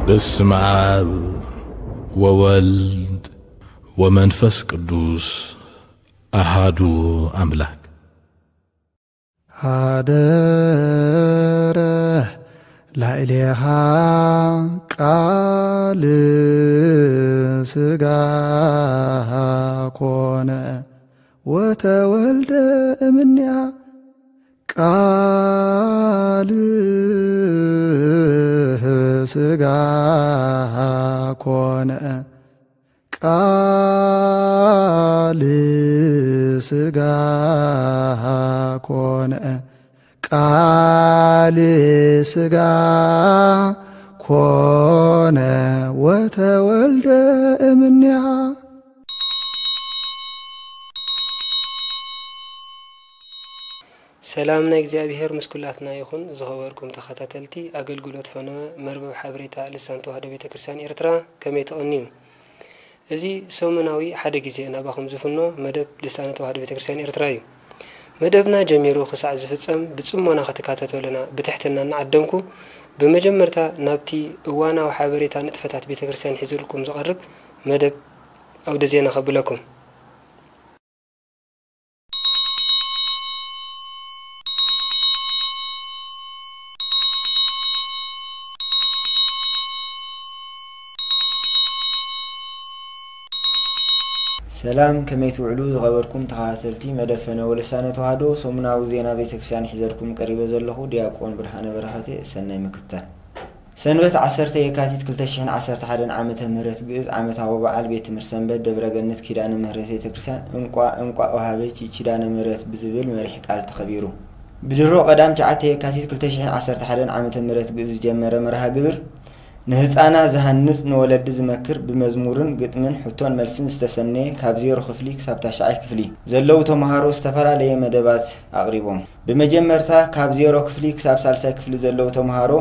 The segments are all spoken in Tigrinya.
በስመ አብ ወወልድ ወመንፈስ ቅዱስ አሃዱ አምላክ። ሀደረ ላዕሌሃ ቃል ሥጋ ኮነ ወተወልደ እምኔሃ። ቃል ሥጋ ኮነ፣ ቃል ሥጋ ኮነ፣ ቃል ሥጋ ኮነ ወተወልደ እምኔሃ። ሰላም ናይ እግዚኣብሔር ምስ ኩላትና ይኹን። ዝኸበርኩም ተኸታተልቲ ኣገልግሎት ፈነወ መርበብ ሓበሬታ ልሳን ተዋህዶ ቤተ ክርስቲያን ኤርትራ፣ ከመይ ትቕንዩ? እዚ ሰሙናዊ ሓደ ግዜ ናባኹም ዝፍኖ መደብ ልሳነ ተዋህዶ ቤተ ክርስቲያን ኤርትራ እዩ። መደብና ጀሚሩ ክሳዕ ዝፍጸም ብጽሞና ክትካተተሉና ብትሕትና እናዓደምኩ፣ ብመጀመርታ ናብቲ እዋናዊ ሓበሬታ ንጥፈታት ቤተ ክርስቲያን ሒዝልኩም ዝቐርብ መደብ ኣውደ ዜና ከብለኩም። ሰላም፣ ከመይ ትውዕሉ ዝኸበርኩም ተኸታተልቲ መደብ ፈነወ ልሳነ ተዋህዶ? ሰሙናዊ ዜና ቤተክርስትያን ሒዘልኩም ቀሪበ ዘለኹ ዲያቆን ብርሃነ በረኸቴ። ሰናይ ምክትታል። ሰንበት ዓሰርተ የካቲት ክልተ ሽሕን ዓሰርተ ሓደን ዓመተ ምህረት ግእዝ ዓመታዊ በዓል ቤት ትምህርቲ ሰንበት ደብረ ገነት ኪዳነ ምህረት ቤተክርስትያን እንቋ እንቋ ወሃበች ኪዳነ ምህረት ብዝብል መሪሕ ቃል ተኸቢሩ። ብድሮ ቀዳም ትሽዓተ የካቲት ክልተ ሽሕን ዓሰርተ ሓደን ዓመተ ምህረት ግእዝ ዝጀመረ መርሃ ግብር ንህፃና ዝሃንፅ ንወለዲ ዝመክር ብመዝሙርን ግጥምን ሕቶን መልስን ዝተሰነየ ካብ ዜሮ ክፍሊ ክሳብ ታሽዓይ ክፍሊ ዘለዉ ተምሃሮ ዝተፈላለየ መደባት ኣቕሪቦም። ብመጀመርታ ካብ ዜሮ ክፍሊ ክሳብ ሳልሳይ ክፍሊ ዘለዉ ተምሃሮ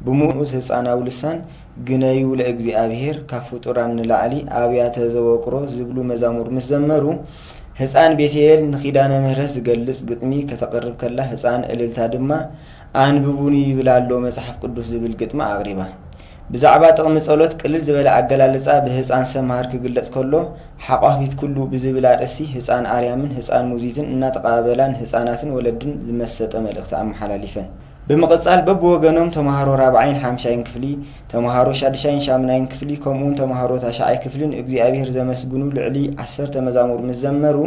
ብምኡዝ ህፃናዊ ልሳን ግነዩ ለእግዚኣብሔር ካብ ፍጡራን ንላዕሊ ኣብያተ ዘወቅሮ ዝብሉ መዛሙር ምስ ዘመሩ ህፃን ቤትኤል ንኪዳነ ምህረት ዝገልፅ ግጥሚ ከተቕርብ ከላ ህፃን እልልታ ድማ ኣንብቡኒ ይብል ኣሎ መፅሓፍ ቅዱስ ዝብል ግጥሚ ኣቕሪባ። ብዛዕባ ጥቕሚ ጸሎት ቅልል ዝበለ ኣገላልጻ ብህጻን ሰምሃር ክግለጽ ከሎ፣ ሓቋፊት ኩሉ ብዝብል ኣርእስቲ ህጻን ኣርያምን ህጻን ሙዚትን እናተቐባበላ ንህጻናትን ወለድን ዝመሰጠ መልእኽቲ ኣመሓላሊፈን። ብምቕጻል በብወገኖም ተምሃሮ ራብዓይን ሓምሻይን ክፍሊ፣ ተምሃሮ ሻድሻይን ሻምናይን ክፍሊ ከምኡውን ተምሃሮ ታሽዓይ ክፍሊ ንእግዚኣብሔር ዘመስግኑ ልዕሊ ዓሰርተ መዛሙር ምስ ዘመሩ፣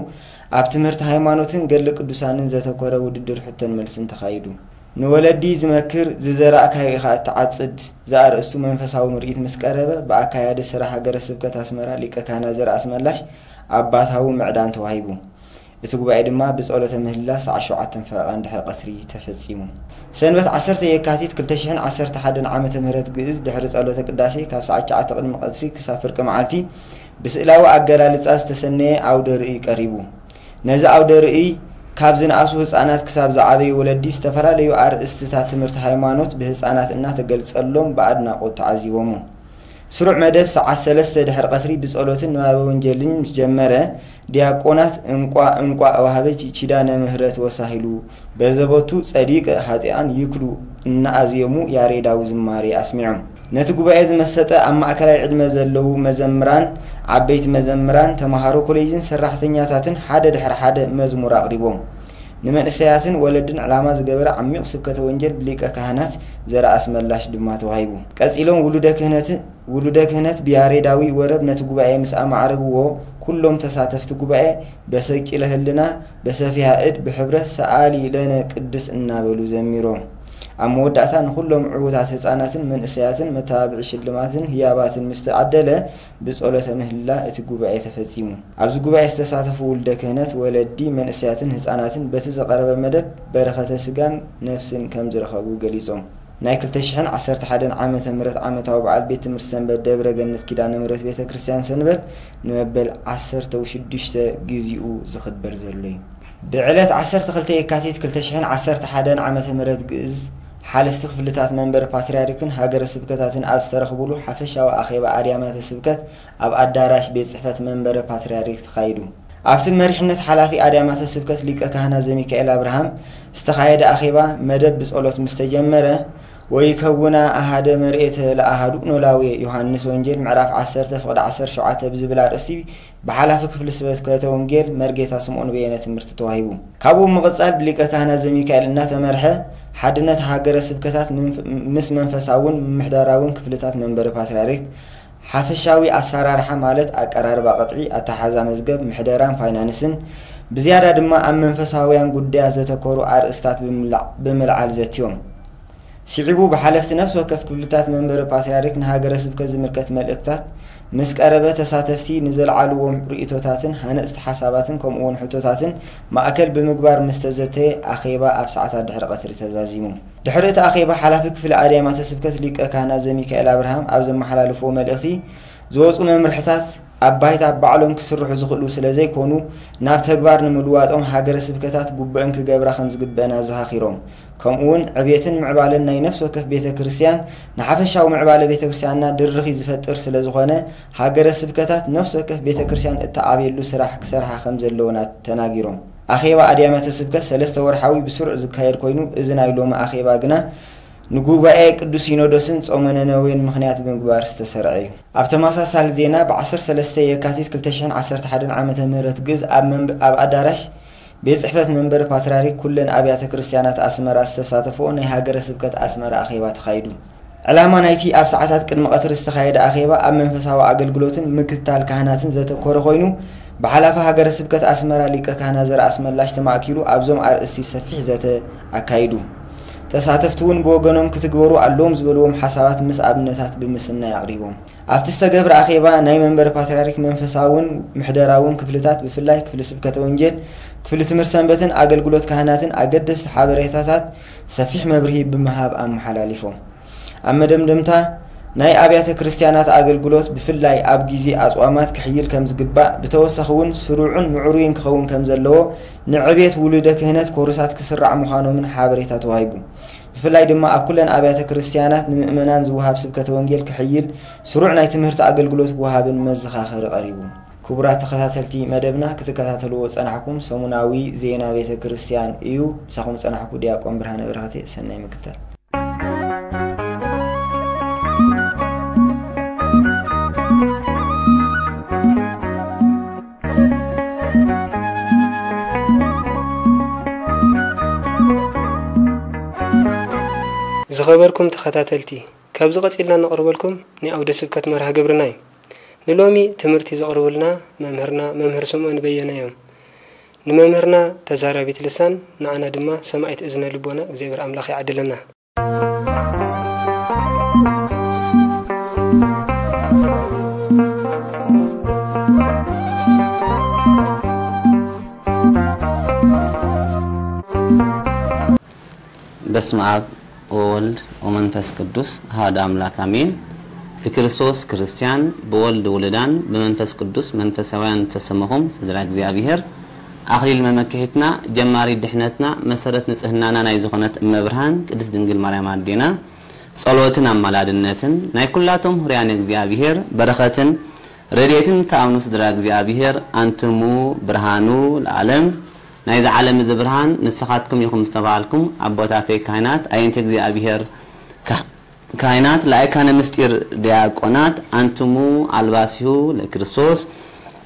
ኣብ ትምህርቲ ሃይማኖትን ገድሊ ቅዱሳንን ዘተኮረ ውድድር ሕቶን መልስን ተኻይዱ። ንወለዲ ዝመክር፣ ዝዘራእካዮ ኢኻ እትዓጽድ ዘኣርእስቱ መንፈሳዊ ምርኢት ምስ ቀረበ፣ ብኣካያዲ ስራሕ ሃገረ ስብከት ኣስመራ ሊቀ ካህናት ዘርኣስመላሽ ኣባታዊ ምዕዳን ተዋሂቡ። እቲ ጉባኤ ድማ ብጸሎተ ምህልላ ሰዓት ሸውዓተን ፈረቓ እንድሕሪ ቀትሪ ተፈጺሙ። ሰንበት ዓሰርተ የካቲት ክልተ ሽሕን ዓሰርተ ሓደን ዓመተ ምህረት ግእዝ ድሕሪ ጸሎተ ቅዳሴ ካብ ሰዓት ትሽዓተ ቅድሚ ቀትሪ ክሳብ ፍርቂ መዓልቲ ብስእላዊ ኣገላልጻ ዝተሰነየ ኣውደ ርእይ ቀሪቡ። ነዚ ኣውደ ርእይ ካብ ዝነኣሱ ህጻናት ክሳብ ዝዓበዩ ወለዲ ዝተፈላለዩ ኣርእስትታት ትምህርቲ ሃይማኖት ብህጻናት እናተገልጸሎም ብኣድናቖት ተዓዚቦሞ። ስሩዕ መደብ ሰዓት ሰለስተ ድሕሪ ቀትሪ ብጸሎትን ንባበ ወንጌልን ምስ ጀመረ፣ ዲያቆናት እንቋ እንቋ ወሃበች ኪዳነ ምህረት ወሳሂሉ በዘቦቱ ጸዲቀ ኃጥኣን ይክሉ እናኣዜሙ ያሬዳዊ ዝማሬ ኣስሚዖም። ነቲ ጉባኤ ዝመሰጠ ኣብ ማእከላይ ዕድመ ዘለዉ መዘምራን፣ ዓበይቲ መዘምራን፣ ተምሃሮ ኮሌጅን ሰራሕተኛታትን ሓደ ድሕሪ ሓደ መዝሙር ኣቕሪቦም። ንመንእሰያትን ወለድን ዕላማ ዝገበረ ዓሚቕ ስብከተ ወንጌል ብሊቀ ካህናት ዘርኣስመላሽ ድማ ተዋሂቡ። ቀጺሎም ውሉደ ክህነት ውሉደ ክህነት ብያሬዳዊ ወረብ ነቲ ጉባኤ ምስ ኣማዕረግዎ፣ ኩሎም ተሳተፍቲ ጉባኤ በሰቂለ ህልና፣ በሰፊሃ እድ፣ ብሕብረት ሰኣሊ ለነ ቅድስ እናበሉ ዘሚሮም። ኣብ መወዳእታ ንኹሎም ዕዉታት ህጻናትን መንእሰያትን መተባብዒ ሽልማትን ህያባትን ምስ ተዓደለ፣ ብጸሎተ ምህልላ እቲ ጉባኤ ተፈጺሙ። ኣብዚ ጉባኤ ዝተሳተፉ ውልደ ክህነት፣ ወለዲ፣ መንእሰያትን ህጻናትን በቲ ዝቐረበ መደብ በረኸተ ስጋን ነፍስን ከም ዝረኸቡ ገሊጾም። ናይ ክልተ ሽሕን ዓሰርተ ሓደን ዓመተ ምህረት ዓመታዊ በዓል ቤት ትምህርቲ ሰንበት ደብረ ገነት ኪዳነ ምህረት ቤተ ክርስቲያን ሰንበል ንመበል ዓሰርተ ሽዱሽተ ግዚኡ ዝኽበር ዘሎ እዩ። ብዕለት ዓሰርተ ክልተ የካቲት ክልተ ሽሕን ዓሰርተ ሓደን ዓመተ ምህረት ግእዝ ሓለፍቲ ክፍልታት መንበረ ፓትርያርክን ሃገረ ስብከታትን ኣብ ዝተረኽቡሉ ሓፈሻዊ ኣኼባ ኣድያማተ ስብከት ኣብ ኣዳራሽ ቤት ጽሕፈት መንበረ ፓትርያርክ ተኻይዱ። ኣብቲ መሪሕነት ሓላፊ ኣድያማተ ስብከት ሊቀ ካህናት ዘሚካኤል ኣብርሃም ዝተኻየደ ኣኼባ መደብ ብጸሎት ምስ ተጀመረ፣ ወይከውና ኣሃደ መርኤተ ለኣሃዱ ኖላዊ ዮሃንስ ወንጌል ምዕራፍ ዓሰርተ ፍቕዲ ዓሰርተ ሸውዓተ ብዝብል ኣርእስቲ ብሓላፊ ክፍሊ ስብከተ ወንጌል መርጌታ ስምዖን በየነ ትምህርቲ ተዋሂቡ። ካብኡ ብምቕጻል ብሊቀ ካህናት ዘሚካኤል እናተመርሐ ሓድነት ሃገረ ስብከታት ምንፍ-፣ ምስ መንፈሳውን ምምሕዳራውን ክፍልታት መንበረ ፓትርያርክ ሓፈሻዊ ኣሰራርሓ ማለት ኣቀራርባ ቅጥዒ፣ ኣተሓዛ መዝገብ፣ ምሕደራን ፋይናንስን፣ ብዝያዳ ድማ ኣብ መንፈሳውያን ጉዳያት ዘተኮሩ ኣርእስታት ብምልዓ-፣ ብምልዓል ዘትዮም። ስዒቡ ብሓለፍቲ ነፍሲ ወከፍ ክፍልታት መንበረ ፓትርያርክ ንሃገረ ስብከት ዝምልከት መልእኽታት ምስ ቀረበ፣ ተሳተፍቲ ንዘልዓልዎም ርእይቶታትን ሃነጽቲ ሓሳባትን ከምኡውን ሕቶታትን ማእከል ብምግባር ምስ ተዘተየ፣ ኣኼባ ኣብ ሰዓታት ድሕሪ ቀትሪ ተዛዚሙ። ድሕሪ እቲ ኣኼባ፣ ሓላፊ ክፍሊ ኣድያማተ ስብከት ሊቀ ካህናት ዘሚካኤል ኣብርሃም ኣብ ዘመሓላለፍዎ መልእኽቲ፣ ዝወጹ መምርሕታት ኣብ ባይታ ባዕሎም ክስርሑ ዝኽእሉ ስለ ዘይኮኑ፣ ናብ ተግባር ንምልዋጦም ሃገረ ስብከታት ግቡአን ክገብራ ከም ዝግበኣን ኣዘኻኺሮም። ከምኡውን ዕብየትን ምዕባለን ናይ ነፍሲ ወከፍ ቤተ ክርስቲያን ንሓፈሻዊ ምዕባለ ቤተ ክርስቲያንና ድርኺት ዝፈጥር ስለ ዝኾነ፣ ሃገረ ስብከታት ነፍሲ ወከፍ ቤተ ክርስቲያን እትዓብየሉ ስራሕ ክሰርሓ ከም ዘለወን ተናጊሮም። ኣኼባ ኣድያማተ ስብከት ሰለስተ ወርሓዊ ብስሩዕ ዝካየድ ኮይኑ፣ እዚ ናይ ሎሚ ኣኼባ ግና ንጉባኤ ቅዱስ ሲኖዶስን ጾመ ነነዌን ምኽንያት ብምግባር ዝተሰርዐ እዩ። ኣብ ተመሳሳሊ ዜና፣ ብ ዓሰርተ ሰለስተ የካቲት ክልተ ሽሕን ዓሰርተ ሓደን ዓመተ ምህረት ግእዝ ኣብ መንበ-፣ ኣብ ኣዳራሽ ቤት ጽሕፈት መንበሪ ፓትርያርክ ኩለን ኣብያተ ክርስቲያናት ኣስመራ ዝተሳተፍኦ ናይ ሃገረ ስብከት ኣስመራ ኣኼባ ተኻይዱ። ዕላማ ናይቲ ኣብ ሰዓታት ቅድሚ ቀትሪ ዝተኻየደ ኣኼባ ኣብ መንፈሳዊ ኣገልግሎትን ምክትታል ካህናትን ዘተኮረ ኮይኑ፣ ብሓላፊ ሃገረ ስብከት ኣስመራ ሊቀ ካህናት ዘርኣስመላሽ ተማእኪሉ ኣብዞም ኣርእስቲ ሰፊሕ ዘተ ኣካይዱ። ተሳተፍቲ እውን ብወገኖም ክትግበሩ ኣለዎም ዝበልዎም ሓሳባት ምስ ኣብነታት ብምስናይ ኣቕሪቦም። ኣብቲ ዝተገብረ ኣኼባ ናይ መንበረ ፓትርያርክ መንፈሳውን ምሕደራውን ክፍልታት፣ ብፍላይ ክፍሊ ስብከተ ወንጌል፣ ክፍሊ ትምህርቲ ሰንበትን ኣገልግሎት ካህናትን ኣገደስቲ ሓበሬታታት ሰፊሕ መብርሂ ብምሃብ ኣመሓላሊፎም። ኣብ መደምደምታ፣ ናይ ኣብያተ ክርስቲያናት ኣገልግሎት ብፍላይ ኣብ ግዜ ኣጽዋማት ክሕይል ከም ዝግባእ፣ ብተወሳኺ እውን ስሩዕን ምዕሩይን ክኸውን ከም ዘለዎ፣ ንዕብየት ውሉደ ክህነት ኮርሳት ክስራዕ ምዃኖምን ሓበሬታ ተዋሂቡ። ብፍላይ ድማ ኣብ ኩለን ኣብያተ ክርስቲያናት ንምእመናን ዝወሃብ ስብከተ ወንጌል ክሕይል፣ ስሩዕ ናይ ትምህርቲ ኣገልግሎት ክወሃብን መዘኻኸሪ ቀሪቡ። ክቡራት ተኸታተልቲ መደብና፣ ክትከታተልዎ ዝጸናሕኩም ሰሙናዊ ዜና ቤተ ክርስቲያን እዩ። ምሳኹም ዝጸናሕኩ ዲያቆን ብርሃነ በረኸቴ። ሰናይ ምክታል። ዝኸበርኩም ተኸታተልቲ፣ ካብዚ ቀጺልና ነቕርበልኩም ናይ ኣውደ ስብከት መርሃ ግብርና እዩ። ንሎሚ ትምህርቲ ዘቕርቡልና መምህርና መምህር ስምዖን በየነ እዮም። ንመምህርና ተዛራቢት ልሳን፣ ንዓና ድማ ሰማዒት እዝነ ልቦና እግዚኣብሔር ኣምላኽ ይዓድለና። በስመ ኣብ ወወልድ ወመንፈስ ቅዱስ ኣሐዱ ኣምላክ ኣሜን። ብክርስቶስ ክርስቲያን፣ ብወልድ ውሉዳን፣ ብመንፈስ ቅዱስ መንፈሳውያን ዝተሰመኹም ስድራ እግዚኣብሔር፣ ኣኽሊል መመክሒትና፣ ጀማሪ ድሕነትና፣ መሰረት ንጽህናና ናይ ዝኾነት እመ ብርሃን ቅድስት ድንግል ማርያም ኣዴና ጸሎትን ኣማላድነትን ናይ ኩላቶም ሁርያን እግዚኣብሔር በረኸትን ረድኤትን ትኣምኑ ስድራ እግዚኣብሔር፣ ኣንትሙ ብርሃኑ ለዓለም ናይዚ ዓለም እዚ ብርሃን ንስኻትኩም ኢኹም ዝተባሃልኩም ኣቦታተይ ካህናት፣ ኣየንቲ እግዚኣብሔር ካህ-፣ ካህናት፣ ለኣይካነ ምስጢር ዲያቆናት፣ ኣንትሙ ኣልባሲሁ ለክርስቶስ፣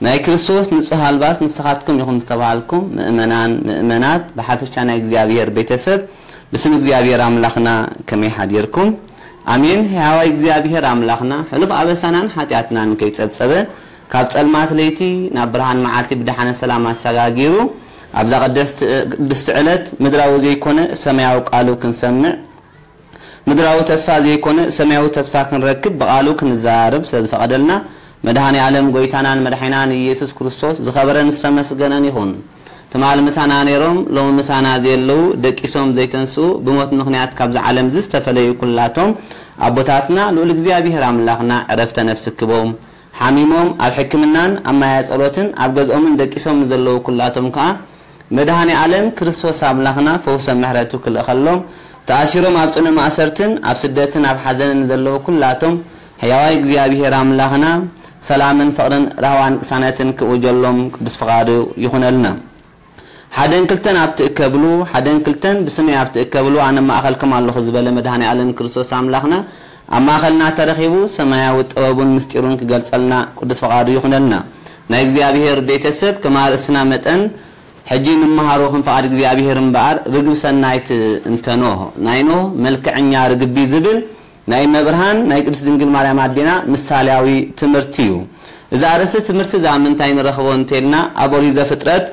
ናይ ክርስቶስ ንጹህ ኣልባስ ንስኻትኩም ኢኹም ዝተባሃልኩም ምእመናን፣ ምእመናት፣ ብሓፈሻ ናይ እግዚኣብሔር ቤተሰብ፣ ብስም እግዚኣብሔር ኣምላኽና ከመይ ሓዲርኩም? ኣሜን። ሕያዋይ እግዚኣብሔር ኣምላኽና፣ ሕሉፍ ኣበሳናን ሓጢኣትናን ከይጸብጸበ፣ ካብ ጸልማት ለይቲ ናብ ብርሃን መዓልቲ ብደሓነ ሰላም ኣሰጋጊሩ፣ ኣብዛ ቅድስቲ፣ ቅድስቲ ዕለት ምድራዊ ዘይኮነ ሰማያዊ ቃሉ ክንሰምዕ፣ ምድራዊ ተስፋ ዘይኮነ ሰማያዊ ተስፋ ክንረክብ ብቓሉ ክንዘራረብ ስለ ዝፈቐደልና፣ መድኃኔ ዓለም ጐይታናን መድሓኒናን ኢየሱስ ክርስቶስ ዝኸበረን ዝተመስገነን ይኹን። ትማል ምሳና ነይሮም፣ ሎሚ ምሳና ዘየለዉ፣ ደቂሶም ዘይተንስኡ፣ ብሞት ምኽንያት ካብዚ ዓለም ዝተፈለዩ ኩላቶም ኣቦታትና፣ ልዑል እግዚኣብሔር ኣምላኽና ዕረፍተ ነፍሲ ክቦም። ሓሚሞም ኣብ ሕክምናን ኣብ ማያ ጸሎትን ኣብ ገዝኦምን ደቂሶም ንዘለዉ ኩላቶም ከኣ፣ መድኃኔ ዓለም ክርስቶስ ኣምላኽና ፈውሰ ምሕረቱ ክልእኸሎም፣ ተኣሲሮም ኣብ ጽኑዕ ማእሰርትን ኣብ ስደትን ኣብ ሓዘንን ዘለዉ ኩላቶም፣ ሕያዋይ እግዚኣብሔር ኣምላኽና ሰላምን ፍቕርን ራህዋን ቅሳነትን ክእውጀሎም ቅዱስ ፍቓዱ ይኹነልና። ሓደን ክልተን ኣብ ትእከብሉ፣ ሓደን ክልተን ብስመይ ኣብ ትእከብሉ፣ ኣነ ማእኸልኩም ኣለኹ ዝበለ መድኃኔ ዓለም ክርስቶስ ኣምላኽና ኣብ ማእኸልና ተረኺቡ ሰማያዊ ጥበቡን ምስጢሩን ክገልጸልና ቅዱስ ፈቓዱ ይኹነልና። ናይ እግዚኣብሔር ቤተሰብ ከም ኣርእስና መጠን ሕጂ ንመሃሮ ከም ፍቓድ እግዚኣብሔር እምበኣር ርግብ ሰናይት እንተ ኖህ ናይ ኖህ መልክዐኛ ርግቢ ዝብል ናይ እመብርሃን ናይ ቅድስት ድንግል ማርያም ኣዴና ምሳሌያዊ ትምህርቲ እዩ። እዚ ኣርእስቲ ትምህርቲ እዚ ኣብ ምንታይ ንረኽቦ እንተልና ኣብ ኦሪት ዘፍጥረት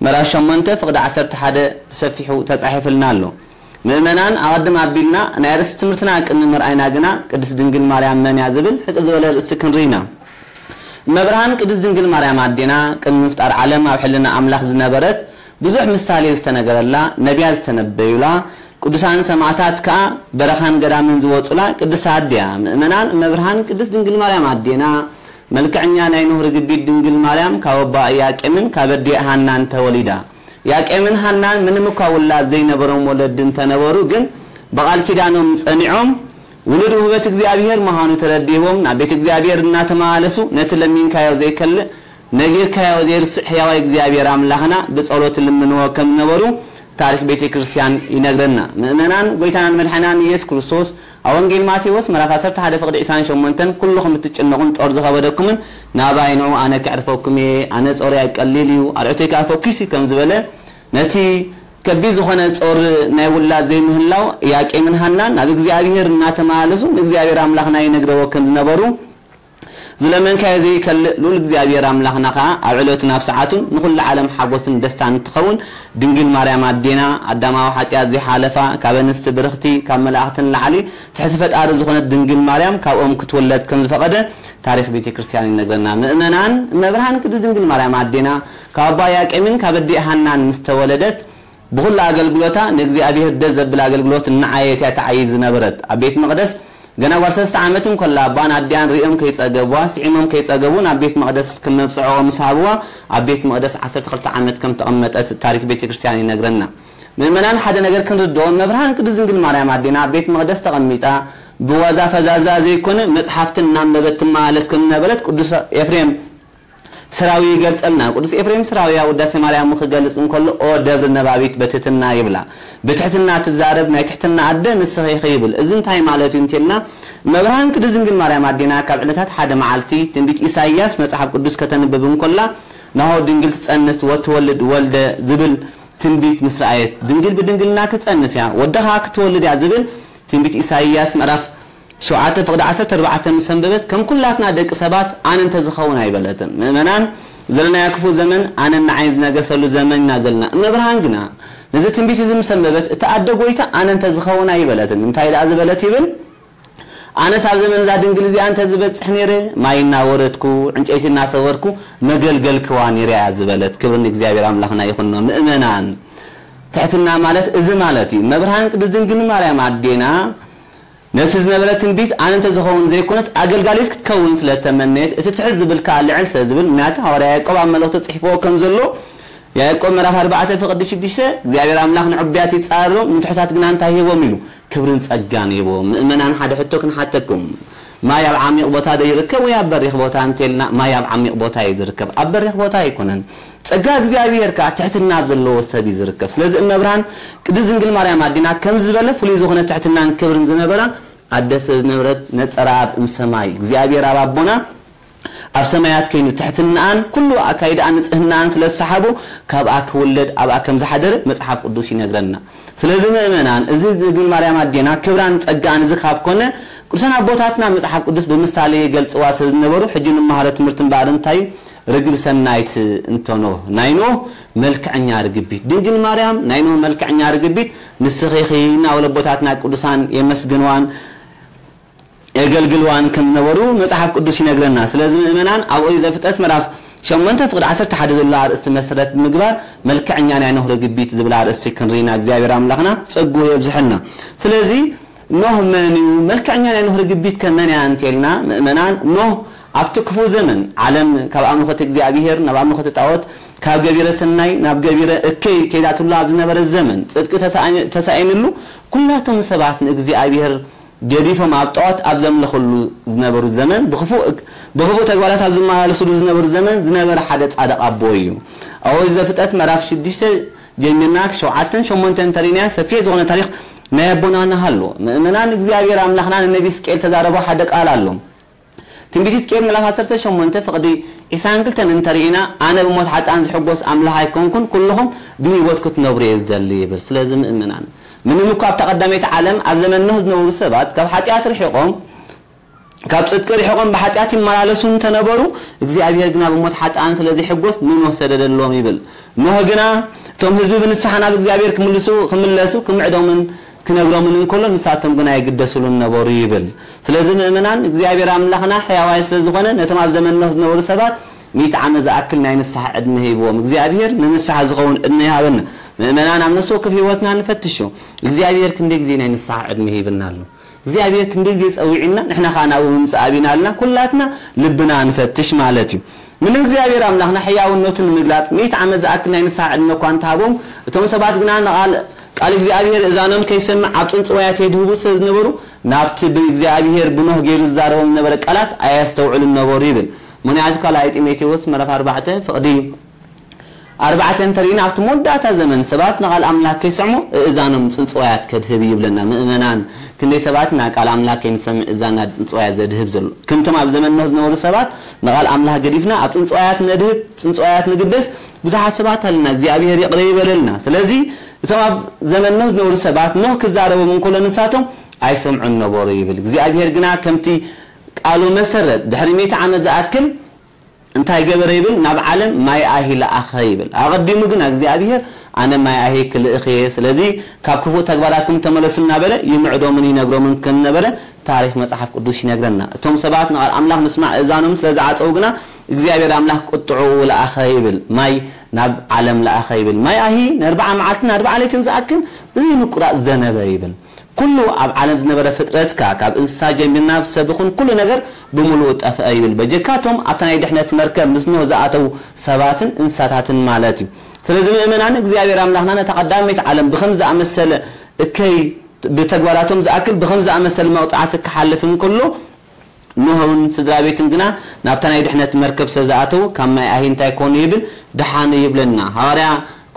ምዕራፍ ሸሞንተ ፍቕዲ ዓሰርተ ሓደ ብሰፊሑ ተጻሒፍልና ኣሎ። ምእመናን ኣቐድም ኣቢልና ናይ ኣርእስቲ ትምህርትና ቅድሚ ምርኣይና ግና ቅድስት ድንግል ማርያም መን እያ ዝብል ሕጽር ዝበለ ኣርእስቲ ክንርኢ ኢና። እመብርሃን ቅድስት ድንግል ማርያም ኣዴና ቅድሚ ምፍጣር ዓለም ኣብ ሕልና ኣምላኽ ዝነበረት ብዙሕ ምሳሌ ዝተነገረላ ነቢያት ዝተነበዩላ ቅዱሳን ሰማዕታት ከኣ በረኻን ገዳምን ዝወጹላ ቅድስቲ ኣዴያ ምእመናን እመብርሃን ቅድስት ድንግል ማርያም ኣዴና መልክዕኛ ናይ ኖህ ርግቢት ድንግል ማርያም ካብ ኣቦኣ ኢያቄምን ካብ ኣዲኣ ሃናን ተወሊዳ። ኢያቄምን ሃናን ምንም እኳ ውላድ ዘይነበሮም ወለዲ እንተነበሩ ግን ብቓል ኪዳኖም ጸኒዖም ውሉድ ውህበት እግዚኣብሔር ምዃኑ ተረዲዎም ናብ ቤት እግዚኣብሔር እናተመላለሱ ነቲ ለሚንካዮ ዘይከልእ ነጊርካዮ ዘይርስዕ ሕያዋይ እግዚኣብሔር ኣምላኽና ብጸሎት ልምንዎ ከም ዝነበሩ ታሪኽ ቤተ ክርስቲያን ይነግረና። ምእመናን ጎይታናን መድሓናን ኢየሱስ ክርስቶስ ኣብ ወንጌል ማቴዎስ ምዕራፍ ዓሰርተ ሓደ ፍቕዲ ዕስራን ሸሞንተን ኩልኹም እትጭነቑን ጾር ዝኸበደኩምን ናባይ ንዑ ኣነ ከዕርፈኩም እየ፣ ኣነ ጾርይ ቀሊል እዩ፣ ኣርዑተይ ከኣ ፈኲስ እዩ ከም ዝበለ ነቲ ከቢድ ዝኾነ ጾር ናይ ውላድ ዘይምህላው ኢያቄምን ሃናን ናብ እግዚኣብሔር እናተመላለሱ ንእግዚኣብሔር ኣምላኽና ይነግረዎ ከም ዝነበሩ ዝለመንካዮ ዘይከልእ ልኡል እግዚኣብሔር ኣምላኽና ኸዓ ኣብ ዕለቱን ኣብ ሰዓቱን ንኹሉ ዓለም ሓጎስን ደስታን እንትኸውን ድንግል ማርያም ኣዴና ኣዳማዊ ሓጢኣት ዘይሓለፋ ካብ ኣንስቲ ብርኽቲ ካብ መላእኽቲ ንላዕሊ ትሕቲ ፈጣሪ ዝኾነት ድንግል ማርያም ካብኦም ክትውለድ ከም ዝፈቐደ ታሪኽ ቤተ ክርስቲያን ይነግረና። ምእመናን እመብርሃን ቅድስት ድንግል ማርያም ኣዴና ካብ ኣባ ኢያቄምን ካብ ኣዲኣ ሃናን ምስ ተወለደት ብኹሉ ኣገልግሎታ ንእግዚኣብሔር ደስ ዘብል ኣገልግሎት እናዓየት እያ ትዓይይ ዝነበረት። ኣብ ቤት መቕደስ ገና ጓል ሰለስተ ዓመት እንከላ ኣባን ኣዲኣን ሪኦም ከይጸገቡዋ ስዒሞም ከይጸገቡ ናብ ቤት መቕደስ ከም መብጽዕኦ ምስ ሃብዋ ኣብ ቤት መቕደስ ዓሰርተ ክልተ ዓመት ከም ተቐመጠት ታሪኽ ቤተ ክርስቲያን ይነግረና። ምእመናን ሓደ ነገር ክንርድኦ እመብርሃን ቅድስት ድንግል ማርያም ኣዴና ኣብ ቤት መቕደስ ተቐሚጣ ብዋዛ ፈዛዛ ዘይኮነ መጽሓፍትን እናንበበት ትመላለስ ከም ዝነበረት ቅዱስ ኤፍሬም ስራዊ ይገልጸልና። ቅዱስ ኤፍሬም ስራዊ ኣብ ውዳሴ ማርያሙ ክገልጽ እንከሎ ኦ ደብሪ ነባቢት በትሕትና ይብላ። ብትሕትና ትዛረብ ናይ ትሕትና ኣደ ንስኺ ኢኺ ይብል። እዚ እንታይ ማለት እዩ እንተልና እመብርሃን ቅድስት ድንግል ማርያም ኣዴና ካብ ዕለታት ሓደ መዓልቲ ትንቢት ኢሳይያስ መጽሓፍ ቅዱስ ከተንብብ እንከላ ናሆ ድንግል ትጸንስ ወትወልድ ወልደ ዝብል ትንቢት ምስ ረኣየት ድንግል ብድንግልና ክትጸንስ እያ ወዲ ኸኣ ክትወልድ እያ ዝብል ትንቢት ኢሳይያስ ምዕራፍ ሸውዓተ ፍቕዲ ዓሰርተ ኣርባዕተ ምስ ኣንበበት ከም ኩላትና ደቂ ሰባት ኣነ እንተዝኸውን ኣይበለትን። ምእመናን ዘለናዮ ክፉእ ዘመን ኣነን ንዓይን ዝነገሰሉ ዘመን ኢና ዘለና። እመብርሃን ግና ነዚ ትንቢት እዚ ምስ ኣንበበት እታ ኣደ ጐይታ ኣነ እንተዝኸውን ኣይበለትን። እንታይ ደኣ ዝበለት ይብል? ኣነስ ኣብ ዘመን እዛ ድንግል እዚኣ እንተዝበጽሕ ነይረ ማይ እናወረድኩ ዕንጨይቲ እናሰበርኩ መገልገልክዋ ነይረ እያ ዝበለት። ክብሪ ንእግዚኣብሔር ኣምላኽና ይኹኖ። ምእመናን ትሕትና ማለት እዚ ማለት እዩ። እመብርሃን ቅድስት ድንግል ማርያም ኣዴና ነቲ ዝነበረ ትንቢት ኣነ እንተዝኸውን ዘይኮነት ኣገልጋሊት ክትከውን ስለ እተመነየት እቲ ትሕት ዝብል ከኣ ልዕል ስለ ዝብል ምኽንያቱ ሃዋርያ ያዕቆብ ኣብ መልእኽቱ ጽሒፍዎ ከም ዘሎ ያዕቆብ ምዕራፍ ኣርባዕተ ፍቕዲ ሽዱሽተ እግዚኣብሔር ኣምላኽ ንዕቡያት ይጻረሮም ንትሑታት ግና እንታይ ይህቦም ኢሉ ክብርን ጸጋን ይህቦም። ምእመናን ሓደ ሕቶ ክንሓተኩም። ማይ ኣብ ዓሚቕ ቦታ ዶ ይርከብ ወይ ኣብ በሪኽ ቦታ እንተልና ማይ ኣብ ዓሚቕ ቦታ እዩ ዝርከብ ኣብ በሪኽ ቦታ ኣይኮነን። ጸጋ እግዚኣብሔር ከኣ ትሕትና ኣብ ዘለዎ ሰብ እዩ ዝርከብ። ስለዚ እመብርሃን ቅድስት ድንግል ማርያም ኣዴና ከምዚ ዝበለ ፍሉይ ዝኾነ ትሕትናን ክብርን ዝነበራ ኣደ ስለ ዝነበረት ነጸራ ኣብ እም ሰማይ እግዚኣብሔር ኣብ ኣቦና ኣብ ሰማያት ኮይኑ ትሕትናኣን ኩሉ ኣካይዳኣን ንጽህናኣን ስለ ዝሰሓቦ ካብኣ ክውለድ ኣብኣ ከም ዝሓደረ መጽሓፍ ቅዱስ ይነግረና። ስለዚ ምእመናን እዚ ድንግል ማርያም ኣዴና ክብራን ጸጋኣን እዚ ካብ ኮነ ቅዱሳን ኣቦታትና መጽሓፍ ቅዱስ ብምሳሌ ይገልጽዋ ስለ ዝነበሩ ሕጂ ንመሃሮ ትምህርቲ እምበኣር እንታይ እዩ? ርግብ ሰናይት እንተ ኖህ ናይ ኖህ መልክዐኛ ርግቢት ድንግል ማርያም ናይ ኖህ መልክዐኛ ርግቢት ንስኺ ኢኺ እናበሉ ኣቦታትና ቅዱሳን የመስግንዋን የገልግልዋን ከም ዝነበሩ መጽሓፍ ቅዱስ ይነግረና። ስለዚ ምእመናን ኣብ ኦሪት ዘፍጥረት ምዕራፍ ሸሞንተ ፍቕዲ ዓሰርተ ሓደ ዘሎ ኣርእስቲ መሰረት ብምግባር መልክዐኛ ናይ ኖህ ርግቢት ዝብል ኣርእስቲ ክንርኢና እግዚኣብሔር ኣምላኽና ጸግኡ የብዝሐልና። ስለዚ ኖህ መን እዩ? መልክዐኛ ናይ ኖህ ርግቢት ከ መን እያ እንተልና ምእመናን ኖህ ኣብቲ ክፉእ ዘመን ዓለም ካብ ኣምልኾት እግዚኣብሔር ናብ ኣምልኾት ጣዖት ካብ ገቢረ ሰናይ ናብ ገቢረ እከይ ከይዳትሉ ኣብ ዝነበረ ዘመን ጽድቂ ተሳኢንሉ ኩላቶም ሰባት ንእግዚኣብሔር ገዲፎም ኣብ ጣዖት ኣብ ዘምልኽሉ ዝነበሩ ዘመን ብኽፉእ ተግባራት ኣብ ዝመላለስሉ ዝነበሩ ዘመን ዝነበረ ሓደ ጻድቕ ኣቦ እዩ። ኣብ ኦሪት ዘፍጥረት ምዕራፍ ሽዱሽተ ጀሚርና ሸውዓተን ሸሞንተን እንተሪእናያ ሰፊሕ ዝኾነ ታሪኽ ናይ ኣቦና ንሃሉ። ምእመናን እግዚኣብሔር ኣምላኽና ንነቢ ሕዝቅኤል ተዛረቦ ሓደ ቃል ኣሎ። ትንቢት ሕዝቅኤል ምዕራፍ ዓሰርተ ሸሞንተ ፍቕዲ ዒስራን ክልተን እንተሪእና ኣነ ብሞት ሓጣን ዝሕጎስ ኣምላኽ ኣይኮንኩን፣ ኩልኹም ብህይወት ክትነብሩ እየ ዝደሊ ይብል። ስለዚ ምእመናን ምንም እኳ ኣብታ ቀዳመይቲ ዓለም ኣብ ዘመን ኖህ ዝነበሩ ሰባት ካብ ሓጢኣት ርሒቖም ካብ ጽድቂ ርሒቖም ብሓጢኣት ይመላለሱ እንተነበሩ እግዚኣብሔር ግና ብሞት ሓጣን ስለ ዘይሕጎስ ንኖህ ሰደደሎም ይብል። ኖህ ግና እቶም ህዝቢ ብንስሓ ናብ እግዚኣብሔር ክምልሱ ክምለሱ ክምዕዶምን ክነግሮምን እንከሎ ንሳቶም ግና ይግደስሉን ነበሩ ይብል። ስለዚ ምእመናን እግዚኣብሔር ኣምላኽና ሕያዋይ ስለ ዝኾነ ነቶም ኣብ ዘመን ኖህ ዝነበሩ ሰባት ሚእቲ ዓመት ዝኣክል ናይ ንስሓ ዕድመ ሂብዎም። እግዚኣብሔር ንንስሓ ዝኸውን ዕድመ ይሃበና። ምእመናን ኣብ ነፍሲ ወከፍ ህይወትና ንፈትሾ። እግዚኣብሔር ክንደይ ግዜ ናይ ንስሓ ዕድመ ሂብና ኣሎ? እግዚኣብሔር ክንደይ ግዜ ጸዊዕና ንሕና ኸኣ ናብኡ ምምጻእ ኣቢና ኣለና። ኩላትና ልብና ንፈትሽ ማለት እዩ። ምንም እግዚኣብሔር ኣምላኽና ሕያውነቱ ንምግላጽ ሚእቲ ዓመት ዝኣክል ናይ ንስሓ ዕድመ እኳ እንተሃቦም እቶም ሰባት ግና ንቓል ቃል እግዚኣብሔር እዛኖም ከይሰምዕ ኣብ ጽንጽዋያ ከይድህቡ ስለ ዝነበሩ ናብቲ ብእግዚኣብሔር ብኖህ ገይሩ ዝዛረቦም ዝነበረ ቃላት ኣየስተውዕሉን ነበሩ ይብል። ምኽንያቱ ካልኣይ ጢሞቴዎስ ምዕራፍ ኣርባዕተ ፍቕዲ ኣርባዕተ እንተሪእና ኣብቲ መወዳእታ ዘመን ሰባት ንቓል ኣምላኽ ከይሰምዑ እእዛኖም ጽንጽዋያት ከድህብ ይብለና። ምእመናን ክንደይ ሰባት ኢና ቃል ኣምላኽ ከይንሰምዕ እዛና ጽንጽዋያት ዘድህብ ዘሎ። ከምቶም ኣብ ዘመን ኖህ ዝነበሩ ሰባት ንቓል ኣምላኽ ገዲፍና ኣብ ጽንጽዋያት ነድህብ፣ ጽንጽዋያት ንግደስ ብዙሓት ሰባት ኣለና። እግዚኣብሔር ይቕረ ይበለልና። ስለዚ እቶም ኣብ ዘመን ኖህ ዝነበሩ ሰባት ኖህ ክዛረቦም እንከሎ ንሳቶም ኣይሰምዑን ነበሩ ይብል። እግዚኣብሔር ግና ከምቲ ቃሉ መሰረት ድሕሪ ሚእቲ ዓመት ዝኣክል እንታይ ገበረ ይብል? ናብ ዓለም ማይ ኣሂ ለኣኸ ይብል። ኣቐዲሙ ግና እግዚኣብሔር ኣነ ማይ ኣሂ ክልእኽ እየ፣ ስለዚ ካብ ክፉእ ተግባራትኩም ተመለሱ እናበለ ይምዕዶምን ይነግሮምን ከም ነበረ ታሪኽ መጽሓፍ ቅዱስ ይነግረና። እቶም ሰባት ንቓል ኣምላኽ ምስማዕ እዛኖም ስለ ዝዓጸው ግና እግዚኣብሔር ኣምላኽ ቁጥዑ ለኣኸ ይብል። ማይ ናብ ዓለም ለኣኸ ይብል። ማይ ኣሂ ንኣርብዓ መዓልትን ኣርብዓ ለይትን ዝኣክል ብዘይምቁራጽ ዘነበ ይብል። ኩሉ ኣብ ዓለም ዝነበረ ፍጥረትካ ካብ እንስሳ ጀሚርና ሰብ ይኹን ኩሉ ነገር ብምሉኡ ጠፍአ ይብል። በጀካቶም ኣብታ ናይ ድሕነት መርከብ ምስ ኖህ ዝኣተው ሰባትን እንስሳታትን ማለት እዩ። ስለዚ ምእመናን እግዚኣብሔር ኣምላኽና ነታ ቀዳመይቲ ዓለም ብኸም ዝኣመሰለ እከይ ብተግባራቶም ዝኣክል ብኸም ዝኣመሰለ መቕጻዕቲ ክሓልፍ እንከሎ ኖህ እውን ስድራ ቤቱን ግና ናብታ ናይ ድሕነት መርከብ ስለ ዝኣተው ካብ ማይ ኣሂ እንታይ ኮኑ ይብል ድሓኑ ይብለና። ሃዋርያ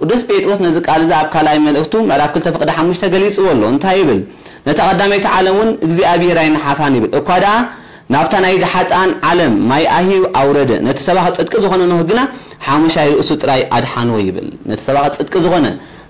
ቅዱስ ጴጥሮስ ነዚ ቃል እዚ ኣብ ካልኣይ መልእኽቱ ምዕራፍ ክልተ ፍቕዲ ሓሙሽተ ገሊጽዎ ኣሎ። እንታይ ይብል? ነታ ቀዳመይቲ ዓለም እውን እግዚኣብሔር ኣይነሓፋን ይብል። እኳ ደኣ ናብታ ናይ ሓጥኣን ዓለም ማይ ኣሂ ኣውረደ፣ ነቲ ሰባኺ ጽድቂ ዝኾነ ኖህ ግና ሓሙሻይ ርእሱ ጥራይ ኣድሓንዎ ይብል። ነቲ ሰባኺ ጽድቂ ዝኾነ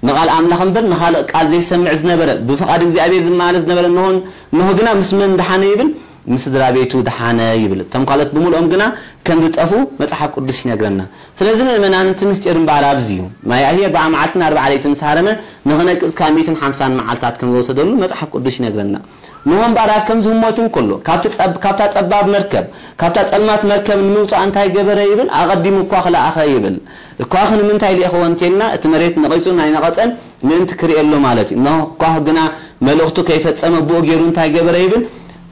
ንቓል ኣምላኽ እምበር ንኻልእ ቃል ዘይሰምዕ ዝነበረ ብፍቓድ እግዚኣብሔር ዝመላለስ ዝነበረ ኖህን ኖህ ግና ምስ መን ድሓነ ይብል? ምስ ስድራ ቤቱ ድሓነ ይብል። እቶም ካልኦት ብምልኦም ግና ከም ዝጠፉ መጽሓፍ ቅዱስ ይነግረና። ስለዚ ምእመናን እቲ ምስጢር እምበኣር ኣብዚ እዩ። ማይ ኣሂ ኣርብዓ መዓልትን ኣርብዓ ለይትን ምስ ሃረመ ንኽነቅጽ ካብ ሚእትን ሓምሳን መዓልታት ከም ዝወሰደሉ መጽሓፍ ቅዱስ ይነግረና። ኖህ እምበኣር ኣብ ከምዚ ህሞት እንከሎ ካብቲ ጸብ- ካብታ ጸባብ መርከብ ካብታ ጸልማት መርከብ ንምውጻእ እንታይ ገበረ ይብል? ኣቐዲሙ እኳ ክለኣኸ ይብል። እኳ ኸ ንምንታይ ልኢኽዎ እንተልና እቲ መሬት ነቒጹ ናይ ነቐጸን ምእንቲ ክርእየሉ ማለት እዩ። ኖህ እኳ ግና መልእኽቱ ከይፈጸመ ብኡ ገይሩ እንታይ ገበረ ይብል?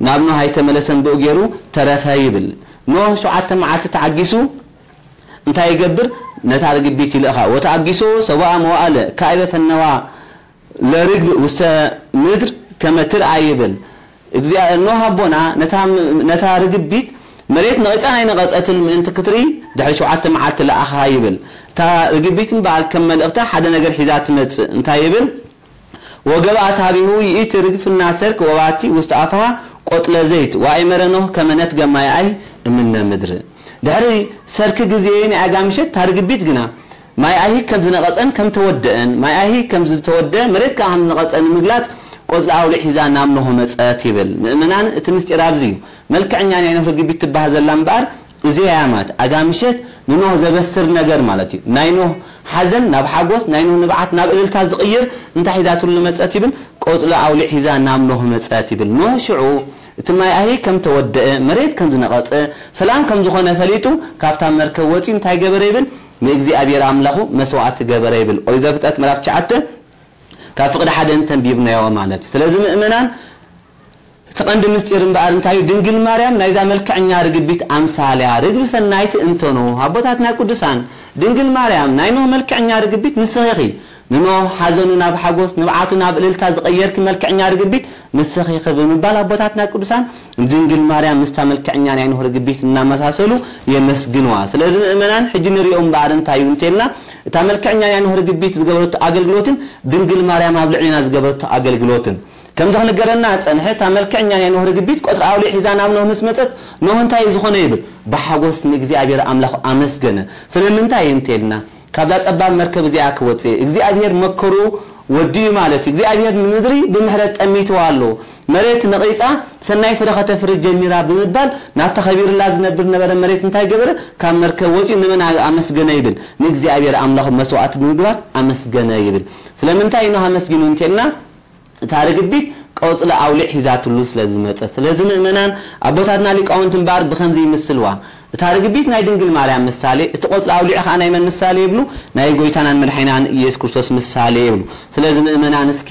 ናብ ኖህ ኣይተመለሰን ብኡ ገይሩ ተረፈ ይብል። ኖህ ሸውዓተ መዓልቲ ተዓጊሱ እንታይ ይገብር? ነታ ርግቢት ይልእኻ። ወተኣጊሶ ሰብኣ መዋእለ ካይበ ፈነዋ ለርግብ ውስተ ምድር ከመ ትርኣ ይብል። እግዚኣብሔር ኖህ ኣቦና ነታ ነታ ርግቢት መሬት ነቒጻ ናይ ነቐጸትን ምእንቲ ክትርኢ ድሕሪ ሸውዓተ መዓልቲ ለኣኻ ይብል። እታ ርግቢት እምበኣር ከም መልእኽታ ሓደ ነገር ሒዛ ትመጽእ። እንታይ ይብል? ወገባኣት ሀቤሁ ይእቲ ርግብ ፍና ሰርክ ወባቲ ውስተ ኣፍሃ ቆጽለ ዘይት ወኣእመረ ኖህ ከመ ነትገ ማይ ኣይህ እምነ ምድር። ድሕሪ ሰርክ ግዜ ናይ ኣጋ ምሸት እታ ርግቢት ግና ማይ ኣይህ ከም ዝነቐጸን ከም ተወደአን ማይ ኣይህ ከም ዝተወደአ መሬት ከኣ ከም ዝነቐጸ ንምግላጽ ቆጽሊ ኣውሊዕ ሒዛ ናብ ኖህ መጸት ይብል። ምእመናን እቲ ምስጢር ኣብዚ እዩ። መልክዕኛ ናይ ኖህ ርግቢት ትበሃል ዘላ እምበኣር እዚኣ እያ ማለት ኣጋ ምሸት ንኖህ ዘበስር ነገር ማለት እዩ። ናይ ኖህ ሓዘን ናብ ሓጎስ ናይ ኖህ ንብዓት ናብ እልልታ ዝቕይር እንታይ ሒዛትሉ መጸት ይብል? ቆጽሊ ኣውሊዕ ሒዛ ናብ ኖህ መጸት ይብል። ኖህ ሽዑ እቲ ማይ ኣሂ ከም ተወደአ መሬት ከም ዝነቐጸ ሰላም ከም ዝኾነ ፈሊጡ ካብታ መርከብ ወጺኡ እንታይ ገበረ ይብል? ንእግዚኣብሔር ኣምላኹ መስዋዕቲ ገበረ ይብል። ኦሪት ዘፍጥረት ምዕራፍ ትሽዓተ ካብ ፍቕዲ ሓደ እንተንቢብናዮ ማለት እዩ። ስለዚ ምእመናን እቲ ቀንዲ ምስጢር እምበኣር እንታይ እዩ? ድንግል ማርያም ናይዛ መልክዐኛ ርግቢት ኣምሳል እያ። ርግቢ ሰናይት እንተኖ ኣቦታትና ቅዱሳን ድንግል ማርያም ናይ ኖህ መልክዐኛ ርግቢት ንስኺ ኢኺ። ንኖህ ሓዘኑ ናብ ሓጎስ ንብዓቱ ናብ እልልታ ዝቐየርኪ መልክዐኛ ርግቢት ንስኺ ኢኺ ብምባል ኣቦታትና ቅዱሳን ድንግል ማርያም ምስታ መልክዐኛ ናይ ኖህ ርግቢት እናመሳሰሉ የመስግንዋ። ስለዚ ምእመናን ሕጂ ንሪኦ እምበኣር እንታይ እዩ እንተልና እታ መልክዕኛ ናይ ኖህ ርግቢት ዝገበረቶ ኣገልግሎትን ድንግል ማርያም ኣብ ልዕሊና ዝገበረቶ ኣገልግሎትን ከምዚ ክንገረና ጸንሐ። እታ መልክዕኛ ናይ ኖህ ርግቢት ቆጽሊ ኣውሊዕ ሒዛ ናብ ኖህ ምስ መጸት፣ ኖህ እንታይ እዩ ዝኾነ ይብል? ብሓጎስ ንእግዚኣብሔር ኣምላኽ ኣመስገነ። ስለምንታይ እንተልና፣ ካብዛ ጸባብ መርከብ እዚኣ ክወጽእ እግዚኣብሔር መከሩ ወዲኡ ማለት እዩ። እግዚኣብሔር ንምድሪ ብምሕረት ጠሚትዋ ኣሎ። መሬት ነቒጻ ሰናይ ፍረ ከተፍሪ ጀሚራ ብምባል፣ ናብታ ከቢርላ ዝነብር ነበረ መሬት እንታይ ገበረ? ካብ መርከብ ወጺኡ ንመን ኣመስገነ ይብል? ንእግዚኣብሔር ኣምላኽ መስዋዕቲ ብምግባር ኣመስገነ ይብል። ስለምንታይ ኖህ ኣመስጊኑ እንተልና፣ እታ ርግቢት ቆጽሊ ኣውሊዕ ሒዛትሉ ስለ ዝመጸ። ስለዚ ምእመናን ኣቦታትና ሊቃውንቲ እምበኣር ብኸምዚ ይምስልዋ። እታ ርግቢት ናይ ድንግል ማርያም ምሳሌ፣ እቲ ቆጽሊ ኣውሊዕ ኸኣ ናይ መን ምሳሌ ይብሉ? ናይ ጎይታናን መድሓኒናን ኢየሱስ ክርስቶስ ምሳሌ ይብሉ። ስለዚ ምእመናን እስኪ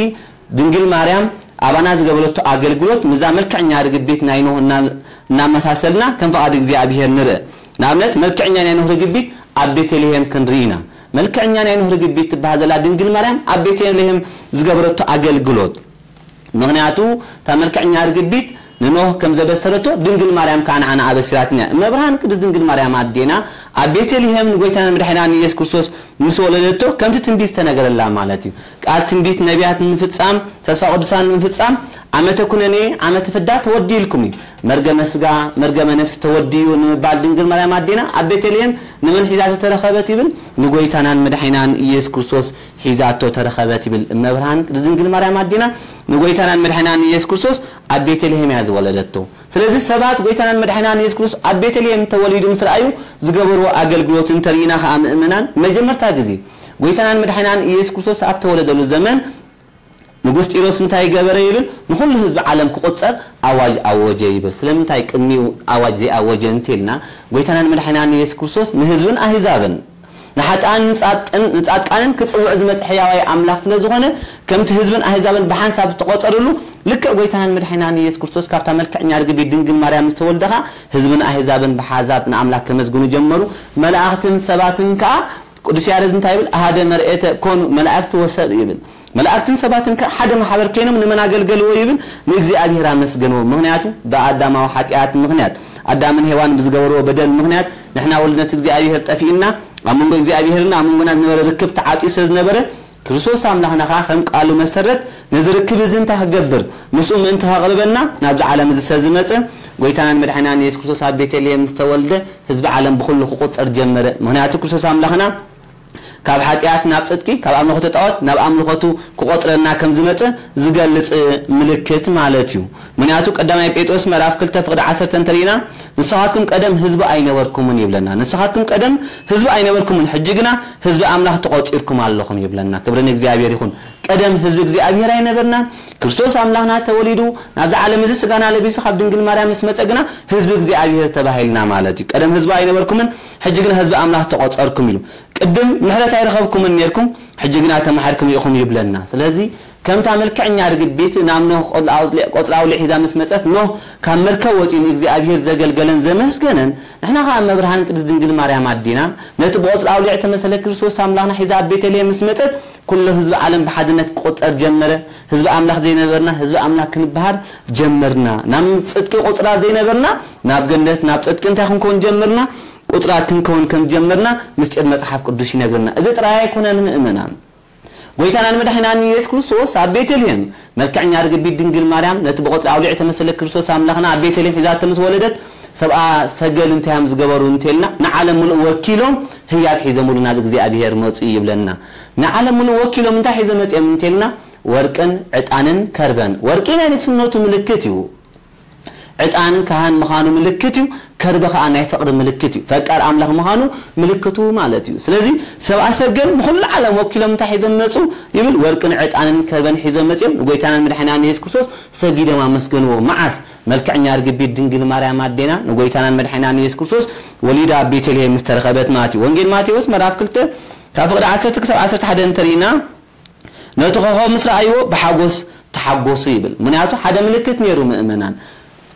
ድንግል ማርያም ኣባና ዝገበረቶ ኣገልግሎት ምስዛ መልክዕኛ ርግቢት ናይ ኖህ እና-፣ እናመሳሰልና ከም ፍቓድ እግዚኣብሔር ንርእ። ንኣብነት መልክዕኛ ናይ ኖህ ርግቢት ኣብ ቤተልሔም ክንርኢ ኢና። መልክዕኛ ናይ ኖህ ርግቢት ትበሃል ዘላ ድንግል ማርያም ኣብ ቤተልሔም ዝገበረቶ ኣገልግሎት። ምኽንያቱ እታ መልክዕኛ ርግቢት ንኖህ ከም ዘበሰረቶ ድንግል ማርያም ከዓ ንዓና ኣበሲራትና እያ። እመብርሃን ቅድስት ድንግል ማርያም ኣዴና ኣብ ቤተልሔም ንጎይታና መድሓኒና ንኢየሱስ ክርስቶስ ምስ ወለደቶ ከምቲ ትንቢት ዝተነገረላ ማለት እዩ። ቃል ትንቢት ነቢያት ንምፍጻም፣ ተስፋ ቅዱሳን ንምፍጻም ዓመተ ኩነኔ ዓመተ ፍዳ ተወዲልኩም እዩ። መርገመ ስጋ መርገመ ነፍሲ ተወዲዩ ንምባል ድንግል ማርያም ኣዴና ኣብ ቤተልሔም ንመን ሒዛቶ ተረኸበት ይብል? ንጎይታናን መድሓኒናን ኢየሱስ ክርስቶስ ሒዛቶ ተረኸበት ይብል። እመብርሃን ቅድስት ድንግል ማርያም ኣዴና ንጎይታናን መድሓኒናን ኢየሱስ ክርስቶስ ኣብ ቤተልሔም እያ ዝወለደቶ። ስለዚ ሰባት ጎይታናን መድሓኒናን ኢየሱስ ክርስቶስ ኣብ ቤተልሔም ተወሊዱ ምስ ረኣዩ ዝገበርዎ ኣገልግሎት እንተርኢና ኸኣ ምእመናን፣ መጀመርታ ግዜ ጎይታናን መድሓኒናን ኢየሱስ ክርስቶስ ኣብ ተወለደሉ ዘመን ንጉስ ጢሮስ እንታይ ገበረ ይብል? ንኹሉ ህዝቢ ዓለም ክቑጸር ኣዋጅ ኣወጀ ይብል። ስለምንታይ ቅድሚኡ ኣዋጅ ዘይኣወጀ እንተልና፣ ጎይታናን መድሓኒናን ኢየሱስ ክርስቶስ ንህዝብን ኣህዛብን፣ ንሓጥኣን ንጻድቅን-፣ ንጻድቃንን ክጽውዕ ዝመጽእ ሕያዋይ ኣምላኽ ስለ ዝኾነ፣ ከምቲ ህዝብን ኣህዛብን ብሓንሳብ ዝተቖጸርሉ፣ ልክዕ ጎይታናን መድሓኒናን ኢየሱስ ክርስቶስ ካብታ መልክዕኛ ርግቢት ድንግል ማርያም ዝተወልደ ኸኣ፣ ህዝብን ኣህዛብን ብሓንሳብ ንኣምላኽ ከመስግኑ ጀመሩ። መላእኽትን ሰባትን ከኣ፣ ቅዱስ ያሬድ እንታይ ይብል? ኣሃደ መርኤተ ኮኑ መላእክት ወሰብ ይብል። መላእክትን ሰባትን ከኣ ሓደ ማሕበር ኮይኖም ንመን ኣገልገልዎ ይብል? ንእግዚኣብሔር ኣመስገንዎ። ምኽንያቱ ብኣዳማዊ ሓጢኣት ምኽንያት፣ ኣዳምን ሄዋን ብዝገበርዎ በደል ምኽንያት ንሕና ወልድነት እግዚኣብሔር ጠፊእና፣ ኣብ መንጎ እግዚኣብሔርን ኣብ መንጎና ዝነበረ ርክብ ተዓጽዩ ስለ ዝነበረ፣ ክርስቶስ ኣምላኽና ኸኣ ከም ቃሉ መሰረት ነዚ ርክብ እዚ እንታይ ክገብር? ምስኡ ምእንቲ ከቕርበና ናብዚ ዓለም እዚ ስለ ዝመጸ፣ ጎይታናን መድሓኒናን ኢየሱስ ክርስቶስ ኣብ ቤተልሔም ምስ ተወልደ፣ ህዝቢ ዓለም ብኹሉ ክቑጸር ጀመረ። ምኽንያቱ ክርስቶስ ኣምላኽና ካብ ሓጢኣት ናብ ጽድቂ፣ ካብ ኣምልኾተ ጣዖት ናብ ኣምልኾቱ ክቖጽረና ከም ዝመጸ ዝገልጽ ምልክት ማለት እዩ። ምኽንያቱ ቀዳማይ ጴጥሮስ ምዕራፍ ክልተ ፍቕዲ ዓሰርተ እንተሪእና፣ "ንስኻትኩም ቀደም ህዝቢ ኣይነበርኩምን" ይብለና። "ንስኻትኩም ቀደም ህዝቢ ኣይነበርኩምን፣ ሕጂ ግና ህዝቢ ኣምላኽ ተቖጺርኩም ኣለኹም" ይብለና። ክብሪ ንእግዚኣብሔር ይኹን። ቀደም ህዝቢ እግዚኣብሔር ኣይነበርናን። ክርስቶስ ኣምላኽና ተወሊዱ ናብዚ ዓለም እዚ ስጋና ለቢሱ ካብ ድንግል ማርያም ምስ መጸ ግና ህዝቢ እግዚኣብሔር ተባሂልና ማለት እዩ። ቀደም ህዝቢ ኣይነበርኩምን፣ ሕጂ ግና ህዝቢ ኣምላኽ ተቖጸርኩም ኢሉ። ቅድም ምሕረት ኣይረኸብኩምን ኔርኩም፣ ሕጂ ግና ተማሒርኩም ኢኹም ይብለና። ስለዚ ከምታ መልክዕኛ ርግቢት ናብ ኖህ ቆጽሊ ኣውሊዕ፣ ቆጽሊ ኣውሊዕ ሒዛ ምስ መጸት፣ ኖህ ካብ መርከብ ወጺኡ ንእግዚኣብሔር ዘገልገለን ዘመስገነን፣ ንሕና ኸኣ እመብርሃን ቅድስት ድንግል ማርያም ኣዴና ነቲ ብቆጽሊ ኣውሊዕ ተመሰለ ክርስቶስ ኣምላኽና ሒዛ ኣብ ቤተልሔም ምስ መጸት፣ ኩሉ ህዝቢ ዓለም ብሓድነት ክቁጸር ጀመረ። ህዝቢ ኣምላኽ ዘይነበርና ህዝቢ ኣምላኽ ክንበሃል ጀመርና። ናብ ጽድቂ ቁጽራ ዘይነበርና ናብ ገነት ናብ ጽድቂ እንታይ ክንከውን ጀመርና? ቁጽራት ክንከውን ከም ጀመርና ምስጢር መጽሓፍ ቅዱስ ይነግርና። እዚ ጥራይ ኣይኮነን ምእመናን። ጎይታናን መድሓኒናን ኢየሱስ ክርስቶስ ኣብ ቤተልሔም መልክዕኛ ርግቢት ድንግል ማርያም ነቲ ብቆጽሊ ኣውሊዕ ተመሰለ ክርስቶስ ኣምላኽና ኣብ ቤተልሔም ሒዛቶ ምስ ወለደት፣ ሰብኣ ሰገል እንታይ እዮም ዝገበሩ እንተልና፣ ንዓለም ምሉእ ወኪሎም ህያብ ሒዞምሉ ናብ እግዚኣብሔር መጹ ይብለና። ንዓለም ምሉእ ወኪሎም እንታይ ሒዞም መጺኦም እንተልና፣ ወርቅን ዕጣንን ከርበን። ወርቂ ናይ ንግስነቱ ምልክት እዩ። ዕጣን ካህን ምዃኑ ምልክት እዩ። ከርበ ኸኣ ናይ ፍቕሪ ምልክት እዩ። ፈቃር ኣምላኽ ምዃኑ ምልክቱ ማለት እዩ። ስለዚ ሰብኣ ሰገል ንኹሉ ዓለም ወኪሎም እንታይ ሒዞም መጹ ይብል? ወርቅን ዕጣንን ከርበን ሒዞም መጺኦም ንጎይታናን መድሓኒናን ኢየሱስ ክርስቶስ ሰጊዶም ኣመስገንዎ። መዓስ? መልክዕኛ ርግቢት ድንግል ማርያም ኣዴና ንጎይታናን መድሓኒናን ኢየሱስ ክርስቶስ ወሊዳ ኣብ ቤተልሔም ምስ ተረኸበት ማለት እዩ። ወንጌል ማቴዎስ ምዕራፍ ክልተ ካብ ፍቕዲ ዓሰርተ ክሳብ ዓሰርተ ሓደ እንተሪእና፣ ነቲ ኮኸብ ምስ ረኣይዎ ብሓጎስ ተሓጎሱ ይብል። ምኽንያቱ ሓደ ምልክት ነይሩ ምእመናን።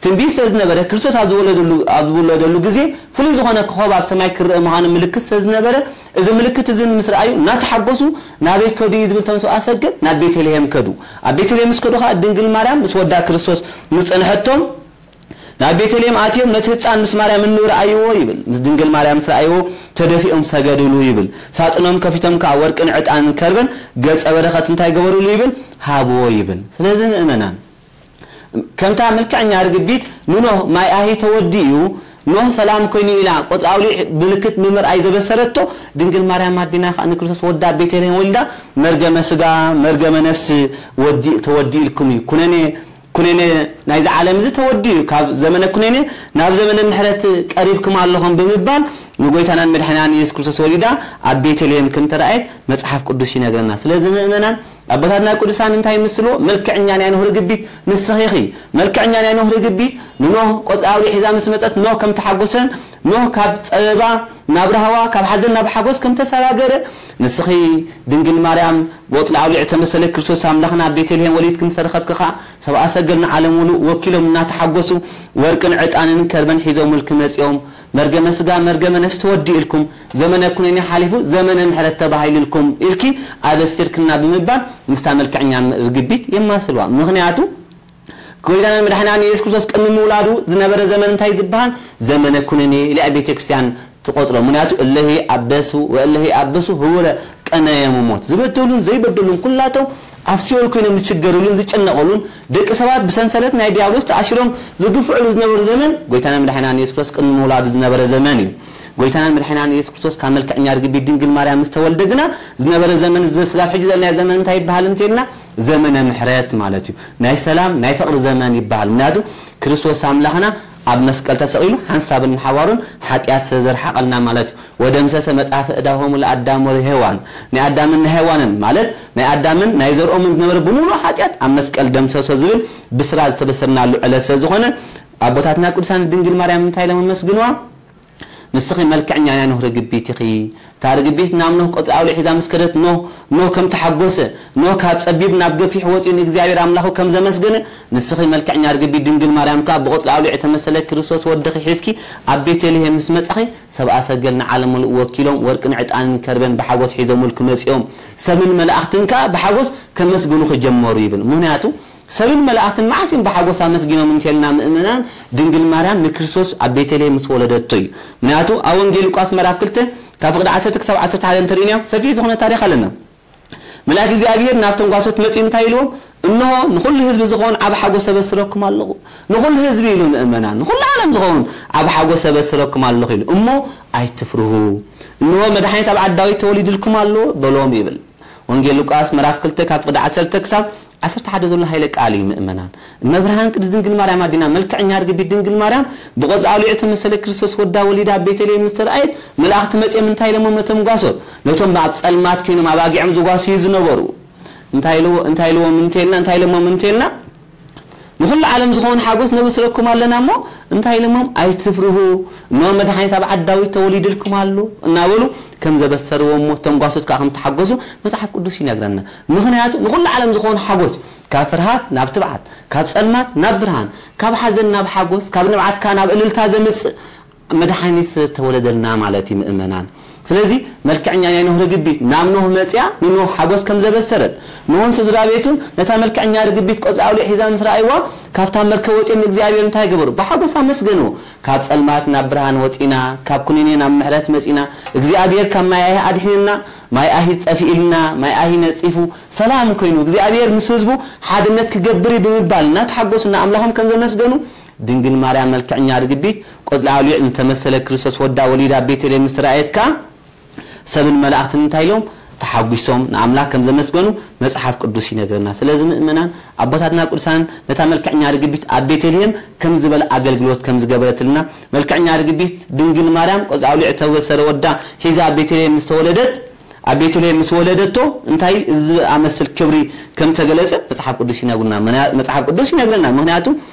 ትንቢት ስለ ዝነበረ ክርስቶስ ኣብ ዝወለደሉ፣ ኣብ ዝወለደሉ ግዜ ፍሉይ ዝኾነ ኮኸብ ኣብ ሰማይ ክረአ ምዃኑ ምልክት ስለ ዝነበረ፣ እዚ ምልክት እዚ ምስ ረኣዩ እናተሓጎሱ ናበይ ከዱ እዩ ዝብል? እቶም ሰብኣ ሰገል ናብ ቤተልሔም ከዱ። ኣብ ቤተልሔም ምስ ከዱ ኸኣ ድንግል ማርያም ምስ ወዳ ክርስቶስ ምስ ጸንሐቶም ናብ ቤተልሔም ኣትዮም ነቲ ህፃን ምስ ማርያም እንርኣይዎ ይብል። ምስ ድንግል ማርያም ምስ ረኣይዎ ተደፊኦም ሰገድሉ ይብል። ሳፅኖም ከፊቶም ከዓ ወርቅን ዕጣንን ከርበን ገጸ በረኸት እንታይ ገበሩሉ ይብል? ሃብዎ ይብል። ስለዚ ምእመናን ከምታ መልክዐኛ ርግቢት ንኖህ ማይ ኣሂ ተወዲኡ ኖህ ሰላም ኮይኑ ኢላ ቆፅሊ ኣውሊዕ ምልክት ብምርኣይ ዘበሰረቶ ድንግል ማርያም ኣዴና ከዓ ንክርስቶስ ወዳ ቤተልሔም ወሊዳ መርገመ ስጋ መርገመ ነፍሲ ወዲ ተወዲኡ ኢልኩም እዩ ኩነኔ ኩነኔ ናይዚ ዓለም እዚ ተወዲኡ ካብ ዘመነ ኩነኔ ናብ ዘመነ ምሕረት ቀሪብኩም ኣለኹም ብምባል ንጎይታናን መድሓናን ኢየሱስ ክርስቶስ ወሊዳ ኣብ ቤተልሔም ከም ተራእየት መጽሓፍ ቅዱስ ይነግረና። ስለዚ ምእመናን ኣቦታትና ቅዱሳን እንታይ ይምስልዎ? መልክዕኛ ናይ ኖህ ርግቢት ንስኺ ኢኺ። መልክዕኛ ናይ ኖህ ርግቢት ንኖህ ቆጽሊ ኣውሊዕ ሒዛ ምስ መጸት ኖህ ከም ተሓጎሰን ኖህ ካብ ጸበባ ናብ ራህዋ ካብ ሓዘን ናብ ሓጎስ ከም ተሰጋገረ ንስኺ ድንግል ማርያም ብቆጽሊ ኣውሊዕ ተመሰለ ክርስቶስ ኣምላኽና ኣብ ቤተልሔም ወሊድኪ ምስ ረኸብኪ ኸኣ ሰብኣ ሰገል ንዓለም ሙሉእ ወኪሎም እናተሓጎሱ ወርቅን ዕጣንን ከርበን ሒዞምልኪ መጺኦም መርገመ ስጋ መርገመ ነፍሲ ተወዲእልኩም ዘመነ ኩነኔ ሓሊፉ ዘመነ ምሕረት ተባሂሉልኩም ኢልኪ ኣበሲርክና ብምባል ምስታ መልክዕኛ ርግቢት የማስልዋ። ምኽንያቱ ጎይታናን መድሓናን የሱስ ክርስቶስ ቅድሚ ምውላዱ ዝነበረ ዘመን እንታይ ዝበሃል ዘመነ ኩነኔ ኢላ ቤተ ክርስቲያን ትቆጥሮ። ምኽንያቱ እለሂ ኣበሱ ወእለሂ ኣበሱ ህውረ ቀነየ ምሞት ዝበደሉን ዘይበደሉን ኩላቶም ኣብ ሲኦል ኮይኖም ዝችገሩሉን ዝጨነቐሉን ደቂ ሰባት ብሰንሰለት ናይ ዲያብሎስ ተኣሲሮም ዝግፍዕሉ ዝነበሩ ዘመን ጎይታና መድሓናን የሱስ ክርስቶስ ቅድሚ ምውላዱ ዝነበረ ዘመን እዩ። ጎይታና መድሓናን የሱስ ክርስቶስ ካብ መልክዕኛ ርግቢት ድንግል ማርያም ምስ ተወልደ ግና ዝነበረ ዘመን እዚ ስጋብ ሕጂ ዘለናዮ ዘመን እንታይ ይበሃል እንተልና ዘመነ ምሕረት ማለት እዩ። ናይ ሰላም ናይ ፍቕሪ ዘመን ይበሃል። ምክንያቱ ክርስቶስ ኣምላኽና ኣብ መስቀል ተሰቒሉ ሓንሳብን ንሓዋሩን ሓጢኣት ስለ ዘርሓቐልና ማለት እዩ። ወደምሰሰ መጽሐፈ ዕዳሆሙ ለኣዳም ወለሔዋን ናይ ኣዳምን ናይ ሔዋንን ማለት ናይ ኣዳምን ናይ ዘርኦምን ዝነበረ ብምሉእ ሓጢኣት ኣብ መስቀል ደምሰሶ ዝብል ብስራ ዝተበሰርናሉ ዕለት ስለ ዝኾነ ኣቦታትና ቅዱሳን ድንግል ማርያም እንታይ ኢሎም ኣመስግንዋ? ንስኺ መልክዕኛ ናይ ኖህ ርግቢት ኢኺ። እታ ርግቢት ናብ ኖህ ቆጽሊ ኣውሊዕ ሒዛ ምስ ከደት ኖህ ኖህ ከም ተሓጎሰ ኖህ ካብ ጸቢብ ናብ ገፊሕ ወጺኡ ንእግዚኣብሔር ኣምላኹ ከም ዘመስገነ ንስኺ መልክዕኛ ርግቢት ድንግል ማርያም ከኣ ብቆጽሊ ኣውሊዕ እተመሰለ ክርስቶስ ወድኺ ሒዝኪ ኣብ ቤተልሔም ምስ መጻኺ ሰብኣ ሰገል ንዓለም ምሉእ ወኪሎም ወርቅን ዕጣንን ከርበን ብሓጎስ ሒዞምልኪ መጺኦም ሰብን መላእኽትን ከኣ ብሓጎስ ከመስግኑኺ ጀመሩ ይብል። ምኽንያቱ ሰብን መላእኽትን መዓስ እዮም ብሓጎስ ኣመስጊኖም እንተልና ምእመናን ድንግል ማርያም ንክርስቶስ ኣብ ቤተልሔም ምስ ወለደቶ እዩ። ምክንያቱ ኣብ ወንጌል ሉቃስ ምዕራፍ ክልተ ካብ ፍቕዲ ዓሰርተ ክሳብ ዓሰርተ ሓደ እንተሪእናዮ ሰፊሕ ዝኾነ ታሪኽ ኣለና። መልኣክ እግዚኣብሔር ናብቶም ጓሶት መጺኡ እንታይ ኢልዎም? እንሆ ንኹሉ ህዝቢ ዝኸውን ዓብ ሓጎስ ኣበስረኩም ኣለኹ። ንኹሉ ህዝቢ ኢሉ ምእመናን ንኹሉ ዓለም ዝኸውን ዓብ ሓጎስ ኣበስረኩም ኣለኹ ኢሉ እሞ ኣይትፍርሁ። እንሆ መድሓኒት ኣብ ዓዲ ዳዊት ተወሊድልኩም ኣሎ በሎም ይብል። ወንጌል ሉቃስ ምዕራፍ ክልተ ካብ ፍቕዲ ዓሰርተ ክሳብ ዓሰርተ ሓደ ዘሎ ሃይለ ቃል እዩ ምእመናን። እመብርሃን ቅድስት ድንግል ማርያም ኣዴና መልክዕኛ ርግቢት ድንግል ማርያም ብቆጽሊ ኣውሊዕ እተመሰለ ክርስቶስ ወዳ ወሊዳ ኣብ ቤተልሔም ምስ ተረኣየት መላእኽቲ መጺኦም እንታይ ኢሎሞም ነቶም ጓሶት ነቶም ኣብ ጸልማት ኮይኖም ኣባጊዖም ዝጓስዩ ዝነበሩ እንታይ ኢልዎ እንታይ ኢልዎም እንተልና እንታይ ኢሎሞም እንተልና ንኹሉ ዓለም ዝኾውን ሓጎስ ነብስረኩም ኣለና እሞ እንታይ ኢሎሞም ኣይትፍርሁ እነሆ መድሓኒት ኣብ ዓዲ ዳዊት ተወሊድልኩም ኣሎ እናበሉ ከም ዘበሰርዎም እሞ እቶም ጓሶት ከዓ ከም ተሓጎሱ መፅሓፍ ቅዱስ ይነግረና። ምኽንያቱ ንኹሉ ዓለም ዝኾውን ሓጎስ ካብ ፍርሃት ናብ ትብዓት ካብ ፀልማት ናብ ብርሃን ካብ ሓዘን ናብ ሓጎስ ካብ ንብዓት ከዓ ናብ እልልታ ዘምፅእ መድሓኒት ስለ ተወለደልና ማለት እዩ ምእመናን። ስለዚ መልክዐኛ ናይ ኖህ ርግቢት ናብ ኖህ መፅያ ንኖህ ሓጎስ ከም ዘበሰረት ኖህን ስድራ ቤቱን ነታ መልክዐኛ ርግቢት ቆፅሊ ኣውሊዕ ሒዛ ምስ ረኣይዋ ካብታ መርከብ ወፂኦም ንእግዚኣብሔር እንታይ ገበሩ? ብሓጎስ ኣመስገንዎ። ካብ ፀልማት ናብ ብርሃን ወፂና፣ ካብ ኩነኔ ናብ ምሕረት መፂና፣ እግዚኣብሔር ካብ ማይ ኣሂ ኣድሒንና፣ ማይ ኣሂ ፀፊእልና፣ ማይ ኣሂ ነፂፉ፣ ሰላም ኮይኑ እግዚኣብሔር ምስ ህዝቡ ሓድነት ክገብር እዩ ብምባል እናተሓጎሱ ንኣምላኾም ከም ዘመስገኑ ድንግል ማርያም መልክዕኛ ርግቢት ቆጽሊ ኣውሊዕ ዝተመሰለ ክርስቶስ ወዳ ወሊዳ ኣብ ቤተልሔም ምስ ተራእየት ከኣ ሰብን መላእኽትን እንታይ ኢሎም ተሓጒሶም ንኣምላኽ ከም ዘመስገኑ መጽሓፍ ቅዱስ ይነግረና። ስለዚ ምእመናን ኣቦታትና ቅዱሳንን ነታ መልክዕኛ ርግቢት ኣብ ቤተልሔም ከም ዝበለ ኣገልግሎት ከም ዝገበረትልና መልክዕኛ ርግቢት ድንግል ማርያም ቆጽሊ ኣውሊዕ እተበሰረ ወዳ ሒዛ ኣብ ቤተልሔም ምስ ተወለደት ኣብ ቤተልሔም ምስ ወለደቶ እንታይ እዚ ኣመስል ክብሪ ከም ተገለጸ መጽሓፍ ቅዱስ ይነግሩና። መና- መጽሓፍ ቅዱስ ይነግረና። ምኽንያቱ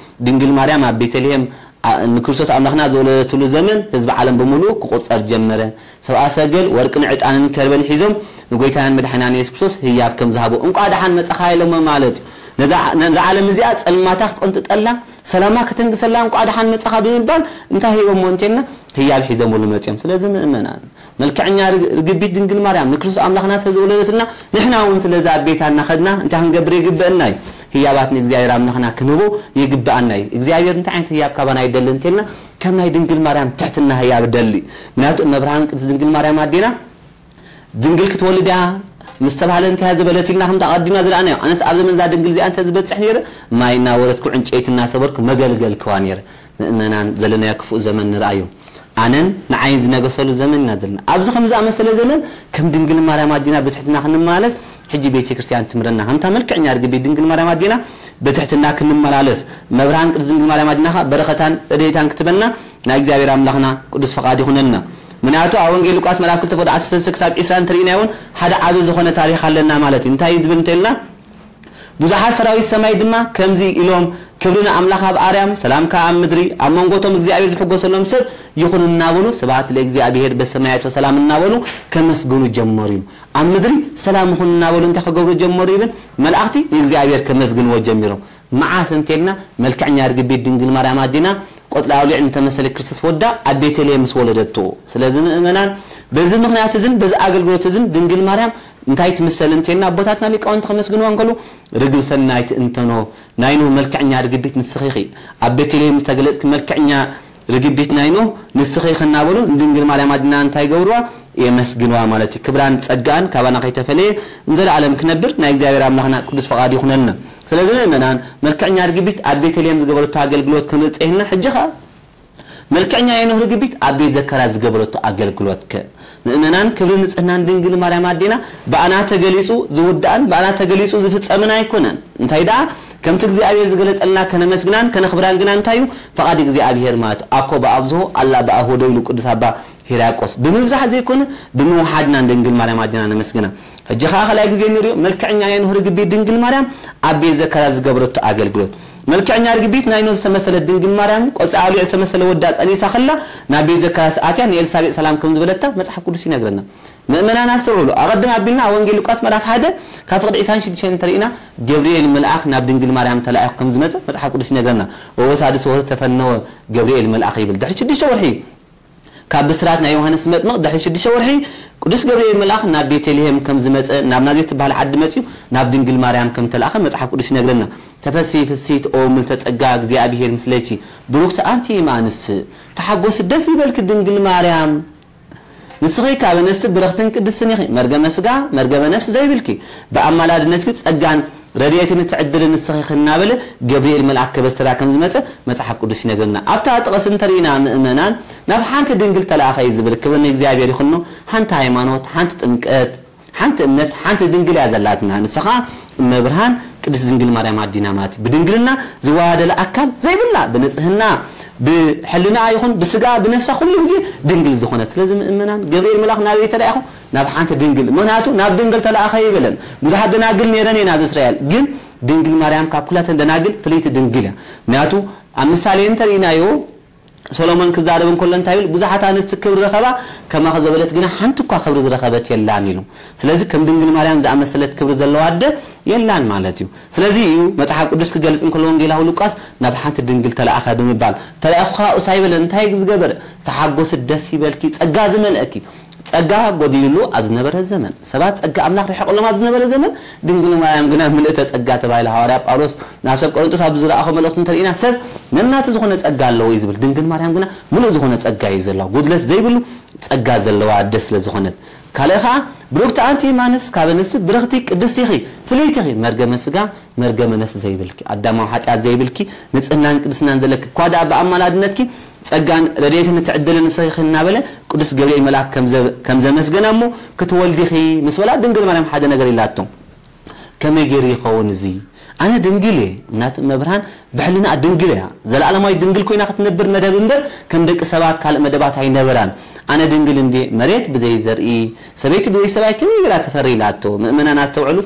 ድንግል ማርያም ኣብ ቤተልሔም ኣ- ንክርስቶስ ኣምላኽና ዝወለደትሉ ዘመን ህዝቢ ዓለም ብምሉእ ክቑጸር ጀመረ። ሰብኣ ሰገል ወርቅን ዕጣንን ከርበን ሒዞም ንጎይታናን መድሓናን የሱስ ክርስቶስ ህያብ ከም ዝሃቦ እንቋዕ ደሓን መጻኻ ኢሎሞ ማለት እዩ። ነዛ ነዛ ዓለም እዚኣ ጸልማታ ክትቕንጥጠላ ሰላማ ከተንግሰላ እንቋዕ ደሓን መጻኻ ብምባል እንታይ ሂቦሞ እንተልና ህያብ ሒዞምሉ መጺኦም። ስለዚ ምእመናን መልክዕኛ ርግ- ርግቢት ድንግል ማርያም ንክርስቶስ ኣምላኽና ስለ ዝወለደትና ንሕና እውን ስለዛ ቤታ እናኸድና እንታይ ክንገብር ይግበአና እዩ? ህያባት ንእግዚኣብሔር ኣምላኽና ክንህቦ ይግብኣና እዩ። እግዚኣብሔር እንታይ ዓይነት ህያብ ካባና ይደሊ እንተልና፣ ከም ናይ ድንግል ማርያም ትሕትና ህያብ ደሊ። ምክንያቱ እመብርሃን ቅድስት ድንግል ማርያም ኣዴና ድንግል ክትወልድ እያ ምስ ተባህለ እንታይ እያ ዝበለት ኢልና ከምቲ ኣቐዲምና ዝረኣናዮ። ኣነስ ኣብ ዘመን እዛ ድንግል እዚኣ እንተ ዝበጽሕ ነይረ፣ ማይ እናወረድኩ ዕንጨይቲ እናሰበርኩ መገልገልክዋ ነይረ። ምእመናን ዘለናዮ ክፉእ ዘመን ንርኣዮ። ኣነን ንዓይን ዝነገሰሉ ዘመን ኢና ዘለና። ኣብዚ ከም ዝኣመሰለ ዘመን ከም ድንግል ማርያም ኣዴና ብትሕትና ክንመላለስ ሕጂ ቤተ ክርስቲያን ትምረና። ከምታ መልክዕኛ ርግቢት ድንግል ማርያም ኣዴና ብትሕትና ክንመላለስ፣ መብርሃን ቅድስት ድንግል ማርያም ኣዴና ኸኣ በረኸታን ረድኤታን ክትበልና ናይ እግዚኣብሔር ኣምላኽና ቅዱስ ፈቓድ ይኹነልና። ምክንያቱ ኣብ ወንጌል ሉቃስ ምዕራፍ ክልተ ፍቕዲ ዓሰርተ ሰለስተ ክሳብ ዒስራ እንተሪእናዮ እውን ሓደ ዓቢ ዝኾነ ታሪኽ ኣለና ማለት እዩ። እንታይ እዩ ዝብል እንተልና፣ ብዙሓት ሰራዊት ሰማይ ድማ ከምዚ ኢሎም፣ ክብሪ ንኣምላኽ ኣብ ኣርያም፣ ሰላም ከኣ ኣብ ምድሪ፣ ኣብ መንጎቶም እግዚኣብሔር ዝሕጎሰሎም ሰብ ይኹን እናበሉ፣ ስብሐት ለእግዚኣብሔር በሰማያት ወሰላም እናበሉ ከመስግኑ ጀመሩ እዩ። ኣብ ምድሪ ሰላም ይኹን እናበሉ እንታይ ክገብሩ ጀመሩ ይብል? መላእኽቲ ንእግዚኣብሔር ከመስግንዎ ጀሚሮም። መዓስ እንተልና፣ መልክዕኛ ርግቢት ድንግል ማርያም ኣዴና ቆጽሊ ኣውሊዕ እንተመሰለ ክርስቶስ ወዳ ኣብ ቤተልሔም ምስ ወለደቶ። ስለዚ ምእመናን በዚ ምኽንያት እዝን በዚ ኣገልግሎት እዝን ድንግል ማርያም እንታይ ትምሰል እንተልና፣ ኣቦታትና ሊቃውንቲ ከመስግንዋ እንከሉ፣ ርግብ ሰናይት እንተኖ ናይ ኖህ መልክዕኛ ርግቢት ንስኺ ኢኺ። ኣብ ቤተልሔም ዝተገለጽኪ መልክዕኛ ርግቢት ናይ ኖህ ንስኺ ኢኺ እናበሉ ንድንግል ማርያም ኣዴና እንታይ ይገብርዋ? የመስግንዋ ማለት እዩ። ክብራን ጸጋን ካባና ከይተፈለየ ንዘለኣለም ክነብር ናይ እግዚኣብሔር ኣምላኽና ቅዱስ ፈቓድ ይኹነልና። ስለዚ ምእመናን፣ መልክዕኛ ርግቢት ኣብ ቤተልሔም ዝገበረቶ ኣገልግሎት ክንርኢ ጸኒሕና፣ ሕጂ ኸኣ መልክዕኛ ናይ ኖህ ርግቢት ኣብ ቤት ዘካርያስ ዝገበረቶ ኣገልግሎት ከ? ምእመናን፣ ክብሪ ንጽህናን ድንግል ማርያም ኣዴና ብኣና ተገሊጹ ዝውዳእን ብኣና ተገሊጹ ዝፍጸምን ኣይኮነን። እንታይ ደኣ፣ ከምቲ እግዚኣብሔር ዝገለጸልና ከነመስግናን ከነኽብራን ግና እንታይ እዩ? ፈቓድ እግዚኣብሔር ማለት እዩ። ኣኮ በአብዝሆ አላ በአሆዶ ኢሉ ቅዱስ ኣባ ሂራቆስ። ብምብዛሕ ዘይኮነ ብምውሓድና ንድንግል ማርያም ኣዴና ነመስግና። ሕጂ ኸኣ ካልኣይ ግዜ ንሪኦ፣ መልክዕኛ ናይ ኖህ ርግቢት ድንግል ማርያም ኣብ ቤት ዘካርያስ ዝገበረቶ ኣገልግሎት። መልክዕኛ ርግቢት ናይ ኖህ ዝተመሰለት ድንግል ማርያም ቆጽሊ ኣውሊዕ ዝተመሰለ ወዳ ጸኒሳ ከላ ናብ ቤት ዘካርያስ ኣትያ ንኤልሳቤጥ ሰላም ከም ዝበለታ መጽሓፍ ቅዱስ ይነግረና። ምእመናን ኣስተውዕሉ። ኣቐድም ኣቢልና ኣብ ወንጌል ሉቃስ ምዕራፍ ሓደ ካብ ፍቕዲ ዒስራን ሽዱሽተን እንተሪእና፣ ገብርኤል መልኣኽ ናብ ድንግል ማርያም ተላኢኹ ከም ዝመጸ መጽሓፍ ቅዱስ ይነግረና። ወበሳድስ ወርህ ተፈነወ ገብርኤል መልኣኽ ይብል። ድሕሪ ሽዱሽተ ወርሒ ካብ ብስራት ናይ ዮሃንስ መጥምቕ ድሕሪ ሽዱሽተ ወርሒ ቅዱስ ገብርኤል መልኣኽ ናብ ቤተልሔም ከም ዝመጸ፣ ናብ ናዝሬት ትበሃል ዓዲ መጺኡ ናብ ድንግል ማርያም ከም ተላእኸ መጽሓፍ ቅዱስ ይነግረና። ተፈሲ ፍስሕቲ ኦ ምልተ ጸጋ እግዚኣብሔር ምስሌኪ ብሩክቲ ኣንቲ እም ኣንስት፣ ተሓጎሲ ደስ ይበልኪ ድንግል ማርያም፣ ንስኺ ካብ ኣንስቲ ብርኽትን ቅድስትን ኢኺ፣ መርገመ ስጋ መርገመ ነፍሲ ዘይብልኪ፣ ብኣማላድነትኪ ጸጋን ረድኤትን እትዕድሊ ንስኺ ኢኺ እናበለ ገብርኤል መልኣክ ከበስተራ ከም ዝመጸ መጽሓፍ ቅዱስ ይነግረና። ኣብታ ጥቕሲ እንተሪእና ምእመናን ናብ ሓንቲ ድንግል ተላእኸ እዩ ዝብል። ክብሪ ንእግዚኣብሔር ይኹኖ። ሓንቲ ሃይማኖት፣ ሓንቲ ጥምቀት፣ ሓንቲ እምነት፣ ሓንቲ ድንግል እያ ዘላትና። ንሳ ኸኣ እመብርሃን ቅድስት ድንግል ማርያም ኣዲና ማለት እዩ። ብድንግልና ዝዋሃደለ ኣካል ዘይብላ፣ ብንጽህና፣ ብሕልና ይኹን ብስጋ ብነፍሳ ኩሉ ግዜ ድንግል ዝኾነት። ስለዚ ምእመናን ገብርኤል መልኣኽ ናበይ ተላኢኹ? ናብ ሓንቲ ድንግል። ምኽንያቱ ናብ ድንግል ተላእኸ ይበለን። ብዙሓት ደናግል ነይረን እየን ኣብ እስራኤል። ግን ድንግል ማርያም ካብ ኩላተን ደናግል ፍልይቲ ድንግል እያ። ምኽንያቱ ኣብ ምሳሌ እንተሪእናዮ ሰሎሞን ክዛረብ እንከሎ እንታይ ይብል? ብዙሓት ኣንስቲ ክብሪ ረኸባ፣ ከማኺ ዝበለት ግና ሓንቲ እኳ ክብሪ ዝረኸበት የላን ኢሉ። ስለዚ ከም ድንግል ማርያም ዝኣመሰለት ክብሪ ዘለዋ ኣደ የላን ማለት እዩ። ስለዚ እዩ መጽሓፍ ቅዱስ ክገልጽ እንከሎ ወንጌላዊ ሉቃስ ናብ ሓንቲ ድንግል ተላእኸ ብምባል፣ ተላእኹ ኸኣ እሱ ኣይበለን። እንታይ ዝገበረ? ተሓጎሲ ደስ ይበልኪ፣ ጸጋ ዝመልአኪ። ጸጋ ጎዲልሉ ኣብ ዝነበረ ዘመን፣ ሰባት ጸጋ ኣምላኽ ርሒቕሎም ኣብ ዝነበረ ዘመን፣ ድንግል ማርያም ግና ምልእተ ጸጋ ተባሂላ። ሃዋርያ ጳውሎስ ናብ ሰብ ቆሮንጦስ ኣብ ዝረኣኾ መልእኽቱ እንተርኢና፣ ሰብ ነናቱ ዝኾነ ጸጋ ኣለዎ እዩ ዝብል። ድንግል ማርያም ግና ምሉእ ዝኾነ ጸጋ እዩ ዘለዋ። ጉድለት ዘይብሉ ጸጋ ዘለዋ ኣደ ስለ ዝኾነት። ካልእ ኸኣ፣ ብሩክቲ ኣንቲ እም ኣንስት፣ ካብ ኣንስቲ ብርኽቲ ቅድስቲ ኢኺ፣ ፍልይቲ ኢኺ፣ መርገመ ስጋ መርገመ ነፍሲ ዘይብልኪ፣ ኣዳማዊ ሓጢኣት ዘይብልኪ፣ ንጽህናን ቅድስናን ዘለኪ፣ እኳ ደኣ ብኣማላድነትኪ ጸጋን ረድኤትን እትዕደሊ ንስኺ ኢኺ እናበለ ቅዱስ ገብርኤል መልኣክ ከም ዘ-፣ ከም ዘመስገና እሞ፣ ክትወልዲ ኢኺ ምስ በላ ድንግል ማርያም ሓደ ነገር ኢላቶ። ከመይ ገይሩ ይኸውን እዚ? ኣነ ድንግል እየ። እናቱ እመብርሃን ብሕልናኣ ድንግል እያ። ዘለኣለማዊት ድንግል ኮይና ክትነብር መደብ እምበር ከም ደቂ ሰባት ካልእ መደባት ኣይነበራን። ኣነ ድንግል እንድየ፣ መሬት ብዘይ ዘርኢ፣ ሰበይቲ ብዘይ ሰብኣይ ከመይ ገይራ ትፈሪ ኢላቶ። ምእመናን ኣስተውዕሉ።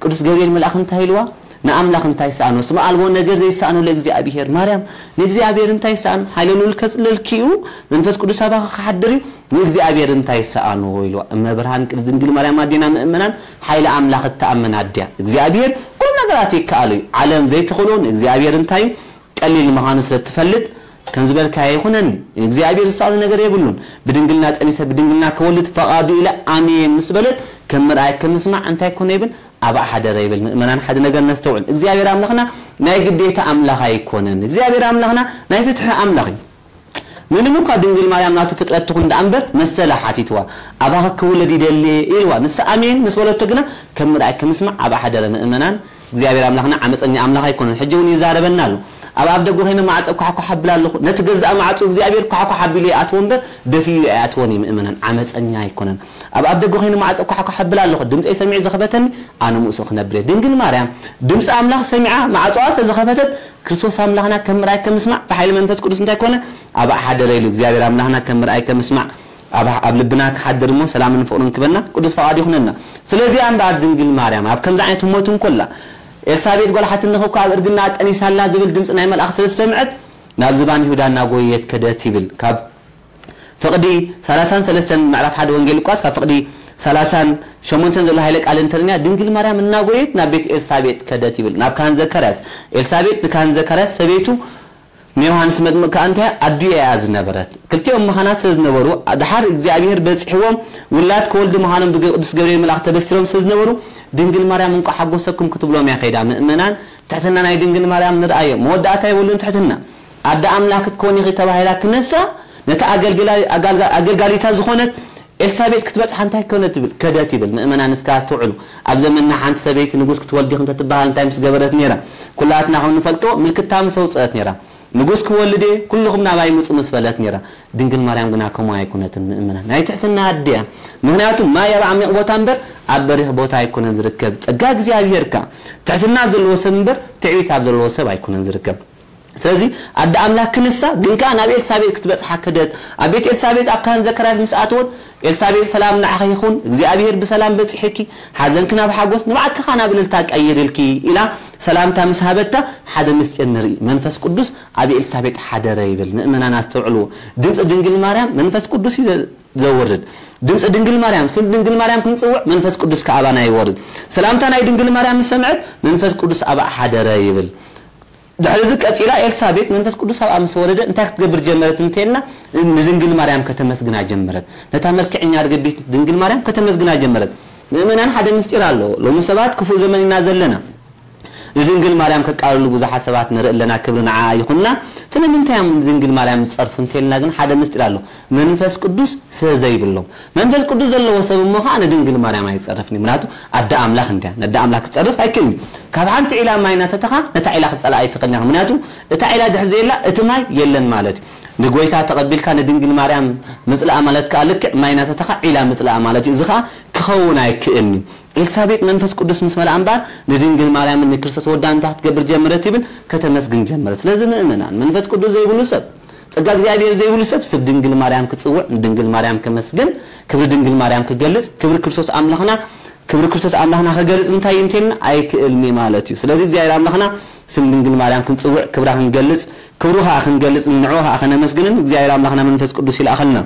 ቅዱስ ገብርኤል መልኣኽ እንታይ ኢልዋ? ንኣምላኽ እንታይ ይሰኣኖ? እስመ ኣልቦ ነገር ዘይሰኣኖ ለእግዚኣብሔር። ማርያም፣ ንእግዚኣብሔር እንታይ ይሰኣኖ? ሓይለ ልዑል ከጽልለልኪ እዩ፣ መንፈስ ቅዱስ ኣባኺ ክሓድር እዩ፣ ንእግዚኣብሔር እንታይ ይሰኣኖ? ኢልዋ። እመብርሃን ቅድስት ድንግል ማርያም ኣዴና ምእመናን ሓይለ ኣምላኽ እትኣምን ኣድያ። እግዚኣብሔር ኩሉ ነገራት ይከኣሎ እዩ። ዓለም ዘይትኽእሎ ንእግዚኣብሔር እንታይ እዩ? ቀሊል ምዃኑ ስለ እትፈልጥ፣ ከም ዝበልካዮ ይኹነኒ። ንእግዚኣብሔር ዝሰኣኖ ነገር የብሉን። ብድንግልና ጸኒሰ ብድንግልና ክወልድ ፈቓዱ ኢለ ኣምየ ምስ በለት፣ ከም ምርኣይ ከም ምስማዕ እንታይ ኮነ ይብል? ኣባኣ ሓደረ ይብል። ምእመናን ሓደ ነገር ነስተውዕል። እግዚኣብሔር ኣምላኽና ናይ ግዴታ ኣምላኽ ኣይኮነን። እግዚኣብሔር ኣምላኽና ናይ ፍትሒ ኣምላኽ እዩ። ምንም እኳ ድንግል ማርያም ናቱ ፍጥረት ትኹን ደኣ እምበር መሰላ ሓቲትዋ። ኣባኺ ክውለድ ይደሊ ኢልዋ። ንሳ ኣሜን ምስ በለቶ ግና ከም ምርኣይ ከም ምስማዕ ኣባኣ ሓደረ። ምእመናን እግዚኣብሔር ኣምላኽና ዓመፀኛ ኣምላኽ ኣይኮነን። ሕጂ እውን ይዛረበና ኣሎ። ኣብ ኣፍ ደገ ኮይነ ማዕጾ ኳሕኳሕ ኣብል ኣለኹ። ነቲ ገዛእ ማዕጾ እግዚኣብሔር ኳሕኳሕ ኣቢሉ ይኣትዎ እምበር ደፊኡ ኣይኣትዎን እዩ። ምእመናን ዓመፀኛ ኣይኮነን። ኣብ ኣፍ ደገ ኮይነ ማዕጾ ኳሕኳሕ ኣብል ኣለኹ። ድምፀይ ሰሚዑ ዝኸፈተኒ ኣነ ምስኡ ክነብር እየ። ድንግል ማርያም ድምፂ ኣምላኽ ሰሚዓ ማዕጾኣ ስለ ዝኸፈተት ክርስቶስ ኣምላኽና ከም ምርኣይ ከም ምስማዕ ብሓይሊ መንፈስ ቅዱስ እንታይ ኮነ? ኣባኣ ሓደረ ኢሉ እግዚኣብሔር ኣምላኽና ከም ምርኣይ ከም ምስማዕ ኣብ ኣብ ልብና ክሓድር እሞ ሰላምን ፍቕርን ክበና ቅዱስ ፈቓድ ይኹነና። ስለዚኣ እምበኣር ድንግል ማርያም ኣብ ከምዚ ዓይነት ህሞት እንኮላ ኤልሳቤጥ ጓል ሓትነኺ እኮ ኣብ እርግና ጠኒሳላ ዝብል ድምፂ ናይ መልኣኽ ስለ ዝሰምዐት ናብ ዝባን ይሁዳ እናጎየየት ከደት ይብል። ካብ ፍቕዲ ሰላሳን ሰለስተን ምዕራፍ ሓደ ወንጌል ሉቃስ ካብ ፍቕዲ ሰላሳን ሸሞንተን ዘሎ ሃይለ ቃል እንተርንያ ድንግል ማርያም እናጎየት ናብ ቤት ኤልሳቤጥ ከደት ይብል። ናብ ካህን ዘካርያስ ኤልሳቤጥ ንካህን ዘካርያስ ሰበይቱ ንዮሃንስ መጥምቅ ከኣ እንታይ ኣዲኡ እያ ዝነበረት። ክልቲኦም መኻናት ስለ ዝነበሩ ድሓር እግዚኣብሔር በጺሕዎም ውላድ ክወልዱ ምዃኖም ብቅዱስ ገብርኤል መልኣኽ ተበሲሮም ስለ ዝነበሩ ድንግል ማርያም እንቋዕ ሓጎሰኩም ክትብሎም እያ ከይዳ። ምእመናን ትሕትና ናይ ድንግል ማርያም ንርኣዮ። መወዳእታ የብሉን ትሕትና። ኣደ ኣምላኽ ክትኮኒ ኢኺ ተባሂላ ክነሳ ነታ ኣገልግላ- ኣጋልጋ- ኣገልጋሊታ ዝኾነት ኤልሳቤጥ ክትበጽሓ እንታይ ኮነ ትብል ከደት ይብል። ምእመናን እስከ ኣስተውዕሉ። ኣብ ዘመንና ሓንቲ ሰበይቲ ንጉስ ክትወልድ ኢኺ እንተትበሃል እንታይ ምስ ገበረት ነይራ? ኩላትና ከም ንፈልጦ ምልክታ ምስ ኣውፅአት ነይራ። ንጉስ ክወልድ እየ ኩልኹም ናባይ ምፁ ምስ በለት ነይራ። ድንግል ማርያም ግና ከምኡ ኣይኮነትን ምእመናን። ናይ ትሕትና ኣደ እያ። ምክንያቱ ማይ ኣብ ዓሚቕ ቦታ እምበር ኣብ በሪኽ ቦታ ኣይኮነን ዝርከብ። ጸጋ እግዚኣብሔር ከኣ ትሕትና ኣብ ዘለዎ ሰብ እምበር ትዕቢት ኣብ ዘለዎ ሰብ ኣይኮነን ዝርከብ። ስለዚ ኣደ ኣምላክ ክንሳ ግን ከኣ ናብ ኤልሳቤጥ ክትበጽሓ ከደት። ኣብ ቤት ኤልሳቤጥ ኣብ ካህን ዘካርያስ ምስ ኣተወት ኤልሳቤጥ ሰላም ንዓኺ ይኹን፣ እግዚኣብሔር ብሰላም በጺሕኪ፣ ሓዘንኪ ናብ ሓጎስ፣ ንብዓትኪ ከኣ ናብ እልልታ ቀይርልኪ ኢላ ሰላምታ ምስ ሃበታ ሓደ ምስጢር ንርኢ። መንፈስ ቅዱስ ኣብ ኤልሳቤጥ ሓደረ ይብል። ምእመናን ኣስተውዕልዎ። ድምፂ ድንግል ማርያም መንፈስ ቅዱስ እዩ ዘ- ዘውርድ። ድምፂ ድንግል ማርያም ስም ድንግል ማርያም ክንፅውዕ መንፈስ ቅዱስ ከኣባና ይወርድ። ሰላምታ ናይ ድንግል ማርያም ምስ ሰምዐት መንፈስ ቅዱስ ኣብኣ ሓደረ ይብል። ድሕሪ እዚ ቀጺላ ኤልሳቤጥ መንፈስ ቅዱስ ኣብኣ ምስ ወረደ እንታይ ክትገብር ጀመረት እንተልና ንድንግል ማርያም ከተመስግና ጀመረት። ነታ መልክዕኛ ርግቢት ድንግል ማርያም ከተመስግና ጀመረት። ምእመናን ሓደ ምስጢር ኣለዎ። ሎሚ ሰባት ክፉእ ዘመን ኢና ዘለና። ንድንግል ማርያም ከቃልሉ ብዙሓት ሰባት ንርኢ ኣለና። ክብሪ ንዓኣ ይኹንና። ስለምንታይ እዮም ንድንግል ማርያም ዝጸርፉ እንተልና ግን ሓደ ምስጢር ኣሎ። መንፈስ ቅዱስ ስለ ዘይብሎም። መንፈስ ቅዱስ ዘለዎ ሰብ እሞ ኸዓ ንድንግል ማርያም ኣይጸርፍን እዩ። ምክንያቱ ኣደ ኣምላኽ እንድያ። ነደ ኣምላኽ ክጸርፍ ኣይክእልን እዩ። ካብ ሓንቲ ዒላ ማይ እናሰተኻ ነታ ዒላ ክትጸልኣ ኣይትኽእልን ኢኻ። ምክንያቱ እታ ዒላ ድሕሪ ዘየላ እቲ ማይ የለን ማለት እዩ። ንጎይታ ተቐቢልካ ንድንግል ማርያም ምጽላኣ ማለት ከኣ ልክዕ ማይ እናሰተኻ ዒላ ምጽላኣ ማለት እዩ። እዚ ኸኣ ክኸውን ኣይክእልን እዩ። ኤልሳቤጥ መንፈስ ቅዱስ ምስ መልኣ እምበኣር ንድንግል ማርያምን ንክርስቶስ ወዳን እንታይ ክትገብር ጀመረት ይብል? ከተመስግን ጀመረት። ስለዚ ምእመናን መንፈስ ቅዱስ ዘይብሉ ሰብ ጸጋ እግዚኣብሔር ዘይብሉ ሰብ ስብ ድንግል ማርያም ክጽውዕ ንድንግል ማርያም ከመስግን ክብሪ ድንግል ማርያም ክገልጽ ክብሪ ክርስቶስ ኣምላኽና ክብሪ ክርስቶስ ኣምላኽና ክገልጽ እንታይ እዩ እንተልና ኣይክእልን እዩ ማለት እዩ። ስለዚ እግዚኣብሔር ኣምላኽና ስም ድንግል ማርያም ክንጽውዕ ክብራ ክንገልጽ ክብሩ ከኣ ክንገልጽ ንዕኡ ከኣ ከነመስግንን እግዚኣብሔር ኣምላኽና መንፈስ ቅዱስ ይልኣኸልና።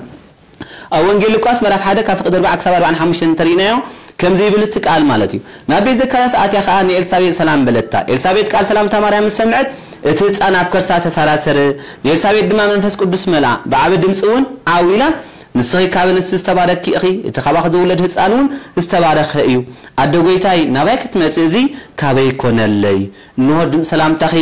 ኣብ ወንጌል ሉቃስ ምዕራፍ ሓደ ካብ ፍቕዲ ኣርባዓ ክሳብ ኣርባዓን ሓሙሽተን እንተሪእናዮ ከምዚ ይብል እቲ ቃል ማለት እዩ። ናብ ቤት ዘካርያስ ኣትያ ከኣ ንኤልሳቤጥ ሰላም በለታ። ኤልሳቤጥ ቃል ሰላምታ ማርያም ምስ ሰምዐት እቲ ህፃን ኣብ ከርሳ ተሰራሰረ። ንኤልሳቤጥ ድማ መንፈስ ቅዱስ መልኣ። ብዓቢ ድምፂ እውን ዓው ኢላ ንስኺ ካብ ኣንስቲ ዝተባረኪ ኢኺ፣ እቲ ካባኺ ዝውለድ ህፃን እውን ዝተባረኸ እዩ። ኣደ ጐይታይ ናባይ ክትመፂ እዚ ካበይ ኮነለይ? እንሆ ድምፂ ሰላምታኺ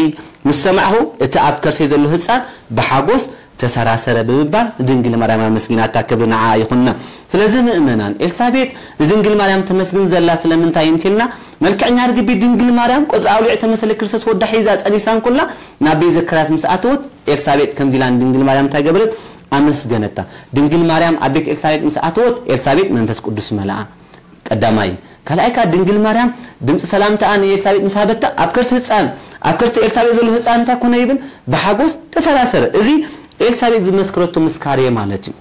ምስ ሰማዕኹ እቲ ኣብ ከርሰይ ዘሎ ህፃን ብሓጎስ ተሰራሰረ ብምባል ንድንግል ማርያም ኣመስጊናታ ክብሪ ንዓኣ ይኹንና። ስለዚ ምእመናን ኤልሳቤጥ ንድንግል ማርያም ተመስግን ዘላ ስለምንታይ እንቲልና መልክዕኛ ርግቢት ድንግል ማርያም ቆጽሊ ኣውሊዕ ተመሰለ ክርስቶስ ወዳ ሒዛ ጸኒሳ እንኮላ ናብ ቤት ዘካርያስ ምስ ኣተወት ኤልሳቤጥ ከምዚ ኢላ ንድንግል ማርያም እንታይ ገበረት? ኣመስገነታ። ድንግል ማርያም ኣብ ቤት ኤልሳቤጥ ምስ ኣተወት ኤልሳቤጥ መንፈስ ቅዱስ መልኣ። ቀዳማይ። ካልኣይ ከኣ ድንግል ማርያም ድምፂ ሰላምታኣ ንኤልሳቤጥ ምስ ሃበታ ኣብ ከርሲ ህፃን ኣብ ከርሲ ኤልሳቤጥ ዘሎ ህፃን እንታይ ኮነ ይብል? ብሓጎስ ተሰራሰረ። እዚ ኤልሳቤጥ ዝመስክረቶ ምስካር እየ ማለት እዩ።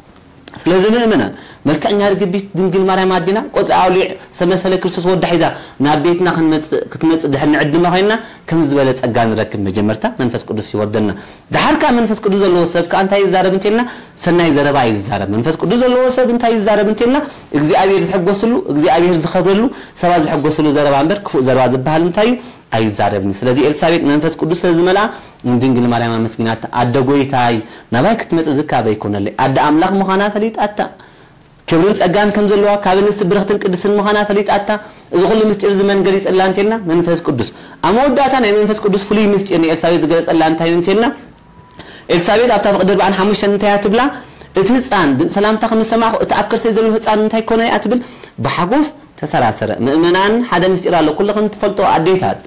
ስለዚ ምእመናን መልክዕኛ ርግቢት ድንግል ማርያም ኣዴና ቆፅሊ ኣውሊዕ ዝተመሰለ ክርስቶስ ወዳ ሒዛ ናብ ቤትና ክንመፅእ ክትመፅእ ድሕር ንዕድማ ኮይንና ከምዚ ዝበለ ፀጋ ንረክብ። መጀመርታ መንፈስ ቅዱስ ይወርደልና። ደሓር ከኣ መንፈስ ቅዱስ ዘለዎ ሰብ ከኣ እንታይ ይዛረብ እንተልና ሰናይ ዘረባ እዩ ዝዛረብ። መንፈስ ቅዱስ ዘለዎ ሰብ እንታይ ይዛረብ እንተልና እግዚኣብሔር ዝሕጎስሉ እግዚኣብሔር ዝኸብረሉ ሰባት ዝሕጎስሉ ዘረባ እምበር ክፉእ ዘረባ ዝበሃል እንታይ እዩ? ኣይዛረብን። ስለዚ ኤልሳቤጥ መንፈስ ቅዱስ ስለ ዝመልኣ ንድንግል ማርያም ኣመስጊናታ። ኣደ ጐይታይ ናባይ ክትመጽእ ዝካበ ኣይኮነለይ። ኣደ ኣምላኽ ምዃና ፈሊጣታ። ክብርን ጸጋን ከም ዘለዋ፣ ካብ ኣንስቲ ብርኽትን ቅድስትን ምዃና ፈሊጣታ። እዚ ኩሉ ምስጢር እዚ መን ገሊጸላ እንተልና? መንፈስ ቅዱስ። ኣብ መወዳእታ ናይ መንፈስ ቅዱስ ፍሉይ ምስጢር ንኤልሳቤጥ ዝገለጸላ እንታይ እዩ እንተልና? ኤልሳቤጥ ኣብታ ፍቕዲ ኣርባዓን ሓሙሽተን እንታይ እያ ትብላ? እቲ ህጻን ድምፂ ሰላምታ ከም ዝሰማዕኹ፣ እቲ ኣብ ከርሰይ ዘሎ ህጻን እንታይ ኮነ እያ ትብል? ብሓጎስ ተሰራሰረ። ምእመናን፣ ሓደ ምስጢር ኣሎ፣ ኩልኽን ትፈልጦ ኣዴታት።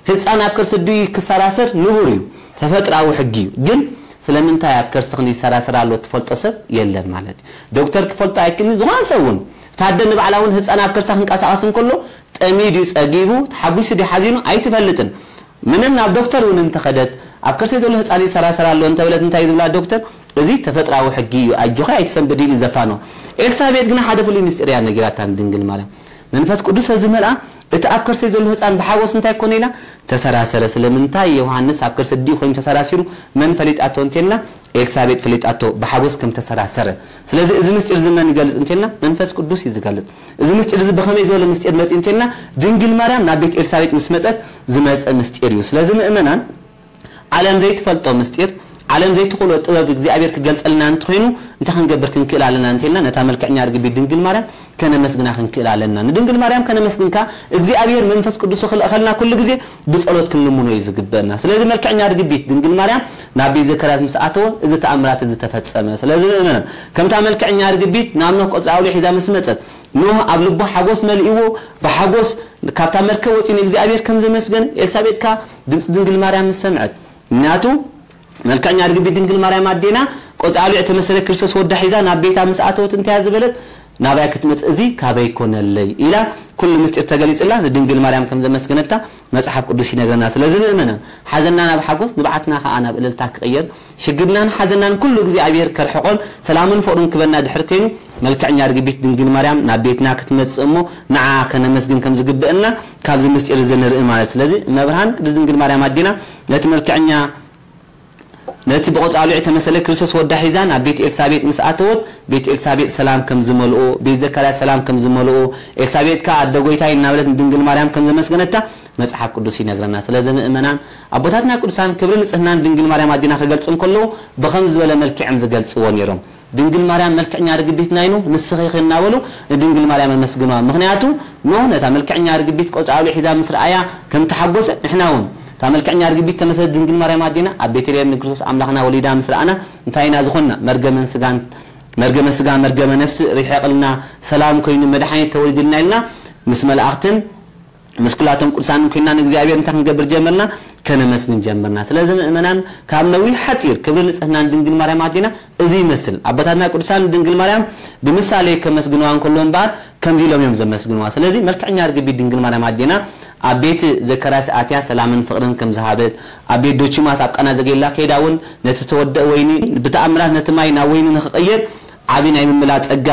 ህጻን ኣብ ከርሲ ኣዲኡ ክሰራሰር ንቡር እዩ፣ ተፈጥራዊ ሕጊ እዩ። ግን ስለምንታይ ኣብ ከርሲ ክንዲ ይሰራሰር ኣሎ ትፈልጦ ሰብ የለን ማለት እዩ። ዶክተር ክፈልጦ ኣይክእልን፣ ዝኾነ ሰብ እውን። እታ ኣደ ንባዕላ እውን ህጻን ኣብ ከርሳ ክንቀሳቐስ እንከሎ ጠሚዩ ድዩ ጸጊቡ፣ ተሓጒሱ ድዩ ሓዚኑ ኣይትፈልጥን። ምንም ናብ ዶክተር እውን እንተኸደት፣ ኣብ ከርሲ ዘሎ ህጻን ይሰራሰር ኣሎ እንተበለት እንታይ እዩ ዝብላ ዶክተር? እዚ ተፈጥራዊ ሕጊ እዩ፣ ኣጆኺ ኣይትሰንብዲ ኢሉ ዘፋኖ። ኤልሳቤጥ ግና ሓደ ፍሉይ ምስጢር እያ ነጊራታ ንድንግል ማርያም። መንፈስ ቅዱስ ዝመልኣ እቲ ኣብ ከርሲ ዘሎ ህጻን ብሓጎስ እንታይ ኮነ ኢላ? ተሰራሰረ። ስለምንታይ ዮሃንስ ኣብ ከርሲ ኣዲኡ ኮይኑ ተሰራሲሩ መን ፈሊጣቶ እንተልና? ኤልሳቤጥ ፈሊጣቶ ብሓጎስ ከም ተሰራሰረ። ስለዚ እዚ ምስጢር እዚ መን ይገልጽ እንተልና? መንፈስ ቅዱስ እዩ ዝገልጽ። እዚ ምስጢር እዚ ብኸመይ ዝበለ ምስጢር መጽእ እንተልና? ድንግል ማርያም ናብ ቤት ኤልሳቤጥ ምስ መጸት ዝመጸ ምስጢር እዩ። ስለዚ ምእመናን፣ ዓለም ዘይትፈልጦ ምስጢር፣ ዓለም ዘይትኽእሎ ጥበብ እግዚኣብሔር ክገልጸልና እንተኾይኑ፣ እንታይ ክንገብር ክንክእል ኣለና እንተልና? ነታ መልክዕኛ ርግቢት ድንግል ማርያም ከነመስግና ክንክእል ኣለና። ንድንግል ማርያም ከነመስግንካ እግዚኣብሔር መንፈስ ቅዱስ ክልእኸልና ኩሉ ግዜ ብጸሎት ክንልምኖ እዩ ዝግበእና። ስለዚ መልክዕኛ ርግቢት ድንግል ማርያም ናብ ቤት ዘካርያስ ምስ ኣተወ፣ እዚ ተኣምራት እዚ ተፈጸመ። ስለዚ ምእመናን፣ ከምታ መልክዕኛ ርግቢት ናብ ኖህ ቆጽሊ ኣውሊዕ ሒዛ ምስ መጸት፣ ኖህ ኣብ ልቡ ሓጎስ መሊእዎ፣ ብሓጎስ ካብታ መርከብ ወጺኡ ንእግዚኣብሔር ከም ዘመስገነ፣ ኤልሳቤጥ ከኣ ድምጺ ድንግል ማርያም ምስ ሰምዐት፣ ምክንያቱ መልክዕኛ ርግቢት ድንግል ማርያም ኣዴና ቆጽሊ ኣውሊዕ ተመሰለ ክርስቶስ ወዳ ሒዛ ናብ ቤታ ምስ ኣተወት እንታይ እያ ዝበለት? ናባይ ክትመጽእ እዚ ካበይ ኮነለይ ኢላ ኩሉ ምስጢር ተገሊጽላ ንድንግል ማርያም ከም ዘመስገነታ መጽሓፍ ቅዱስ ይነግረና። ስለዚ ምእመናን፣ ሓዘንና ናብ ሓጎስ፣ ንብዓትና ከኣ ናብ እልልታ ክቕየር፣ ሽግርናን ሓዘንናን ኩሉ እግዚኣብሔር ከርሕቆን ሰላምን ፍቕሩን ክበና ድሕር ኮይኑ፣ መልክዕኛ ርግቢት ድንግል ማርያም ናብ ቤትና ክትመጽእ እሞ ንዓ ከነመስግን ከም ዝግብእና ካብዚ ምስጢር እዚ ንርኢ ማለት። ስለዚ እመብርሃን ቅድስት ድንግል ማርያም ኣዴና ነቲ መልክዕኛ ነቲ ብቆጽሊ ኣውሊዕ ተመሰለ ክርስቶስ ወዳ ሒዛ ናብ ቤት ኤልሳቤጥ ምስ ኣተወት፣ ቤት ኤልሳቤጥ ሰላም ከም ዝመልኦ፣ ቤት ዘካርያስ ሰላም ከም ዝመልኦ፣ ኤልሳቤጥ ከኣ ኣደ ጎይታይ እናበለት ንድንግል ማርያም ከም ዘመስገነታ መጽሓፍ ቅዱስ ይነግረና። ስለዚ ምእመናን፣ ኣቦታትና ቅዱሳን ክብሪ ንጽህናን ድንግል ማርያም ኣዴና ክገልጹ እንከለዉ ብኸም ዝበለ መልክዕ እዮም ዝገልጽዎ ነይሮም። ድንግል ማርያም መልክዕኛ ርግቢት ናይ ኖህ ንስኺ ኢኺ እናበሉ ንድንግል ማርያም ኣመስግንዋ። ምኽንያቱ ኖህ ነታ መልክዕኛ ርግቢት ቆጽሊ ኣውሊዕ ሒዛ ምስ ረኣያ ከም ተሓጎሰ ንሕና እውን እታ መልክዕኛ ርግቢት ተመሰለት ድንግል ማርያም ኣዴና ኣብ ቤተልሔም ንክርስቶስ ኣምላኽና ወሊዳ ምስ ረኣና እንታይ ኢና ዝኾንና? መርገመን ስጋን መርገመ ስጋ መርገመ ነፍሲ ርሒቕልና ሰላም ኮይኑ መድሓኒት ተወሊድልና ኢልና ምስ መላእኽትን ምስ ኩላቶም ቅዱሳንን ኮይና ንእግዚኣብሔር እንታይ ክንገብር ጀመርና? ከነመስግን ጀመርና። ስለዚ ምእመናን ካብ ነዊሕ ሓጺር ክብሪ ንጽህናን ድንግል ማርያም ኣዴና እዚ ይመስል። ኣቦታትና ቅዱሳን ድንግል ማርያም ብምሳሌ ከመስግንዋ እንከሎ እምበኣር ከምዚ ኢሎም እዮም ዘመስግንዋ። ስለዚ መልክዕኛ ርግቢት ድንግል ማርያም ኣዴና ኣብ ቤት ዘካርያስ ኣትያ ሰላምን ፍቕርን ከም ዝሃበት፣ ኣብ ቤት ዶኪማስ ኣብ ቃና ዘገሊላ ከይዳ እውን ነቲ ዝተወደአ ወይኒ ብተኣምራት ነቲ ማይ ናብ ወይኒ ንኽቕየር ዓቢ ናይ ምምላድ ጸጋ፣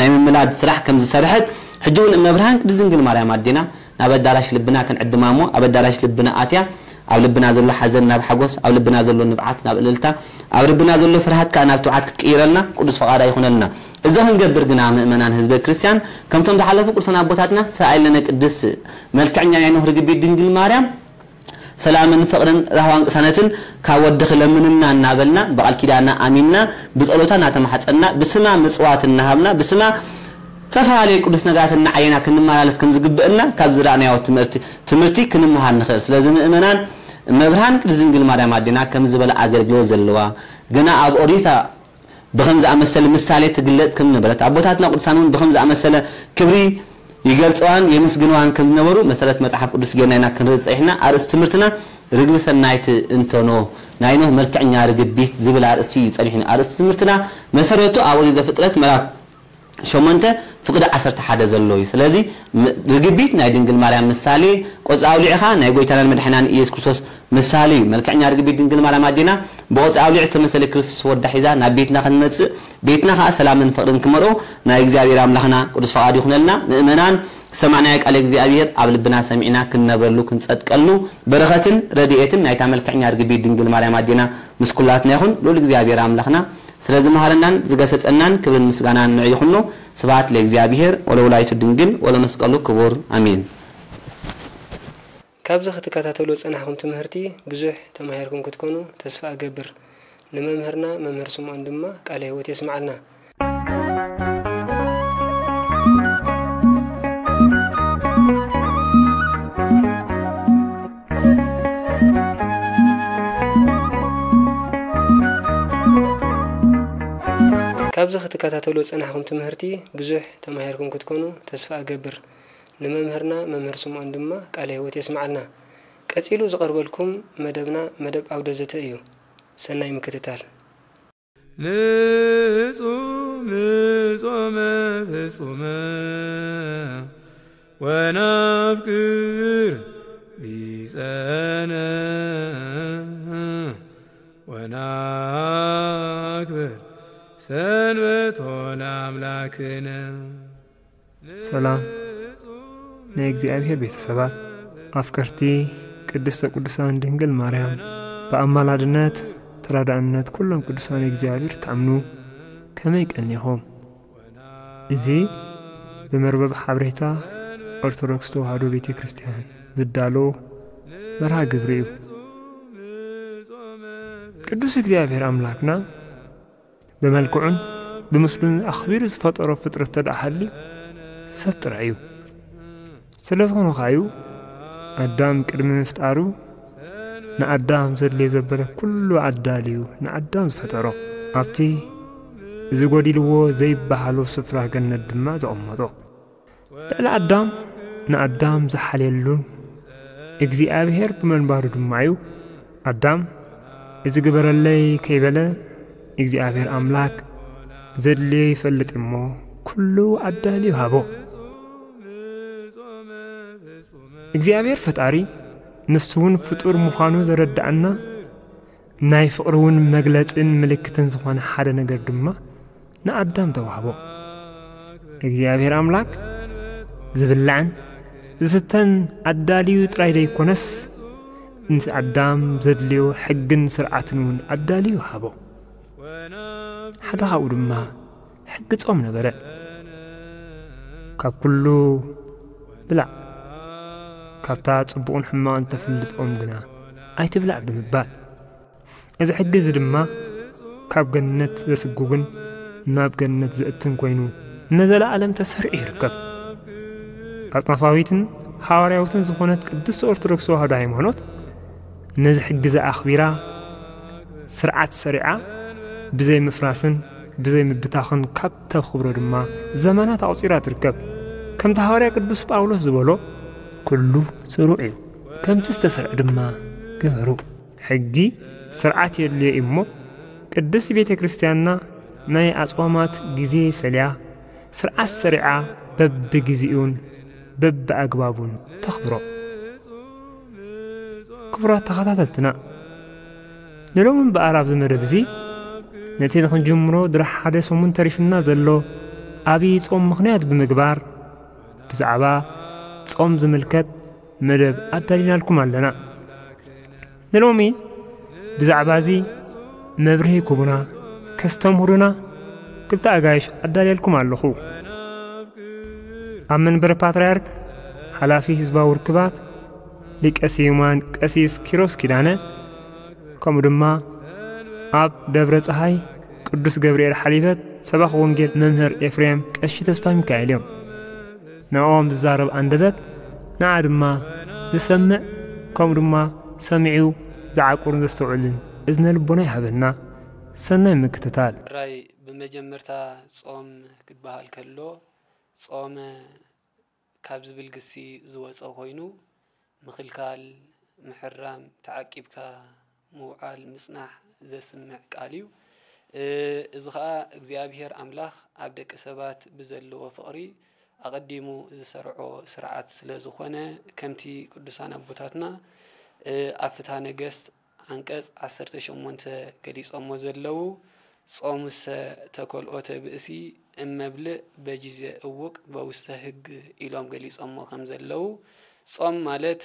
ናይ ምምላድ ስራሕ ከም ዝሰርሐት፣ ሕጂ እውን እመብርሃን ቅድስት ድንግል ማርያም ኣዴና ናብ ኣዳራሽ ልብና ክንዕድማ እሞ፣ ኣብ ኣዳራሽ ልብና ኣትያ፣ ኣብ ልብና ዘሎ ሓዘን ናብ ሓጎስ፣ ኣብ ልብና ዘሎ ንብዓት ናብ እልልታ፣ ኣብ ልብና ዘሎ ፍርሃት ከኣ ናብ ትብዓት ክትቅይረልና ቅዱስ ፈቓዳ ይኹነልና። እዚ ክንገብር ግና ምእመናን ህዝበ ክርስቲያን፣ ከምቶም ዝሓለፉ ቅዱሳን ኣቦታትና ተሳኢለነ ቅድስት መልክዕኛ ናይ ኖህ ርግቢት ድንግል ማርያም ሰላምን ፍቕርን ራህዋን ቅሳነትን ካብ ወድኺ ለምንና እናበልና ብቓል ኪዳና ኣሚንና ብጸሎታ እናተማሕጸንና ብስማ ምጽዋት እናሃብና ብስማ ዝተፈላለዩ ቅዱስ ነገራት እናዓየና ክንመላለስ ከም ዝግብእና ካብ ዝረኣናዮ ትምህርቲ ትምህርቲ ክንመሃር ንኽእል። ስለዚ ምእመናን እመብርሃን ቅድስት ድንግል ማርያም ኣዴና ከም ዝበለ ኣገልግሎት ዘለዋ ግና ኣብ ኦሪታ ብኸም ዝኣመሰለ ምሳሌ ትግለጽ ከም ነበረት፣ ኣቦታትና ቅዱሳን እውን ብኸም ዝኣመሰለ ክብሪ ይገልጸዋን የመስግንዋን ከም ዝነበሩ መሰረት መጽሓፍ ቅዱስ ጌርና ኢና ክንርኢ ጸኒሕና። ኣርእስቲ ትምህርትና ርግቢ ሰናይት እንተኖ ናይ ኖህ መልክዕኛ ርግቢት ዝብል ኣርእስቲ እዩ ጸኒሕና። ኣርእስቲ ትምህርትና መሰረቱ ኣብ ኦሪት ዘፍጥረት ምዕራፍ ሸሞንተ ፍቕዲ ዓሰርተ ሓደ ዘሎ እዩ። ስለዚ ም-፣ ርግቢት ናይ ድንግል ማርያም ምሳሌ፣ ቆጽሊ ኣውሊዕኻ ናይ ጎይታናን መድሓኒናን ኢየሱስ ክርስቶስ ምሳሌ እዩ። መልክዕኛ ርግቢት ድንግል ማርያም ኣዴና ብቆጽሊ ኣውሊዕ ዝተመሰለ ክርስቶስ ወዳ ሒዛ ናብ ቤትና ክንመጽእ፣ ቤትና ከኣ ሰላምን ፍቕርን ክመልኦ ናይ እግዚኣብሔር ኣምላኽና ቅዱስ ፈቓዱ ይኹነልና። ምእመናን ዝሰማዕናዮ ቃለ እግዚኣብሔር ኣብ ልብና ሰሚዕና ክንነብረሉ ክንጸድቀሉ በረኸትን ረድኤትን ናይታ መልክዕኛ ርግቢት ድንግል ማርያም ኣዴና ምስ ኩላትና ይኹን። ልዑል እግዚኣብሔር ኣምላኽና ስለ ዝመሃረናን ዝገሰጸናን ክብርን ምስጋናን ንዑ ይኹኖ። ስብሐት ለእግዚኣብሔር ወለወላዲቱ ድንግል ወለመስቀሉ ክቡር ኣሜን። ካብዚ ክትከታተሉ ዝጸናሕኩም ትምህርቲ ብዙሕ ተማሂርኩም ክትኮኑ ተስፋ እገብር። ንመምህርና መምህር ስምኦን ድማ ቃለ ህይወት የስምዓልና። ካብዚ ክትከታተልዎ ዝጸናሕኩም ትምህርቲ ብዙሕ ተማሂርኩም ክትኮኑ ተስፋ እገብር። ንመምህርና መምህር ስምኦን ድማ ቃለ ህይወት የስምዓልና። ቀጺሉ ዝቐርበልኩም መደብና መደብ ኣውደ ዘተ እዩ። ሰናይ ምክትታል። ንጹም ጾመ ፍጹመ ወናፍቅር ቢጸነ ወናክብር ሰንበቶ ለኣምላክነ። ሰላም ናይ እግዚኣብሔር ቤተሰባት፣ ኣፍቀርቲ ቅድስተ ቅዱሳን ድንግል ማርያም፣ ብኣማላድነት ተራዳእነት ኩሎም ቅዱሳን እግዚኣብሔር ትኣምኑ፣ ከመይ ቀኒኹም? እዚ ብመርበብ ሓበሬታ ኦርቶዶክስ ተዋህዶ ቤተ ክርስቲያን ዝዳሎ መርሃ ግብሪ እዩ። ቅዱስ እግዚኣብሔር ኣምላክና ብመልክዑን ብምስሉን ኣኽቢሩ ዝፈጠሮ ፍጥረት ተደኣ ሃልዩ ሰብ ጥራይ እዩ። ስለ ዝኾነ ከኣ እዩ ኣዳም ቅድሚ ምፍጣሩ ንኣዳም ዘድልዮ ዘበለ ኩሉ ኣዳልዩ ንኣዳም ዝፈጠሮ። ኣብቲ እዚ ጎዲልዎ ዘይበሃሎ ስፍራ ገነት ድማ ዘቐመጦ። ልዕሊ ኣዳም ንኣዳም ዝሓልየሉን እግዚኣብሔር ብምንባሩ ድማ እዩ ኣዳም እዚ ግበረለይ ከይበለ እግዚኣብሔር ኣምላክ ዘድልዮ ይፈልጥ እሞ ኩሉ ኣዳልዩ ሃቦ። እግዚኣብሔር ፈጣሪ ንሱ እውን ፍጡር ምዃኑ ዘረድኣና ናይ ፍቕሪ እውን መግለጽን ምልክትን ዝኾነ ሓደ ነገር ድማ ንኣዳም ተዋህቦ። እግዚኣብሔር ኣምላክ ዝብላዕን ዝስተን ኣዳልዩ ጥራይ ዘይኮነስ፣ ንኣዳም ዘድልዮ ሕግን ስርዓትን እውን ኣዳልዩ ሃቦ። ሓደ ካብኡ ድማ ሕጊ ጾም ነበረ። ካብ ኩሉ ብላዕ፣ ካብታ ጽቡቕን ሕማቕን ተፍልጥ ኦም ግና ኣይትብላዕ ብምባል። እዚ ሕጊ እዚ ድማ ካብ ገነት ዘስጉግን ናብ ገነት ዘእትን ኮይኑ ንዘለኣለም ተሰሪዑ ይርከብ። ኣጽናፋዊትን ሃዋርያዊትን ዝኾነት ቅድስቲ ኦርቶዶክስ ተዋህዶ ሃይማኖት ነዚ ሕጊ እዚ ኣኽቢራ ስርዓት ሰሪዓ ብዘይ ምፍራስን ብዘይ ምብታኽን ካብ ተኽብሮ ድማ ዘመናት ኣቑጺራ ትርከብ። ከምቲ ሃዋርያ ቅዱስ ጳውሎስ ዝበሎ፣ "ኩሉ ስሩዕ እዩ፣ ከምቲ ዝተሰርዐ ድማ ግበሩ።" ሕጊ ስርዓት የድልዮ እዩ እሞ፣ ቅድስቲ ቤተ ክርስቲያንና ናይ ኣጽዋማት ግዜ ፈልያ፣ ስርዓት ሰሪዓ በብግዜኡን በብኣግባቡን ተኽብሮ። ክቡራት ተኸታተልትና፣ ንሎሚ እምበኣር ኣብዚ መደብ እዚ ነቲ ንኽንጅምሮ ድሪ ሓደ ሰሙን ተሪፍና ዘሎ ኣብይ ጾም ምኽንያት ብምግባር፣ ብዛዕባ ጾም ዝምልከት መደብ ኣዳሊናልኩም ኣለና። ንሎሚ ብዛዕባ እዚ መብርሂ ክቡና፣ ከስተምህሩና ክልተ ኣጋይሽ ኣዳልየልኩም ኣለኹ። ኣብ መንበረ ፓትርያርክ ሓላፊ ህዝባዊ ርክባት ሊቀ ስዩማን ቀሲስ ኪሮስ ኪዳነ፣ ከምኡ ድማ ኣብ ደብረ ጸሃይ ቅዱስ ገብርኤል ሓሊፈት ሰባኽ ወንጌል መምህር ኤፍሬም ቀሺ ተስፋ ሚካኤል እዮም። ንዕኦም ዝዛረብ ኣንደበት፣ ንዓ ድማ ዝሰምዕ፣ ከምኡ ድማ ሰሚዑ ዝዓቁርን ዘስተውዕልን እዝነ ልቦና ይሃበና። ሰናይ ምክትታል። ሕራይ ብመጀመርታ ጾም ክበሃል ከሎ፣ ጾመ ካብ ዝብል ግሲ ዝወጸ ኮይኑ፣ ምኽልካል፣ ምሕራም፣ ተዓቂብካ ምውዓል፣ ምጽናሕ ዘስምዕ ቃል እዩ። እ፣ እዚ ኸኣ እግዚኣብሔር ኣምላኽ ኣብ ደቂ ሰባት ብዘለዎ ፍቕሪ ኣቐዲሙ ዝሰርዖ ስርዓት ስለ ዝኾነ፣ ከምቲ ቅዱሳን ኣቦታትና፣ እ፣ ኣብ ፍትሐ ነገስት ዓንቀጽ ዓሰርተ ሸሞንተ ገሊጾሞ ዘለዉ፣ "ጾሙሰ ተከልኦተ ብእሲ እመብልዕ በጊዜ እውቅ በውስተ ህግ" ኢሎም ገሊጾሞ ከም ዘለዉ፣ ጾም ማለት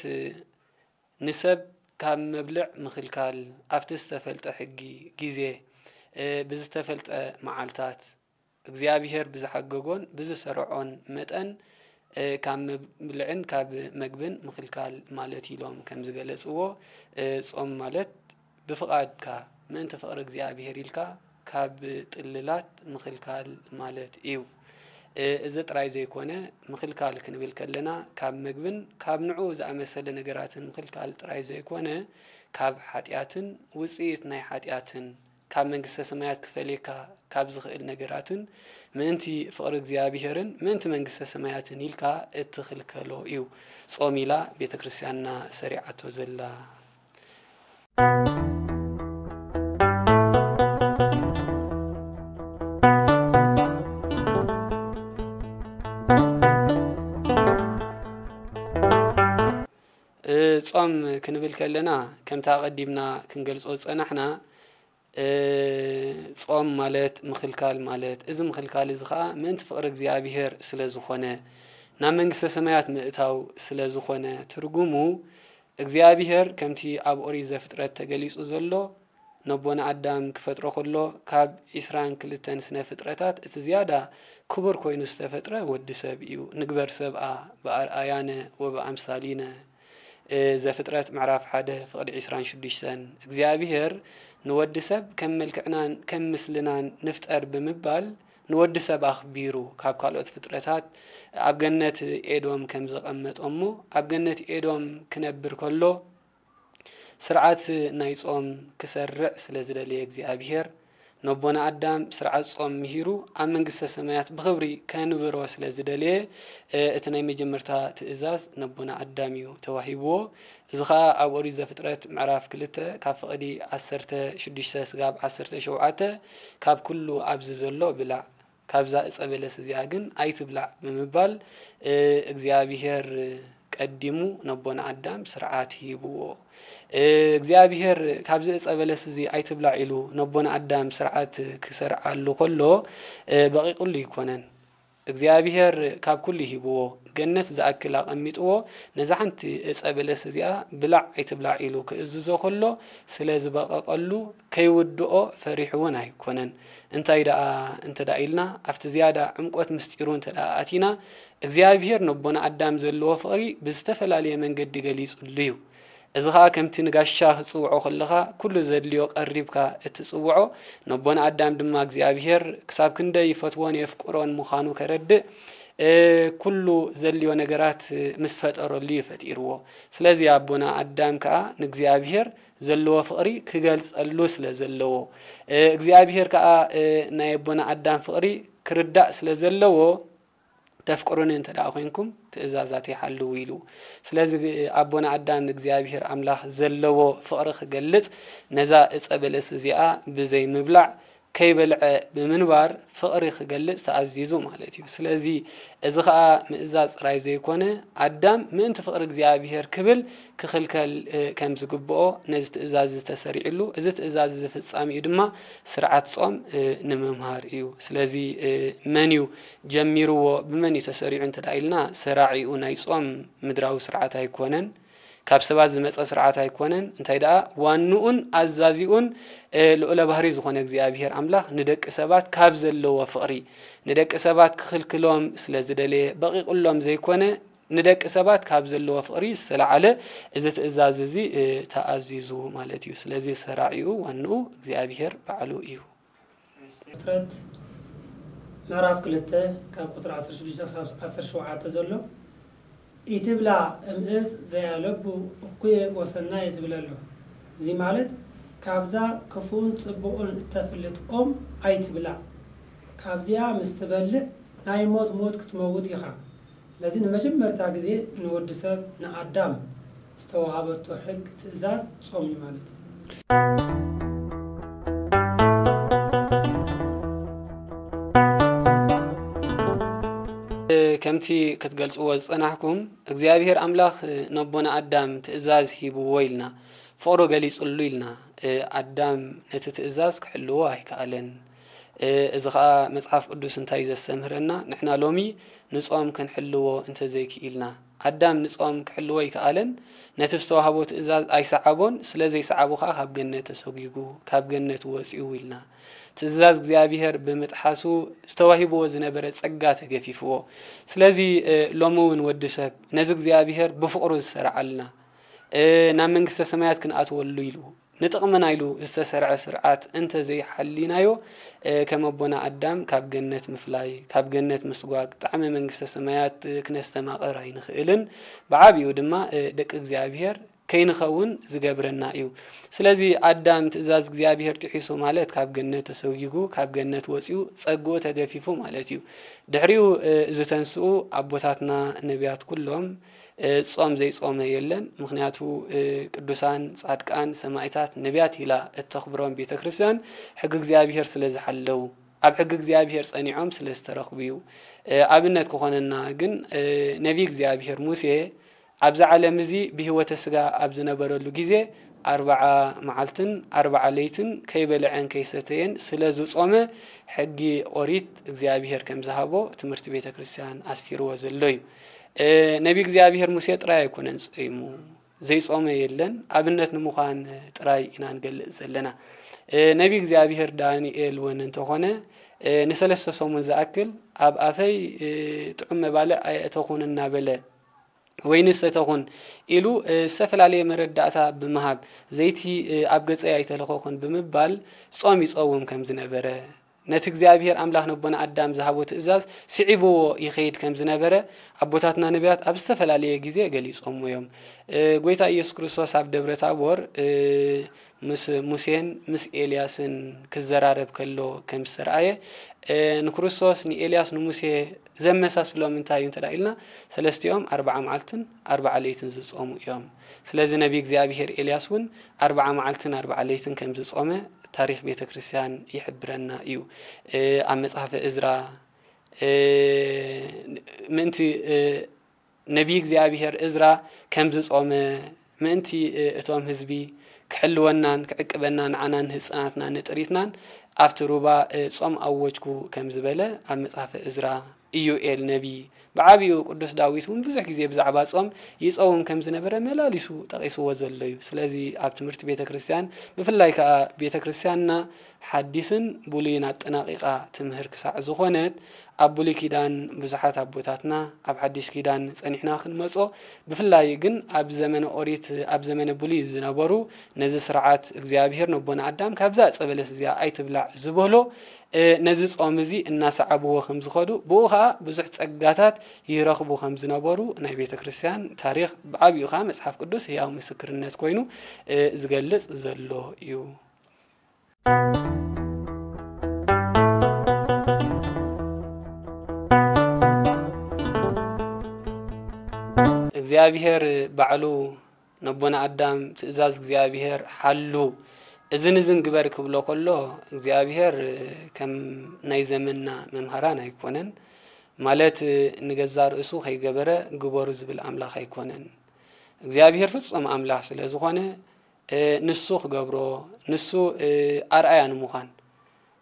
ንሰብ ካብ መብልዕ ምኽልካል፣ ኣብቲ ዝተፈልጠ ሕጊ፣ ግዜ፣ እ፣ ብዝተፈልጠ መዓልታት፣ እግዚኣብሔር ብዝሓገጎን ብዝሰርዖን መጠን፣ እ፣ ካብ መብልዕን ካብ መግብን ምኽልካል ማለት ኢሎም ከም ዝገለጽዎ፣ እ፣ ጾም ማለት ብፍቓድካ ምእንቲ ፍቕሪ እግዚኣብሔር ኢልካ ካብ ጥልላት ምኽልካል ማለት እዩ። እ፣ እዚ ጥራይ ዘይኮነ፣ ምኽልካል ክንብል ከለና ካብ መግብን ካብ ንዕኡ ዝኣመሰለ ነገራትን ምኽልካል ጥራይ ዘይኮነ፣ ካብ ሓጢኣትን ውጽኢት ናይ ሓጢኣትን ካብ መንግስተ ሰማያት ክፈልየካ ካብ ዝኽእል ነገራትን ምእንቲ ፍቕሪ እግዚኣብሄርን ምእንቲ መንግስተ ሰማያትን ኢልካ እትኽልከሎ እዩ። ጾም ኢላ ቤተ ክርስቲያንና ሰሪዓቶ ዘላ። እ፣ ጾም ክንብል ከለና፣ ከምቲ ኣቐዲምና ክንገልጾ ዝጸናሕና፣ እ፣ ጾም ማለት ምኽልካል ማለት፣ እዚ ምኽልካል እዚ ኸኣ ምእንቲ ፍቕሪ እግዚኣብሄር ስለ ዝኾነ፣ ናብ መንግስተ ሰማያት ምእታው ስለ ዝኾነ፣ ትርጉሙ እግዚኣብሄር ከምቲ ኣብ ኦሪት ዘፍጥረት ተገሊጹ ዘሎ፣ ነቦና ኣዳም ክፈጥሮ ከሎ፣ ካብ ዒስራን ክልተን ስነ ፍጥረታት እቲ ዝያዳ ክቡር ኮይኑ ዝተፈጥረ ወዲ ሰብ እዩ። "ንግበር ሰብኣ ብኣርኣያነ ወብኣምሳሊነ" እ፣ ዘፍጥረት ምዕራፍ ሓደ ፍቕዲ ዒስራን ሽዱሽተን፣ እግዚኣብሄር ንወዲ ሰብ ከም መልክዕናን ከም ምስልናን ንፍጠር ብምባል ንወዲ ሰብ ኣኽቢሩ ካብ ካልኦት ፍጥረታት ኣብ ገነት ኤዶም ከም ዘቐመጦ እሞ፣ ኣብ ገነት ኤዶም ክነብር ከሎ ስርዓት ናይ ጾም ክሰርዕ ስለ ዝደለየ እግዚኣብሄር፣ ነቦና ኣዳም ስርዓት ጾም ምሂሩ ኣብ መንግስተ ሰማያት ብኽብሪ ከንብሮ ስለ ዝደለየ፣ እ፣ እቲ ናይ መጀመርታ ትእዛዝ ነቦና ኣዳም እዩ ተዋሂብዎ። እዚ ኸኣ ኣብ ኦሪት ዘፍጥረት ምዕራፍ ክልተ ካብ ፍቕዲ ዓሰርተ ሽዱሽተ ስጋብ ዓሰርተ ሸውዓተ፣ "ካብ ኩሉ ኣብዚ ዘሎ ብላዕ፣ ካብዛ እጸ በለስ እዚኣ ግን ኣይትብላዕ" ብምባል፣ እ፣ እግዚኣብሄር ቀዲሙ ነቦና ኣዳም ስርዓት ሂብዎ። እ፣ እግዚኣብሄር "ካብዚ እጸ በለስ እዚ ኣይትብላዕ" ኢሉ ነቦና ኣዳም ስርዓት ክሰርዓሉ ከሎ፣ እ፣ በቒቑሉ ኣይኮነን። እግዚኣብሄር ካብ ኩሉ ሂብዎ፣ ገነት ዝኣክል ኣቐሚጥዎ፣ ነዛ ሓንቲ እጸ በለስ እዚኣ "ብላዕ ኣይትብላዕ" ኢሉ ክእዝዞ ከሎ፣ ስለ ዝበቐቐሉ ከይውድኦ ፈሪሑ እውን ኣይኮነን። እንታይ ደኣ እንተ ደኣ ኢልና፣ ኣብቲ ዝያዳ ዕምቆት ምስጢሩ እንተ ደኣ ኣቲና፣ እግዚኣብሄር ነቦና ኣዳም ዘለዎ ፍቕሪ ብዝተፈላለየ መንገዲ ገሊጹሉ እዩ። እዚ ኸኣ ከምቲ ንጋሻ ክትጽውዖ ከለኻ፣ ኩሉ ዘድልዮ ቀሪብካ እትጽውዖ፣ ነቦና ኣዳም ድማ እግዚኣብሄር ክሳብ ክንደይ ይፈትዎን የፍቅሮን ምዃኑ ከረድእ፣ እ፣ ኩሉ ዘድልዮ ነገራት ምስ ፈጠረሉ እዩ ፈጢርዎ። ስለዚ ኣቦና ኣዳም ከኣ ንእግዚኣብሄር ዘለዎ ፍቕሪ ክገልጸሉ ስለ ዘለዎ፣ እ፣ እግዚኣብሄር ከኣ፣ እ፣ ናይ ኣቦና ኣዳም ፍቕሪ ክርዳእ ስለ ዘለዎ፣ "ተፍቅሩኒ እንተ ደኣ ኮይንኩም ትእዛዛተይ ሓልዉ" ኢሉ። ስለዚ ኣቦና ኣዳም ንእግዚኣብሄር ኣምላኽ ዘለዎ ፍቕሪ ክገልጽ፣ ነዛ እጸ በለስ እዚኣ ብዘይ ምብላዕ፣ ከይበልዐ ብምንባር ፍቕሪ ክገልጽ ተኣዚዙ ማለት እዩ። ስለዚ እዚ ኸኣ ምእዛዝ ጥራይ ዘይኮነ፣ ኣዳም ምእንቲ ፍቕሪ እግዚኣብሄር ክብል ክኽልከል፣ እ፣ ከም ዝግብኦ ነዚ ትእዛዝ እዚ ተሰሪዕሉ፣ እዚ ትእዛዝ እዚ ፍጻሜኡ ድማ ስርዓት ጾም፣ እ፣ ንምምሃር እዩ። ስለዚ፣ እ፣ መን እዩ ጀሚርዎ፣ ብመን እዩ ተሰሪዑ እንተ ደኣ ኢልና፣ ሰራዒኡ ናይ ጾም ምድራዊ ስርዓት ኣይኮነን። ካብ ሰባት ዝመጸ ስርዓት ኣይኮነን። እንታይ ደኣ ዋንኡን ኣዛዚኡን፣ እ፣ ልዑለ ባህሪ ዝኾነ እግዚኣብሄር ኣምላኽ ንደቂ ሰባት ካብ ዘለዎ ፍቕሪ፣ ንደቂ ሰባት ክኽልክሎም ስለ ዝደለየ፣ በቒቑሎም ዘይኮነ፣ ንደቂ ሰባት ካብ ዘለዎ ፍቕሪ ዝተላዓለ እዚ ትእዛዝ እዚ፣ እ፣ ተኣዚዙ ማለት እዩ። ስለዚ ሰራዒኡ ዋንኡ እግዚኣብሄር ባዕሉ እዩ። ፍጥረት ምዕራፍ ክልተ ካብ ቁጽሪ ዓሰርተ ሽዱሽተ ክሳብ ዓሰርተ ሸውዓተ ዘሎ፣ "ኢትብላ እምእፅ ዘያለቡ እኩየ ወሰናየ" ዝብል ኣሎ። እዚ ማለት፣ ካብዛ ክፉእን ጽቡቕን እተፍልጥ ኦም ኣይትብላዕ። ካብዚኣ ምስ ትበልዕ ናይ ሞት ሞት ክትመውት ኢኻ። ስለዚ ንመጀመርታ ግዜ ንወዲ ሰብ፣ ንኣዳም፣ ዝተዋሃበቶ ሕግ፣ ትእዛዝ፣ ጾም እዩ ማለት እዩ። ከምቲ ክትገልጽዎ ዝጸናሕኩም፣ እግዚኣብሔር ኣምላኽ ነቦና ኣዳም ትእዛዝ ሂብዎ ኢልና፣ ፍቕሩ ገሊጽሉ ኢልና። ኣዳም ነቲ ትእዛዝ ክሕልዎ ኣይከኣለን። እዚ ኸኣ መጽሓፍ ቅዱስ እንታይ እዩ ዘስተምህረና? ንሕና ሎሚ ንጾም ክንሕልዎ እንተ ዘይክኢልና፣ ኣዳም ንጾም ክሕልዎ ኣይከኣለን፣ ነቲ ዝተዋህቦ ትእዛዝ ኣይሰዓቦን፣ ስለ ዘይሰዓቦ ኸኣ ካብ ገነት ተሰጒጉ፣ ካብ ገነት ወጺኡ ኢልና። ትእዛዝ እግዚኣብሔር ብምጥሓሱ ዝተዋሂብዎ ዝነበረ ጸጋ ተገፊፍዎ። ስለዚ፣ እ፣ ሎሚ እውን ወዲ ሰብ ነዚ እግዚኣብሔር ብፍቕሩ ዝሰርዓልና፣ እ፣ ናብ መንግስተ ሰማያት ክንኣትወሉ ኢሉ፣ ንጥቕምና ኢሉ ዝተሰርዐ ስርዓት እንተ ዘይሓሊናዮ፣ እ፣ ከም ኣቦና ኣዳም ካብ ገነት ምፍላይ፣ ካብ ገነት ምስጓግ፣ ጣዕሚ መንግስተ ሰማያት፣ እ፣ ክነስተማቕር ኣይንኽእልን። ብዓቢኡ ድማ፣ እ፣ ደቂ እግዚኣብሔር ከይንኸውን ዝገብረና እዩ። ስለዚ ኣዳም ትእዛዝ እግዚኣብሔር ጥሒሱ ማለት ካብ ገነት ተሰጒጉ፣ ካብ ገነት ወጺኡ፣ ጸግኡ ተገፊፉ ማለት እዩ። ድሕሪኡ፣ እ፣ ዝተንስኡ ኣቦታትና ነቢያት ኩሎም፣ እ፣ ጾም ዘይጾመ የለን። ምኽንያቱ፣ እ፣ ቅዱሳን፣ ጻድቃን፣ ሰማእታት፣ ነቢያት ኢላ እተኽብሮም ቤተ ክርስቲያን ሕጊ እግዚኣብሔር ስለ ዝሓለዉ፣ ኣብ ሕጊ እግዚኣብሔር ጸኒዖም ስለ ዝተረኽቡ እዩ። እ፣ ኣብነት ክኾነና ግን፣ እ፣ ነቢይ እግዚኣብሔር ሙሴ ኣብዚ ዓለም እዚ ብህይወተ ስጋ ኣብ ዝነበረሉ ግዜ ኣርብዓ መዓልትን ኣርብዓ ለይትን ከይበልዐን ከይሰተየን ስለ ዝጾመ ሕጊ ኦሪት እግዚኣብሔር ከም ዝሃቦ ትምህርቲ ቤተ ክርስቲያን ኣስፊርዎ ዘሎ እዩ። እ፣ ነቢ እግዚኣብሔር ሙሴ ጥራይ ኣይኮነን ጾይሙ፣ ዘይጾመ የለን። ኣብነት ንምዃን ጥራይ ኢና ንገልጽ ዘለና። እ፣ ነቢ እግዚኣብሔር ዳንኤል እውን እንተኾነ፣ እ፣ ንሰለስተ ሰሙን ዝኣክል ኣብ ኣፈይ፣ እ፣ ጥዑም መባልዕ ኣየእተኹን እናበለ፣ ወይኒ ሰተኹን ኢሉ፣ እ፣ ዝተፈላለየ መረዳእታ ብምሃብ፣ ዘይቲ፣ እ፣ ኣብ ገጸይ ኣይተለኸኹን ብምባል ጾም ይጸውም ከም ዝነበረ፣ ነቲ እግዚኣብሔር ኣምላኽ ነቦና ኣዳም ዝሃቦ ትእዛዝ ስዒብዎ ይኸይድ ከም ዝነበረ ኣቦታትና ነቢያት ኣብ ዝተፈላለየ ግዜ ገሊጾምዎ እዮም። እ፣ ጐይታ ኢየሱስ ክርስቶስ ኣብ ደብረ ታቦር፣ እ፣ ምስ ሙሴን ምስ ኤልያስን ክዘራረብ ከሎ ከም ዝተረኣየ፣ እ፣ ንክርስቶስ፣ ንኤልያስ፣ ንሙሴ ዘመሳስሎም እንታይ እዩ እንተ ደኣ ኢልና፣ ሰለስቲኦም ኣርብዓ መዓልትን ኣርብዓ ለይትን ዝጾሙ እዮም። ስለዚ ነቢ እግዚኣብሔር ኤልያስ እውን ኣርብዓ መዓልትን ኣርብዓ ለይትን ከም ዝጾመ ታሪኽ ቤተ ክርስቲያን ይሕብረና እዩ። እ፣ ኣብ መጽሓፈ እዝራ፣ እ፣ ምእንቲ፣ እ፣ ነቢይ እግዚኣብሔር እዝራ ከም ዝጾመ፣ ምእንቲ፣ እ፣ እቶም ህዝቢ ክሕልወናን ክዕቅበናን፣ ንዓናን ንህጻናትናን ንጥሪትናን ኣብቲ ሩባ፣ እ፣ ጾም ኣወጅኩ ከም ዝበለ ኣብ መጽሓፈ እዝራ፣ ኢዩኤል ነቢይ፣ ብዓቢኡ ቅዱስ ዳዊት እውን ብዙሕ ግዜ ብዛዕባ ጾም ይጸውም ከም ዝነበረ መላሊሱ ጠቒስዎ ዘሎ እዩ። ስለዚ ኣብ ትምህርቲ ቤተ ክርስቲያን፣ ብፍላይ ከኣ ቤተ ክርስቲያንና ሓዲስን ብሉይን ኣጠናቒቓ ትምህር ክሳዕ ዝኾነት፣ ኣብ ብሉይ ኪዳን ብዙሓት ኣቦታትና፣ ኣብ ሓድሽ ኪዳን ጸኒሕና ክንመጾ፣ ብፍላይ ግን ኣብ ዘመነ ኦሪት፣ ኣብ ዘመነ ብሉይ ዝነበሩ፣ ነዚ ስርዓት እግዚኣብሔር ነቦና ኣዳም ካብዛ ዕጸ በለስ እዚኣ ኣይትብላዕ ዝበሎ፣ እ፣ ነዚ ጾም እዚ እናሰዓብዎ ከም ዝኸዱ፣ ብኡ ኸኣ ብዙሕ ጸጋታት ይረኽቡ ከም ዝነበሩ ናይ ቤተ ክርስቲያን ታሪኽ፣ ብዓቢኡ ኸኣ መጽሓፍ ቅዱስ ህያው ምስክርነት ኮይኑ፣ እ፣ ዝገልጽ ዘሎ እዩ። እግዚኣብሔር ባዕሉ ነቦና ኣዳም ትእዛዝ እግዚኣብሔር ሓሉ፣ እዝን እዝን ግበር ክብሎ ከሎ፣ እግዚኣብሔር ከም ናይ ዘመንና መምሃራን ኣይኮነን። ማለት ንገዛእ ርእሱ ከይገበረ ግበሩ ዝብል ኣምላኽ ኣይኮነን። እግዚኣብሔር ፍጹም ኣምላኽ ስለ ዝኾነ፣ እ፣ ንሱ ክገብሮ፣ ንሱ፣ እ፣ ኣርኣያ ንምዃን፣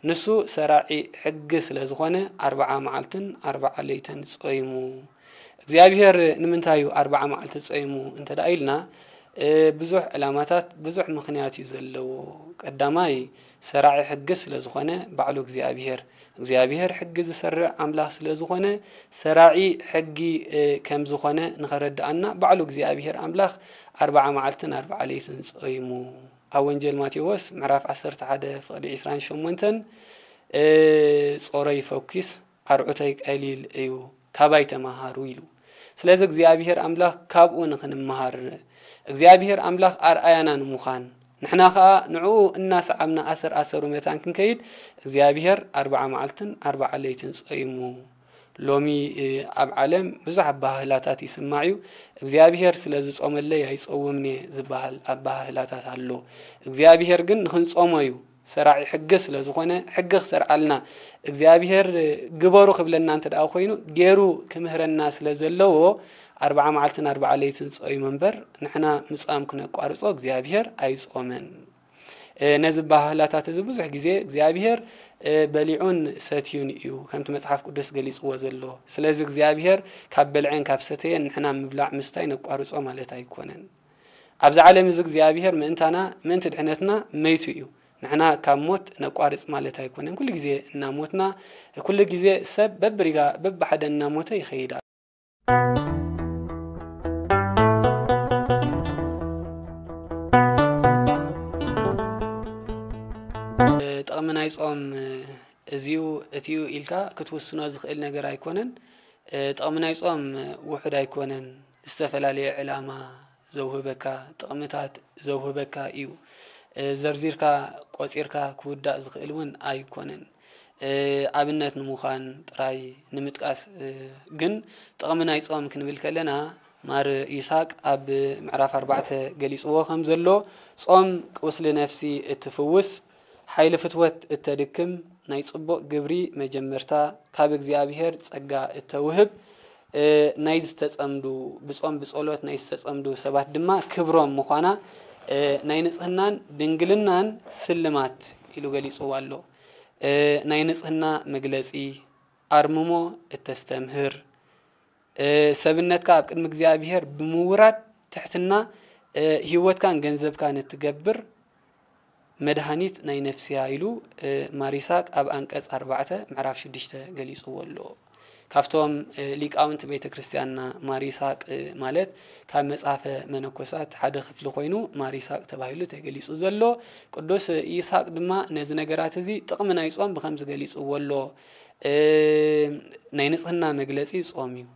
ንሱ ሰራዒ ሕጊ ስለ ዝኾነ፣ ኣርብዓ መዓልትን ኣርብዓ ለይትን ጾይሙ። እግዚኣብሔር ንምንታይ እዩ ኣርብዓ መዓልቲ ጾይሙ እንተ ደኣ ኢልና፣ እ፣ ብዙሕ ዕላማታት፣ ብዙሕ ምኽንያት እዩ ዘለዎ። ቀዳማይ፣ ሰራዒ ሕጊ ስለ ዝኾነ፣ ባዕሉ እግዚኣብሔር፣ እግዚኣብሔር ሕጊ ዝሰርዕ ኣምላኽ ስለ ዝኾነ፣ ሰራዒ ሕጊ፣ እ፣ ከም ዝኾነ ንኸረድኣና፣ ባዕሉ እግዚኣብሔር ኣምላኽ ኣርብዓ መዓልትን ኣርብዓ ለይትን ጾይሙ። ኣብ ወንጌል ማቴዎስ ምዕራፍ ዓሰርተ ሓደ ፍቕዲ ዕስራን ሸሞንተን፣ እ፣ "ጾረይ ፈኪስ ኣርዑተይ ቀሊል እዩ፣ ካባይ ተማሃሩ" ኢሉ። ስለዚ እግዚኣብሔር ኣምላኽ ካብኡ ንኽንመሃር፣ እግዚኣብሔር ኣምላኽ ኣርኣያና ንምዃን፣ ንሕና ኸኣ ንዕኡ እናሰዓብና ኣሰር ኣሰሩ መታን ክንከይድ፣ እግዚኣብሔር ኣርብዓ መዓልትን ኣርብዓ ለይትን ጾይሙ። ሎሚ፣ እ፣ ኣብ ዓለም ብዙሕ ኣበሃህላታት ይስማዕ እዩ። እግዚኣብሔር ስለ ዝጾመለይ ኣይጸውምን እየ ዝበሃል ኣበሃህላታት ኣሎ። እግዚኣብሔር ግን ንኽንጾሞ እዩ። ሰራዒ ሕጊ ስለ ዝኾነ፣ ሕጊ ክሰርዓልና፣ እግዚኣብሔር ግበሩ ክብለና እንተ ደኣ ኮይኑ፣ ገይሩ ክምህረና ስለ ዘለዎ፣ ኣርብዓ መዓልትን ኣርብዓ ለይትን ጾይሙ እምበር፣ ንሕና ምጻም ክነቋርጾ እግዚኣብሔር ኣይጾመን። እ፣ ነዚ ኣበሃህላታት እዚ ብዙሕ ግዜ እግዚኣብሔር፣ እ፣ በሊዑን ሰትዩን እዩ፣ ከምቲ መጽሓፍ ቅዱስ ገሊጽዎ ዘሎ። ስለዚ እግዚኣብሔር ካብ በልዐን ካብ ሰተየን ንሕና ምብላዕ ምስታይ ነቋርጾ ማለት ኣይኮነን። ኣብዚ ዓለም እዚ እግዚኣብሔር ምእንታና፣ ምእንቲ ድሕነትና መይቱ እዩ። ንሕና ካብ ሞት ነቋርጽ ማለት ኣይኮነን። ኩሉ ግዜ እናሞትና፣ ኩሉ ግዜ ሰብ በብሪጋ በብሓደ እናሞተ ይኸይድ ኣሎ። ጥቕሚ ናይ ጾም እዚዩ፣ እቲዩ ኢልካ ክትውስኖ ዝኽእል ነገር ኣይኮነን። ጥቕሚ ናይ ጾም ውሑድ ኣይኮነን። ዝተፈላለየ ዕላማ፣ ዘውህበካ፣ ጥቕምታት ዘውህበካ እዩ። እ፣ ዘርዚርካ ቆጺርካ ክውዳእ ዝኽእል እውን ኣይኮነን። እ፣ ኣብነት ንምዃን ጥራይ ንምጥቃስ፣ እ፣ ግን ጥቕሚ ናይ ጾም ክንብል ከለና፣ ማር ይስሐቅ ኣብ ምዕራፍ ኣርባዕተ ገሊጽዎ ከም ዘሎ፣ ጾም ቁስሊ ነፍሲ እትፍውስ፣ ሓይሊ ፍትወት እተድክም፣ ናይ ጽቡቕ ግብሪ መጀመርታ፣ ካብ እግዚኣብሔር ጸጋ እተውህብ፣ እ፣ ናይ ዝተጸምዱ፣ ብጾም ብጸሎት ናይ ዝተጸምዱ ሰባት ድማ ክብሮም ምዃና፣ እ፣ ናይ ንጽህናን ድንግልናን ስልማት ኢሉ ገሊጽዋ ኣሎ። እ፣ ናይ ንጽህና መግለጺ፣ ኣርምሞ እተስተምህር፣ እ፣ ሰብነትካ ኣብ ቅድሚ እግዚኣብሔር ብምውራድ ትሕትና፣ እ፣ ህይወትካን ገንዘብካን እትገብር መድሃኒት ናይ ነፍስያ ኢሉ፣ እ፣ ማር ይስሐቅ ኣብ ኣንቀጽ ኣርባዕተ ምዕራፍ ሽዱሽተ ገሊጽዎ ኣሎ። ካብቶም፣ እ፣ ሊቃውንቲ ቤተ ክርስቲያንና ማር ይስሐቅ፣ እ፣ ማለት ካብ መጽሐፈ መነኮሳት ሓደ ክፍሊ ኮይኑ ማር ይስሐቅ ተባሂሉ ተገሊጹ ዘሎ። ቅዱስ ይስሐቅ ድማ ነዚ ነገራት እዚ ጥቕሚ ናይ ጾም ብኸምዚ ገሊጽዎ ኣሎ። እ፣ ናይ ንጽህና መግለጺ ጾም እዩ።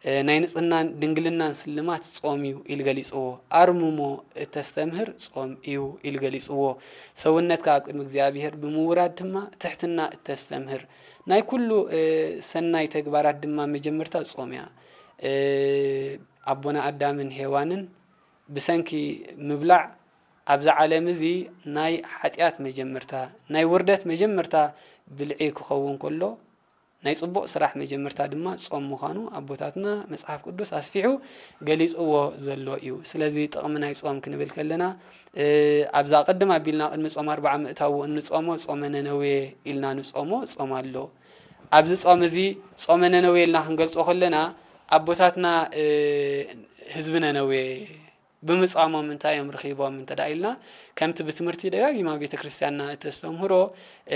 እ፣ ናይ ንጽህናን ድንግልናን ስልማት ጾም እዩ ኢሉ ገሊጽዎ። ኣርምሞ እተስተምህር ጾም እዩ ኢሉ ገሊጽዎ። ሰውነትካ ኣብ ቅድሚ እግዚኣብሔር ብምውራድ ድማ ትሕትና እተስተምህር። ናይ ኩሉ፣ እ፣ ሰናይ ተግባራት ድማ መጀመርታ ጾም እያ። እ፣ ኣቦና ኣዳምን ሄዋንን ብሰንኪ ምብላዕ ኣብዛ ዓለም እዚ ናይ ሓጢኣት መጀመርታ፣ ናይ ውርደት መጀመርታ ብልዒ ክኸውን ከሎ፣ ናይ ጽቡቕ ስራሕ መጀመርታ ድማ ጾም ምዃኑ ኣቦታትና መጽሓፍ ቅዱስ ኣስፊሑ ገሊጽዎ ዘሎ እዩ። ስለዚ ጥቕሚ ናይ ጾም ክንብል ከለና፣ እ፣ ኣብዛ ቅድም ኣቢልና ቅድሚ ጾም ኣርብዓ ምእታዉ እንጾሞ ጾመ ነነዌ ኢልና ንጾሞ ጾም ኣሎ። ኣብዚ ጾም እዚ ጾመ ነነዌ ኢልና ክንገልጾ ከለና ኣቦታትና፣ እ፣ ህዝቢ ነነዌ ብምጻሞም እንታይ እዮም ረኺቦም እንተ ደኣ ኢልና፣ ከምቲ ብትምህርቲ ደጋጊማ ቤተ ክርስቲያንና እተስተምህሮ፣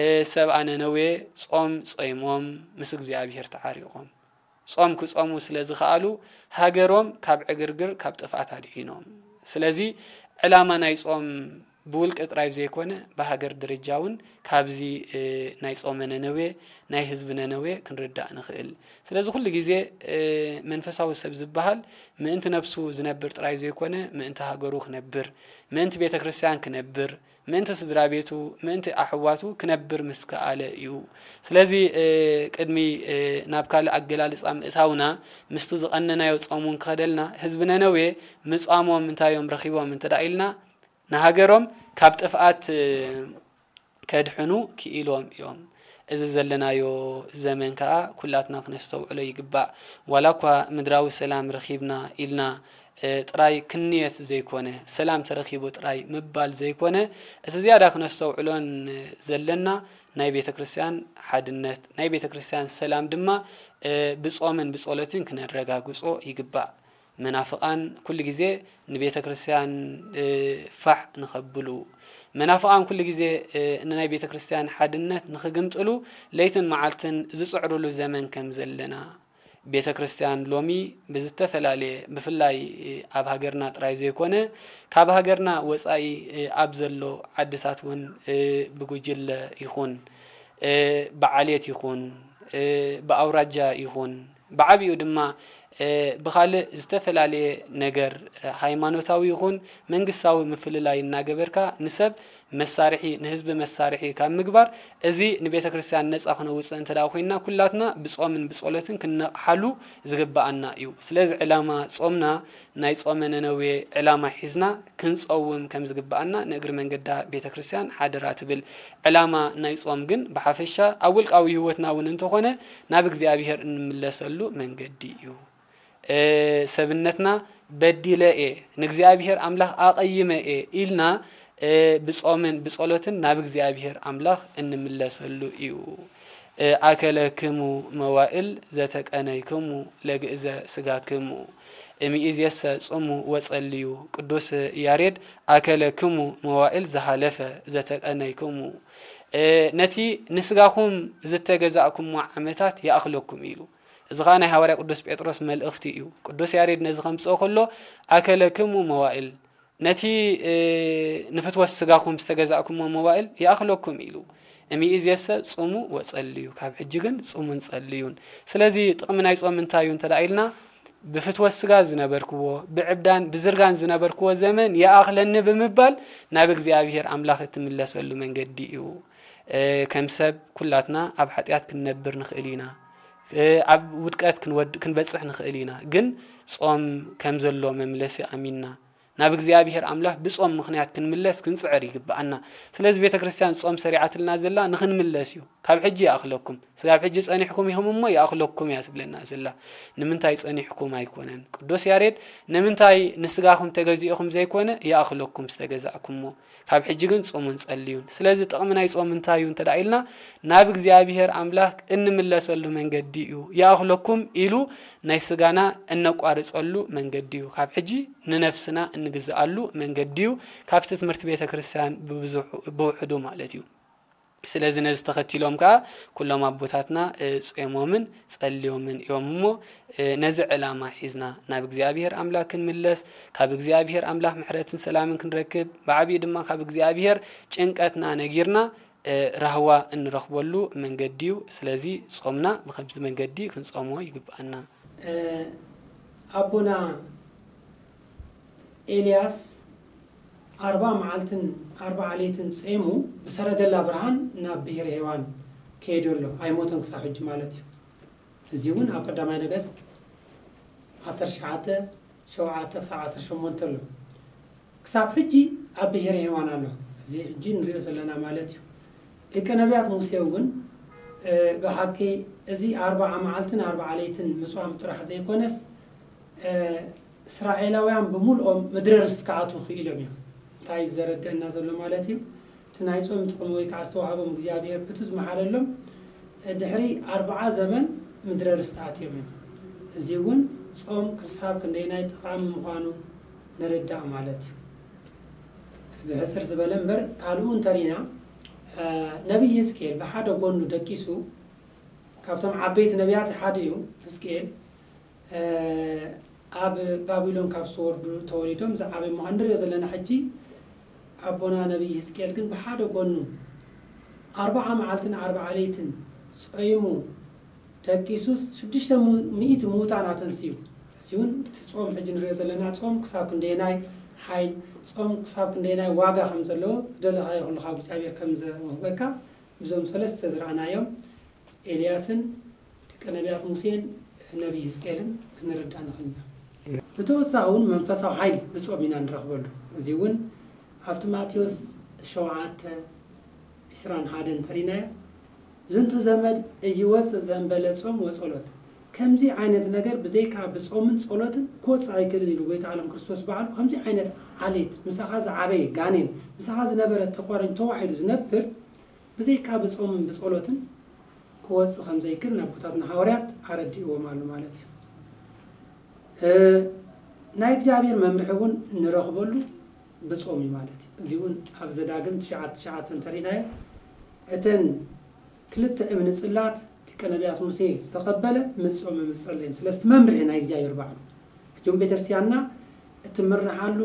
እ፣ ሰብኣ ነነዌ ጾም ጾይሞም ምስ እግዚኣብሔር ተዓሪቖም። ጾም ክጾሙ ስለ ዝኸኣሉ፣ ሃገሮም ካብ ዕግርግር፣ ካብ ጥፍኣት ኣድሒኖም። ስለዚ ዕላማ ናይ ጾም ብውልቂ ጥራይ ዘይኮነ፣ ብሃገር ደረጃ እውን ካብዚ፣ እ፣ ናይ ጾመ ነነዌ፣ ናይ ህዝቢ ነነዌ ክንርዳእ ንኽእል። ስለዚ ኩሉ ግዜ፣ እ፣ መንፈሳዊ ሰብ ዝበሃል ምእንቲ ነብሱ ዝነብር ጥራይ ዘይኮነ፣ ምእንቲ ሃገሩ ክነብር፣ ምእንቲ ቤተ ክርስቲያን ክነብር፣ ምእንቲ ስድራ ቤቱ፣ ምእንቲ ኣሕዋቱ ክነብር ምስ ከኣለ እዩ። ስለዚ፣ እ፣ ቅድሚ፣ እ፣ ናብ ካልእ ኣገላልጻ ምእታውና፣ ምስቲ ዝቐነናዮ ጾም እውን ክኸደልና፣ ህዝቢ ነነዌ ምጻሞም እንታይ እዮም ረኺቦም እንተ ደኣ ኢልና፣ ንሃገሮም ካብ ጥፍኣት፣ እ፣ ከድሕኑ ክኢሎም እዮም። እዚ ዘለናዮ ዘመን ከኣ ኩላትና ክነስተውዕሎ ይግባእ። ዋላ እኳ ምድራዊ ሰላም ረኺብና ኢልና፣ እ፣ ጥራይ ክንየት ዘይኮነ፣ ሰላም ተረኺቡ ጥራይ ምባል ዘይኮነ፣ እቲ ዝያዳ ክነስተውዕሎን ዘለና ናይ ቤተ ክርስቲያን ሓድነት፣ ናይ ቤተ ክርስቲያን ሰላም ድማ፣ እ፣ ብጾምን ብጸሎትን ክነረጋግጾ ይግባእ። መናፍቓን ኩሉ ግዜ ንቤተ ክርስቲያን፣ እ፣ ፋሕ ንኸብሉ፣ መናፍቓን ኩሉ ግዜ፣ እ፣ ንናይ ቤተ ክርስቲያን ሓድነት ንኽግምጥሉ ለይትን መዓልትን ዝጽዕሩሉ ዘመን ከም ዘለና፣ ቤተ ክርስቲያን ሎሚ ብዝተፈላለየ፣ ብፍላይ ኣብ ሃገርና ጥራይ ዘይኮነ፣ ካብ ሃገርና ወጻኢ፣ እ፣ ኣብ ዘሎ ዓድታት እውን፣ እ፣ ብጉጅለ ይኹን፣ እ፣ ብዓሌት ይኹን፣ እ፣ ብኣውራጃ ይኹን፣ ብዓቢኡ ድማ፣ እ፣ ብኻልእ ዝተፈላለየ ነገር፣ እ፣ ሃይማኖታዊ ይኹን መንግስታዊ ምፍልላይ እናገበርካ ንሰብ መሳርሒ፣ ንህዝቢ መሳርሒ ካብ ምግባር፣ እዚ ንቤተ ክርስቲያን ነጻ ክነውጽእ እንተ ደኣ ኮይንና፣ ኩላትና ብጾምን ብጸሎትን ክንነቕሓሉ ዝግብኣና እዩ። ስለዚ ዕላማ ጾምና ናይ ጾመ ነነዌ ዕላማ ሒዝና ክንጸውም ከም ዝግብኣና ንእግሪ መንገዳ ቤተ ክርስቲያን ሓደራ ትብል። ዕላማ ናይ ጾም ግን ብሓፈሻ ኣብ ውልቃዊ ህይወትና እውን እንተኾነ ናብ እግዚኣብሔር እንምለሰሉ መንገዲ እዩ። እ፣ ሰብነትና በዲለ እየ፣ ንእግዚኣብሔር ኣምላኽ ኣቐይመ እየ ኢልና፣ እ፣ ብጾምን ብጸሎትን ናብ እግዚኣብሔር ኣምላኽ እንምለሰሉ እዩ። እ፣ ኣከለክሙ መዋእል ዘተቀነይክሙ ለግእዘ ስጋክሙ፣ እምይእዜሰ ጽሙ ወጸልዩ። ቅዱስ ያሬድ ኣከለክሙ መዋእል ዝሃለፈ ዘተቀነይክሙ፣ እ፣ ነቲ ንስጋኹም ዝተገዛእኩሞ ዓመታት ይኣኽለኩም ኢሉ። እዚ ኸኣ ናይ ሃዋርያ ቅዱስ ጴጥሮስ መልእኽቲ እዩ። ቅዱስ ያሬድ ነዚ ከምጽኦ ከሎ፣ ኣከለክሙ መዋእል፣ ነቲ፣ እ፣ ንፍትወት ስጋኹም ዝተገዛእኩሞ መዋእል ይኣኽለኩም ኢሉ። እምይእዜሰ ጽሙ ወጸልዩ፣ ካብ ሕጂ ግን ጽሙን ጸልዩን። ስለዚ ጥቕሚ ናይ ጾም እንታይ እዩ እንተ ደኣ ኢልና፣ ብፍትወት ስጋ ዝነበርክዎ፣ ብዕብዳን ብዝርጋን ዝነበርክዎ ዘመን ይኣኽለኒ ብምባል ናብ እግዚኣብሔር ኣምላኽ እትምለሰሉ መንገዲ እዩ። እ፣ ከም ሰብ ኩላትና ኣብ ሓጢኣት ክንነብር ንኽእል ኢና። እ፣ ኣብ ውድቀት ክንወድ-፣ ክንበጽሕ ንኽእል ኢና። ግን ጾም ከም ዘሎ መምለሲ ኣሚንና ናብ እግዚኣብሔር ኣምላኽ ብጾም ምኽንያት ክንምለስ ክንጽዕር ይግብኣና። ስለዚ ቤተ ክርስቲያን ጾም ሰሪዓትልና ዘላ ንኽንምለስ እዩ። ካብ ሕጂ ይኣኽለኩም፣ ስጋብ ሕጂ ጸኒሕኩም ኢኹም እሞ ይኣኽለኩም እያ ትብለና ዘላ። ንምንታይ ጸኒሕኩም ኣይኮነን። ቅዱስ ያሬድ ንምንታይ ንስጋኹም ተገዚእኹም ዘይኮነ ይኣኽለኩም ዝተገዛእኩሞ፣ ካብ ሕጂ ግን ጾሙን ጸልዩን። ስለዚ ጥቕሚ ናይ ጾም እንታይ እዩ እንተ ደኣ ኢልና፣ ናብ እግዚኣብሔር ኣምላኽ እንምለሰሉ መንገዲ እዩ። ይኣኽለኩም ኢሉ ናይ ስጋና እነቋርጸሉ መንገዲ እዩ። ካብ ሕጂ ንነፍስና እንግዝኣሉ መንገዲ እዩ። ካብቲ ትምህርቲ ቤተ ክርስቲያን ብብዙሑ-፣ ብውሕዱ ማለት እዩ። ስለዚ ነዚ ተኸቲሎም ከኣ ኩሎም ኣቦታትና፣ እ፣ ጾሞምን ጸልዮምን እዮም እሞ፣ እ፣ ነዚ ዕላማ ሒዝና ናብ እግዚኣብሔር ኣምላኽ ክንምለስ፣ ካብ እግዚኣብሔር ኣምላኽ ምሕረትን ሰላምን ክንረክብ፣ ብዓቢኡ ድማ ካብ እግዚኣብሔር ጭንቀትና ነጊርና፣ እ፣ ራህዋ እንረኽበሉ መንገዲ እዩ። ስለዚ ጾምና ብኸምዚ መንገዲ ክንጾሞ ይግብኣና። እ፣ ኣቦና ኤልያስ ኣርብዓ መዓልትን ኣርብዓ ለይትን ጼሙ ብሰረገላ ብርሃን ናብ ብሔረ ሄዋን ከይዱ ኣሎ። ኣይሞተን ክሳብ ሕጂ ማለት እዩ። እዚ እውን ኣብ ቀዳማይ ነገስት ዓሰርተ ትሽዓተ፣ ሸውዓተ ክሳብ ዓሰርተ ሸሞንተ ኣሎ። ክሳብ ሕጂ ኣብ ብሔረ ሄዋን ኣሎ። እዚ ሕጂ ንሪኦ ዘለና ማለት እዩ። ሊቀ ነቢያት ሙሴ እውን፣ እ፣ ብሓቂ እዚ ኣርብዓ መዓልትን ኣርብዓ ለይትን ምጽዋም ጥራሕ ዘይኮነስ፣ እ፣ እስራኤላውያን ብምልኦም ምድረ ርስቲ ክኣትዉ ክኢሎም እዮም። እንታይ እዩ ዘረድአና ዘሎ ማለት እዩ? እቲ ናይ ጾም ጥቕሚ ወይ ከዓ ዝተዋህቦም እግዚኣብሔር ብቱ ዝመሓለሎም፣ ድሕሪ ኣርብዓ ዘመን ምድረ ርስቲ ኣትዮም እዮም። እዚ እውን ጾም ክሳብ ክንደይናይ ጠቓሚ ምዃኑ ንርዳእ ማለት እዩ። ብሕጽር ዝበለ እምበር ካልኡ እንተሪና፣ እ፣ ነቢይ ህዝቅኤል ብሓደ ጎኑ ደቂሱ፣ ካብቶም ዓበይቲ ነቢያት ሓደ እዩ ህዝቅኤል። እ፣ ኣብ ባቢሎን ካብ ዝተወርዱ ተወሊዶም ዝዓበዩ ምዃኑ ንሪኦ ዘለና። ሕጂ ኣቦና ነቢይ ህዝቅኤል ግን ብሓደ ጎኑ ኣርብዓ መዓልትን ኣርብዓ ለይትን ጾይሙ ደቂሱስ ሽዱሽተ ሚእቲ ምዉታን ኣተንስዩ። እዚ እውን እቲ ጾም ሕጂ ንሪኦ ዘለና ጾም ክሳብ ክንደየናይ ሓይል፣ ጾም ክሳብ ክንደየናይ ዋጋ ከም ዘለዎ ዝደለኻዮ ኩሉ ካብ እግዚኣብሔር ከም ዘውህበካ ብዞም ሰለስተ ዝረኣናዮም ኤልያስን ደቂ ነቢያት ሙሴን ነቢይ ህዝቅኤልን ክንርዳእ ንኽእል ኢና። ብተወሳኺ እውን መንፈሳዊ ሓይሊ ብጾም ኢና ንረኽበሉ። እዚ እውን ኣብቲ ማቴዎስ ሸውዓተ ዕስራን ሓደን እንተሪናዮ፣ ዝንቱ ዘመድ እይወፅእ ዘንበለ ጾም ወጸሎት። ከምዚ ዓይነት ነገር ብዘይካ ብጾምን ጸሎትን ክወጽእ ኣይክእልን ኢሉ ጎይታ ዓለም ክርስቶስ ባዕሉ። ከምዚ ዓይነት ዓሌት፣ ምሳኻ ዝዓበየ ጋኔን፣ ምሳኻ ዝነበረ ተቋሪን ተዋሒዱ ዝነብር ብዘይካ ብጾምን ብጸሎትን ክወጽእ ከም ዘይክእል ንኣቦታትና ሃዋርያት ኣረዲእዎም ኣሎ ማለት እዩ። እ፣ ናይ እግዚኣብሔር መምርሒ እውን ንረኽበሉ ብጾም እዩ ማለት እዩ። እዚ እውን ኣብ ዘዳግም ትሽዓተ ትሽዓተ እንተሪእናዮ፣ እተን ክልተ እምኒ ጽላት ሊቀ ነቢያት ሙሴ ዝተቐበለ ምጾምን ምጸለየን። ስለስቲ መምርሒ ናይ እግዚኣብሔር ባዕሉ። ሕጂ እውን ቤተክርስትያንና እትምርሓሉ፣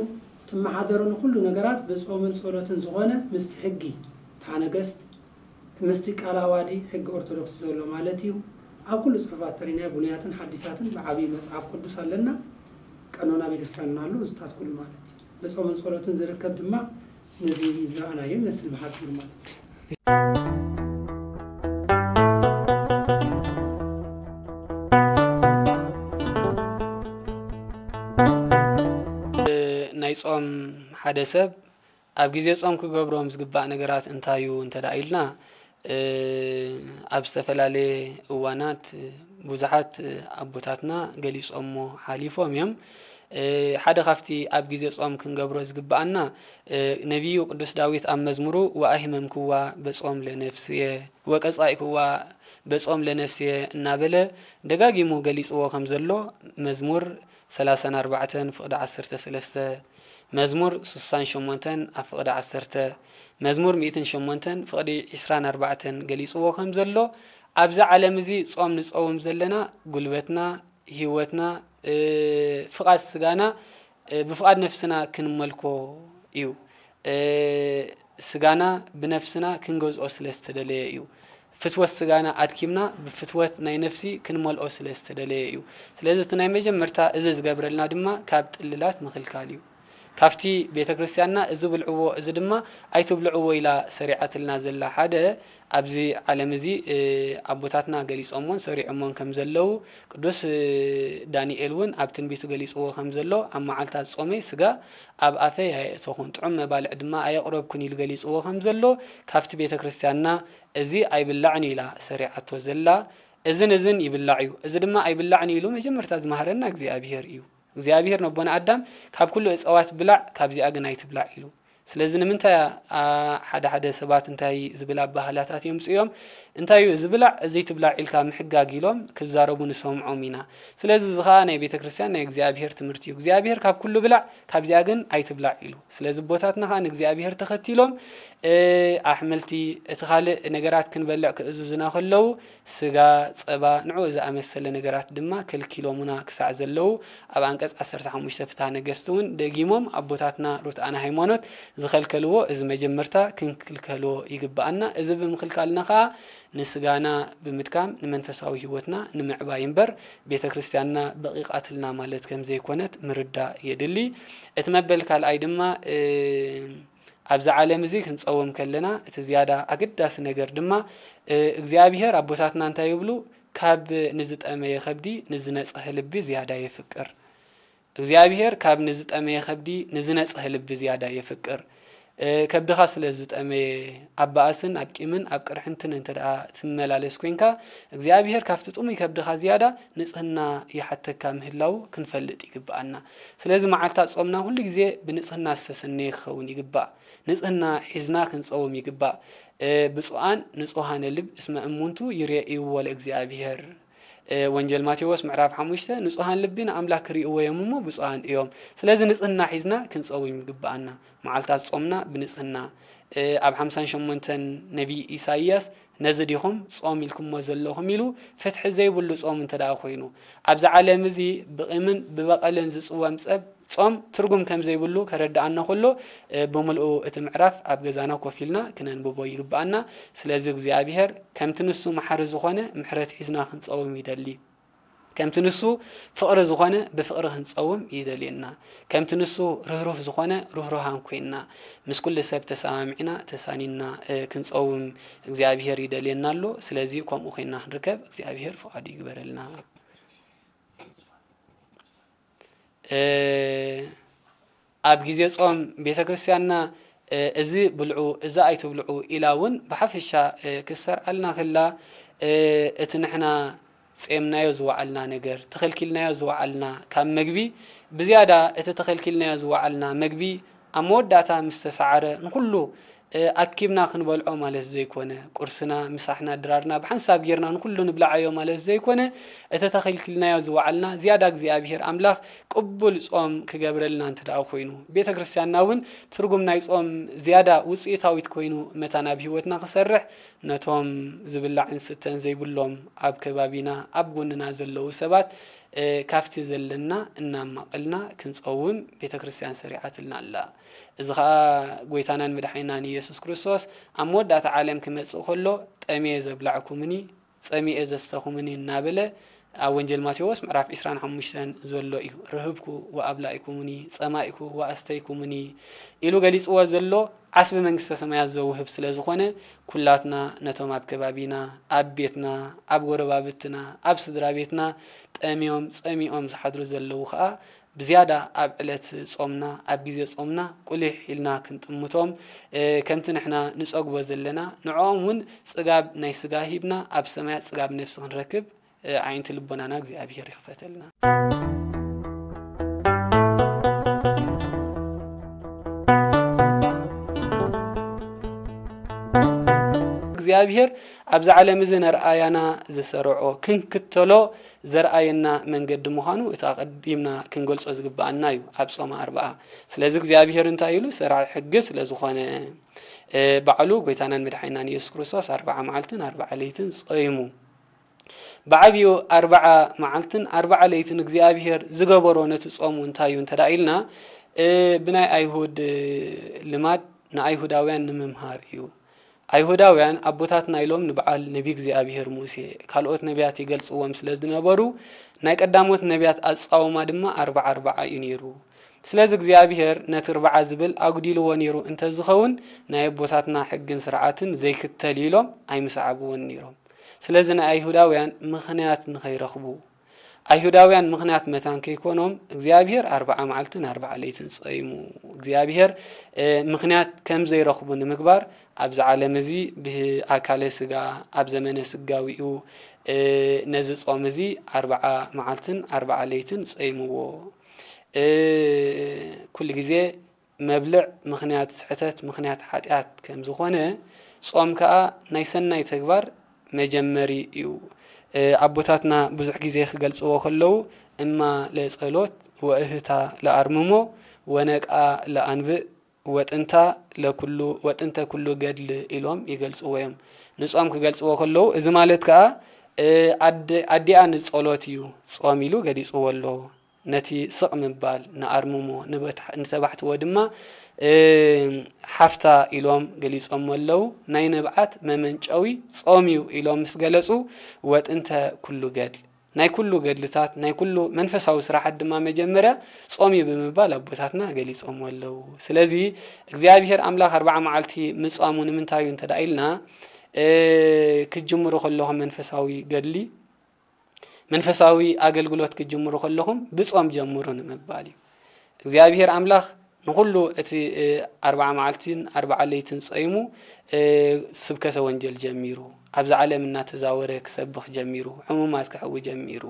እትመሓደረሉ ኩሉ ነገራት ብጾምን ጸሎትን ዝኾነ ምስቲ ሕጊ ፍትሐ ነገስት፣ ምስቲ ቃለ ዓዋዲ ሕጊ ኦርቶዶክስ ዘሎ ማለት እዩ። ኣብ ኩሉ ጽሑፋት ተሪናዮ ብሉያትን ሓዲሳትን ብዓብዪ መጽሓፍ ቅዱስ ኣለና። ቀኖና ቤተክርስትያንና ኣሎ፣ እዚታት ኩሉ ማለት እዩ። ብጾምን ጸሎትን ዝርከብ ድማ ነዚ ዝረኣናዮ ይመስል ብሓጺሩ ማለት እዩ። ናይ ጾም ሓደ ሰብ ኣብ ግዜ ጾም ክገብሮም ዝግባእ ነገራት እንታይ እዩ እንተ ደኣ ኢልና፣ እ፣ ኣብ ዝተፈላለየ እዋናት ብዙሓት ኣቦታትና ገሊጾሞ ሓሊፎም እዮም። እ፣ ሓደ ካብቲ ኣብ ግዜ ጾም ክንገብሮ ዝግብኣና፣ እ፣ ነቢዩ ቅዱስ ዳዊት ኣብ መዝሙሩ "ወኣሂመምክዋ በጾም ለነፍስየ ወቀጻኢክዋ በጾም ለነፍስየ" እናበለ ደጋጊሙ ገሊጽዎ ከም ዘሎ መዝሙር ሰላሳን ኣርባዕተን ፍቕዲ ዓሰርተ ሰለስተ፣ መዝሙር ስሳን ሸሞንተን ኣብ ፍቕዲ ዓሰርተ፣ መዝሙር ሚእትን ሸሞንተን ፍቕዲ ዕስራን ኣርባዕተን ገሊጽዎ ከም ዘሎ፣ ኣብዚ ዓለም እዚ ጾም ንጸውም ዘለና ጉልበትና፣ ህይወትና፣ እ፣ ፍቓድ ስጋና፣ እ፣ ብፍቓድ ነፍስና ክንመልኮ እዩ። እ፣ ስጋና ብነፍስና ክንገዝኦ ስለ ዝተደለየ እዩ። ፍትወት ስጋና ኣድኪምና ብፍትወት ናይ ነፍሲ ክንመልኦ ስለ ዝተደለየ እዩ። ስለዚ እቲ ናይ መጀመርታ እዚ ዝገብረልና ድማ ካብ ጥልላት ምኽልካል እዩ። ካብቲ ቤተ ክርስቲያንና እዚ ብልዕዎ እዚ ድማ ኣይትብልዕዎ ኢላ ሰሪዓትልና ዘላ ሓደ ኣብዚ ዓለም እዚ ኣቦታትና ገሊጾሞን ሰሪዖሞን ከም ዘለዉ ቅዱስ ዳንኤል እውን ኣብ ትንቢቱ ገሊጽዎ ከም ዘሎ ኣብ መዓልታት ጾመይ ስጋ ኣብ ኣፈይ ኣየእተኹን ጥዑም መባልዕ ድማ ኣየቕረብኩን ኢሉ ገሊጽዎ ከም ዘሎ ካብቲ ቤተ ክርስቲያንና እዚ ኣይብላዕን ኢላ ሰሪዓቶ ዘላ። እዝን እዝን ይብላዕ እዩ፣ እዚ ድማ ኣይብላዕን ኢሉ መጀመርታ ዝመሃረና እግዚኣብሔር እዩ። እግዚኣብሔር ነቦና ኣዳም ካብ ኩሉ እፀዋት ብላዕ፣ ካብዚኣ ግን ኣይትብላዕ ኢሉ። ስለዚ ንምንታይ ሓደ ሓደ ሰባት እንታይ ዝብል ኣባህላታት እዮም ፅዮም እንታይ እዩ ዝብላዕ እዚ ትብላዕ ኢልካ ምሕጋግ ኢሎም ክዛረቡ ንሰምዖም ኢና። ስለዚ እዚ ከዓ ናይ ቤተ ክርስቲያን ናይ እግዚኣብሔር ትምህርቲ እዩ። እግዚኣብሔር ካብ ኩሉ ብላዕ ካብዚኣ ግን ኣይትብላዕ ኢሉ። ስለዚ ኣቦታትና ከዓ ንእግዚኣብሔር ተኸቲሎም ኣሕምልቲ እቲ ካልእ ነገራት ክንበልዕ ክእዝዙና ከለዉ ስጋ፣ ጸባ፣ ንዕኡ ዝኣመሰለ ነገራት ድማ ከልኪሎሙና ክሳዕ ዘለዉ ኣብ ኣንቀጽ ዓሰርተ ሓሙሽተ ፍትሐ ነገስት እውን ደጊሞም ኣቦታትና ርቱዓነ ሃይማኖት ዝኸልከልዎ እዚ መጀመርታ ክንክልከልዎ ይግብኣና። እዚ ብምኽልካልና ከኣ ንስጋና ብምድካም ንመንፈሳዊ ህይወትና ንምዕባይ እምበር ቤተ ክርስቲያንና በቒቓትልና ማለት ከም ዘይኮነት ምርዳእ የድሊ። እቲ መበል ካልኣይ ድማ ኣብዚ ዓለም እዚ ክንጸውም ከለና እቲ ዝያዳ ኣገዳሲ ነገር ድማ እግዚኣብሔር ኣቦታትና እንታይ ይብሉ? ካብ ንዝጠመየ ከብዲ ንዝነጽሀ ልቢ ዝያዳ የፍቅር። እግዚኣብሔር ካብ ንዝጠመየ ከብዲ ንዝነጽሀ ልቢ ዝያዳ የፍቅር። ከብድኻ ስለ ዝጠመየ ኣብ ባእስን ኣብ ቂምን ኣብ ቅርሕንትን እንተ ደኣ ትመላለስ ኮይንካ እግዚኣብሔር ካብቲ ጥሙይ ከብድኻ ዝያዳ ንጽህና ይሓተካ ምህላዉ ክንፈልጥ ይግብኣና። ስለዚ መዓልታት ጾምና ኩሉ ግዜ ብንጽህና ዝተሰነየ ክኸውን ይግባእ። ንጽህና ሒዝና ክንጸውም ይግባእ። ብፁዓን ንጹሃነ ልብ እስመ እሙንቱ ይሬእይዎ ለእግዚኣብሔር። ወንጀል ማቴዎስ ምዕራፍ ሓሙሽተ ንጹሃን ልቢ ንኣምላክ ክርእይዎ እዮም እሞ ብፁዓን እዮም። ስለዚ ንጽህና ሒዝና ክንጸውም ይግብኣና። መዓልታት ጾምና ብንጽህና ኣብ ሓምሳን ሸሞንተን ነቢይ ኢሳይያስ ነዚ ዲኹም ጾም ኢልኩሞ ዘለኹም ኢሉ ፍትሒ ዘይብሉ ጾም እንተ ደኣ ኮይኑ ኣብዚ ዓለም እዚ ብቂምን ብበቐልን ዝጽወም ጸብ ጾም ትርጉም ከም ዘይብሉ ከረድኣና ከሎ ብምልኡ እቲ ምዕራፍ ኣብ ገዛና ኮፍ ኢልና ክነንብቦ ይግብኣና። ስለዚ እግዚኣብሔር ከምቲ ንሱ መሓሪ ዝኾነ ምሕረት ሒዝና ክንጸውም ይደሊ። ከምቲ ንሱ ፍቕሪ ዝኾነ ብፍቕሪ ክንጸውም ይደልየና። ከምቲ ንሱ ርህሩህ ዝኾነ ርህሩሃን ኮይንና ምስ ኩሉ ሰብ ተሰማሚዕና ተሳኒና ክንጸውም እግዚኣብሔር ይደልየና ኣሎ። ስለዚ ከምኡ ኮይንና ክንርከብ እግዚኣብሔር ፍቓዱ ይግበረልና። ኣብ ግዜ ጾም ቤተ ክርስቲያንና እዚ ብልዑ እዚ ኣይትብልዑ ኢላ እውን ብሓፈሻ ክሰርዓልና ከላ እቲ ንሕና ጼምናዮ ዝወዓልና ነገር ተኸልኪልናዮ ዝወዓልና ካብ መግቢ ብዝያዳ እቲ ተኸልኪልናዮ ዝወዓልና መግቢ ኣብ መወዳእታ ምስ ተሰዓረ ንኹሉ ኣኪብና ክንበልዖ ማለት ዘይኮነ፣ ቁርስና፣ ምሳሕና፣ ድራርና ብሓንሳብ ጌርና ንኹሉ ንብላዓዮ ማለት ዘይኮነ፣ እቲ ተኸልኪልናዮ ዝወዓልና ዝያዳ እግዚኣብሄር ኣምላኽ ቅቡል ጾም ክገብረልና እንተ ደኣ ኮይኑ፣ ቤተ ክርስቲያንና እውን ትርጉም ናይ ጾም ዝያዳ ውጽኢታዊት ኮይኑ መታን ኣብ ህይወትና ክሰርሕ፣ ነቶም ዝብላዕን ስተን ዘይብሎም ኣብ ከባቢና ኣብ ጎንና ዘለዉ ሰባት ካብቲ ዘለና እናማቐልና ክንጸውም ቤተ ክርስቲያን ሰሪዓትልና ኣላ። እዚ ኸኣ ጎይታናን መድሓኒናን ኢየሱስ ክርስቶስ ኣብ መወዳእታ ዓለም ክመጽእ ከሎ ጠምየ ዘብላዕኩምኒ ጸሚኤ ዘስተኹምኒ እናበለ ኣብ ወንጀል ማቴዎስ ምዕራፍ ዒስራን ሓሙሽተን ዘሎ እዩ። ርህብኩ ወኣብላኢኩምኒ፣ ጸማኢኩ ወኣስተይኩምኒ ኢሉ ገሊጽዎ ዘሎ ዓስቢ መንግስተ ሰማያት ዘውህብ ስለ ዝኾነ ኩላትና ነቶም ኣብ ከባቢና፣ ኣብ ቤትና፣ ኣብ ጎረባብትና፣ ኣብ ስድራ ቤትና ጠምዮም ጸሚኦም ዝሓድሩ ዘለዉ ኸኣ ብዝያዳ ኣብ ዕለት ጾምና ኣብ ግዜ ጾምና ቁሊሕ ኢልና ክንጥምቶም ከምቲ ንሕና ንጸግቦ ዘለና ንዕኦም እውን ጽጋብ ናይ ስጋ ሂብና ኣብ ሰማያት ጽጋብ ነፍሲ ክንረክብ ኣዒንቲ ልቦናና እግዚኣብሔር ይኽፈተልና። እግዚኣብሔር ኣብዚ ዓለም እዚ ነርኣያና ዝሰርዖ ክንክተሎ ዘርኣየና መንገዲ ምዃኑ እቲ ኣቐዲምና ክንገልጾ ዝግብኣና እዩ ኣብ ጾመ ኣርብዓ። ስለዚ እግዚኣብሔር እንታይ ኢሉ ሰራሒ ሕጊ ስለ ዝኾነ ባዕሉ ጎይታናን መድሓኒናን ኢየሱስ ክርስቶስ ኣርብዓ መዓልትን ኣርብዓ ለይትን ጾይሙ። ብዓብዩ ኣርብዓ መዓልትን ኣርብዓ ለይትን እግዚኣብሔር ዝገበሮ ነቲ ጾሙ እንታይ እዩ እንተ ኢልና ብናይ ኣይሁድ ልማድ ንኣይሁዳውያን ንምምሃር እዩ። ኣይሁዳውያን ኣቦታትና ኢሎም ንበዓል ነቢ እግዚኣብሔር ሙሴ፣ ካልኦት ነቢያት ይገልጽዎም ስለ ዝነበሩ፣ ናይ ቀዳሞት ነቢያት ኣጻውማ ድማ ኣርብዓ ኣርብዓ እዩ ነይሩ። ስለዚ እግዚኣብሔር ነቲ ኣርብዓ ዝብል ኣጉዲልዎ ነይሩ እንተዝኸውን፣ ናይ ኣቦታትና ሕግን ስርዓትን ዘይክተል ኢሎም ኣይምሰዓብዎን ነይሮም። ስለዚ ናይ ኣይሁዳውያን ምኽንያት ንኸይረኽቡ፣ ኣይሁዳውያን ምኽንያት መታን ከይኮኖም እግዚኣብሔር ኣርብዓ መዓልትን ኣርብዓ ለይትን ጸይሙ። እግዚኣብሔር፣ እ፣ ምኽንያት ከም ዘይረኽቡ ንምግባር ኣብዚ ዓለም እዚ ብኣካለ ስጋ ኣብ ዘመነ ስጋዊኡ፣ እ፣ ነዚ ጾም እዚ ኣርብዓ መዓልትን ኣርብዓ ለይትን ጸይምዎ። እ፣ ኩሉ ግዜ መብልዕ ምኽንያት ስሕተት፣ ምኽንያት ሓጢኣት ከም ዝኾነ፣ ጾም ከኣ ናይ ሰናይ ተግባር መጀመሪ እዩ። እ፣ ኣቦታትና ብዙሕ ግዜ ክገልጽዎ ከለዉ፣ እማ ለጸሎት ወእህታ ለኣርምሞ ወነቃ ለኣንብእ ወጥንታ ለኩሉ፣ ወጥንተ ኩሉ ገድል ኢሎም ይገልጽዎ እዮም። ንጾም ክገልጽዎ ከለዉ፣ እዚ ማለት ከኣ፣ እ፣ ኣደ-፣ ኣዲኣ ንጸሎት እዩ ጾም ኢሉ ገሊጽዎ ኣሎ። ነቲ ስቕ ምባል፣ ንኣርምሞ፣ ንበት-፣ ንተባሕትዎ ድማ፣ እ፣ ሓፍታ ኢሎም ገሊጾሞ ኣለዉ። ናይ ንብዓት መመንጨዊ ጾም እዩ ኢሎም ምስ ገለጹ፣ ወጥንተ ኩሉ ገድል፣ ናይ ኩሉ ገድልታት፣ ናይ ኩሉ መንፈሳዊ ስራሓት ድማ መጀመርያ ጾም እዩ ብምባል ኣቦታትና ገሊጾሞ ኣለዉ። ስለዚ እግዚኣብሔር ኣምላኽ ኣርብዓ መዓልቲ ምጻሙ ንምንታይ እዩ እንተ ደኣ ኢልና፣ እ፣ ክትጅምሩ ከለኹም መንፈሳዊ ገድሊ፣ መንፈሳዊ ኣገልግሎት ክትጅምሩ ከለኹም ብጾም ጀምሩ ንምባል እዩ። እግዚኣብሔር ኣምላኽ ንኹሉ እቲ፣ እ፣ ኣርብዓ መዓልትን ኣርብዓ ለይትን ጸይሙ፣ እ፣ ስብከተ ወንጀል ጀሚሩ፣ ኣብዚ ዓለም እናተዛወረ ክሰብኽ ጀሚሩ፣ ሕሙማት ከሕዊ ጀሚሩ።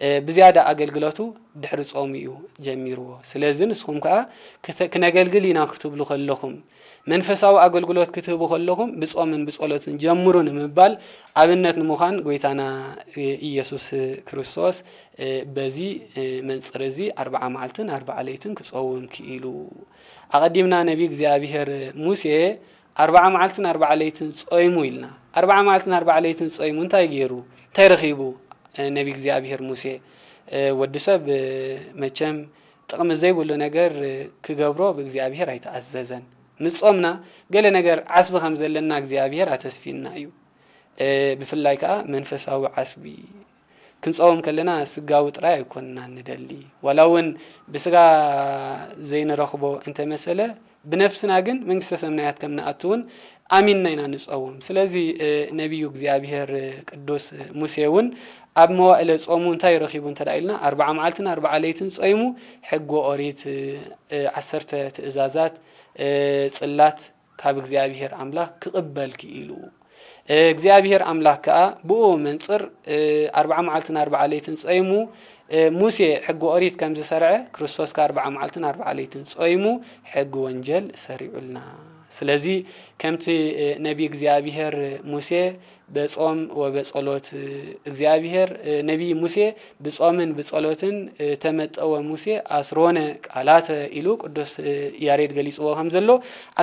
እ፣ ብዝያዳ ኣገልግሎቱ ድሕሪ ጾሙ እዩ ጀሚርዎ። ስለዚ ንስኹም ከኣ ክተ-፣ ክነገልግል ኢና ክትብሉ ከለኹም፣ መንፈሳዊ ኣገልግሎት ክትህቡ ከለኹም ብጾምን ብጸሎትን ጀምሩ ንምባል ኣብነት ንምዃን ጎይታና ኢየሱስ ክርስቶስ፣ እ፣ በዚ፣ እ፣ መንጽር እዚ ኣርብዓ መዓልትን ኣርብዓ ለይትን ክጸውም ክኢሉ። ኣቐዲምና ነቢ እግዚኣብሔር ሙሴ ኣርብዓ መዓልትን ኣርብዓ ለይትን ጾይሙ ኢልና። ኣርብዓ መዓልትን ኣርብዓ ለይትን ጾይሙ እንታይ ገይሩ? እንታይ ረኺቡ? እ፣ ነቢ እግዚኣብሔር ሙሴ፣ እ፣ ወዲ ሰብ፣ እ፣ መቸም ጥቕሚ ዘይብሉ ነገር፣ እ፣ ክገብሮ ብእግዚኣብሔር ኣይተኣዘዘን። ምስ ጾምና ገለ ነገር ዓስቢ ከም ዘለና እግዚኣብሔር ኣተስፊና እዩ። እ፣ ብፍላይ ከኣ መንፈሳዊ ዓስቢ። ክንጸውም ከለና ስጋዊ ጥራይ ኣይኮንና ንደሊ። ዋላ እውን ብስጋ ዘይንረኽቦ እንተመሰለ፣ ብነፍስና ግን መንግስተ ሰማያት ከም ንኣቱ እውን ኣሚንና ኢና ንጸውም። ስለዚ፣ እ፣ ነቢዩ እግዚኣብሔር፣ እ፣ ቅዱስ ሙሴ እውን ኣብ መዋእለ ጾሙ እንታይ ረኺቡ እንተ ደኣ ኢልና፣ ኣርብዓ መዓልትን ኣርብዓ ለይትን ጾይሙ፣ ሕጊ ኦሪት፣ እ፣ እ፣ ዓሰርተ ትእዛዛት፣ እ፣ ጽላት ካብ እግዚኣብሔር ኣምላኽ ክቕበል ክኢሉ። እ፣ እግዚኣብሔር ኣምላኽ ከኣ ብኡ መንጽር፣ እ፣ ኣርብዓ መዓልትን ኣርብዓ ለይትን ጸይሙ፣ እ፣ ሙሴ ሕጊ ኦሪት ከም ዝሰርዐ፣ ክርስቶስ ከኣ ኣርብዓ መዓልትን ኣርብዓ ለይትን ጾይሙ ሕጊ ወንጀል ሰሪዑልና። ስለዚ ከምቲ፣ እ፣ ነቢ እግዚኣብሔር ሙሴ በጾም ወበጸሎት፣ እ፣ እግዚኣብሔር፣ እ፣ ነቢ ሙሴ ብጾምን ብጸሎትን፣ እ፣ ተመጠወ ሙሴ ኣስሮነ ቃላተ ኢሉ ቅዱስ፣ እ፣ ያሬድ ገሊጽዎ ከም ዘሎ፣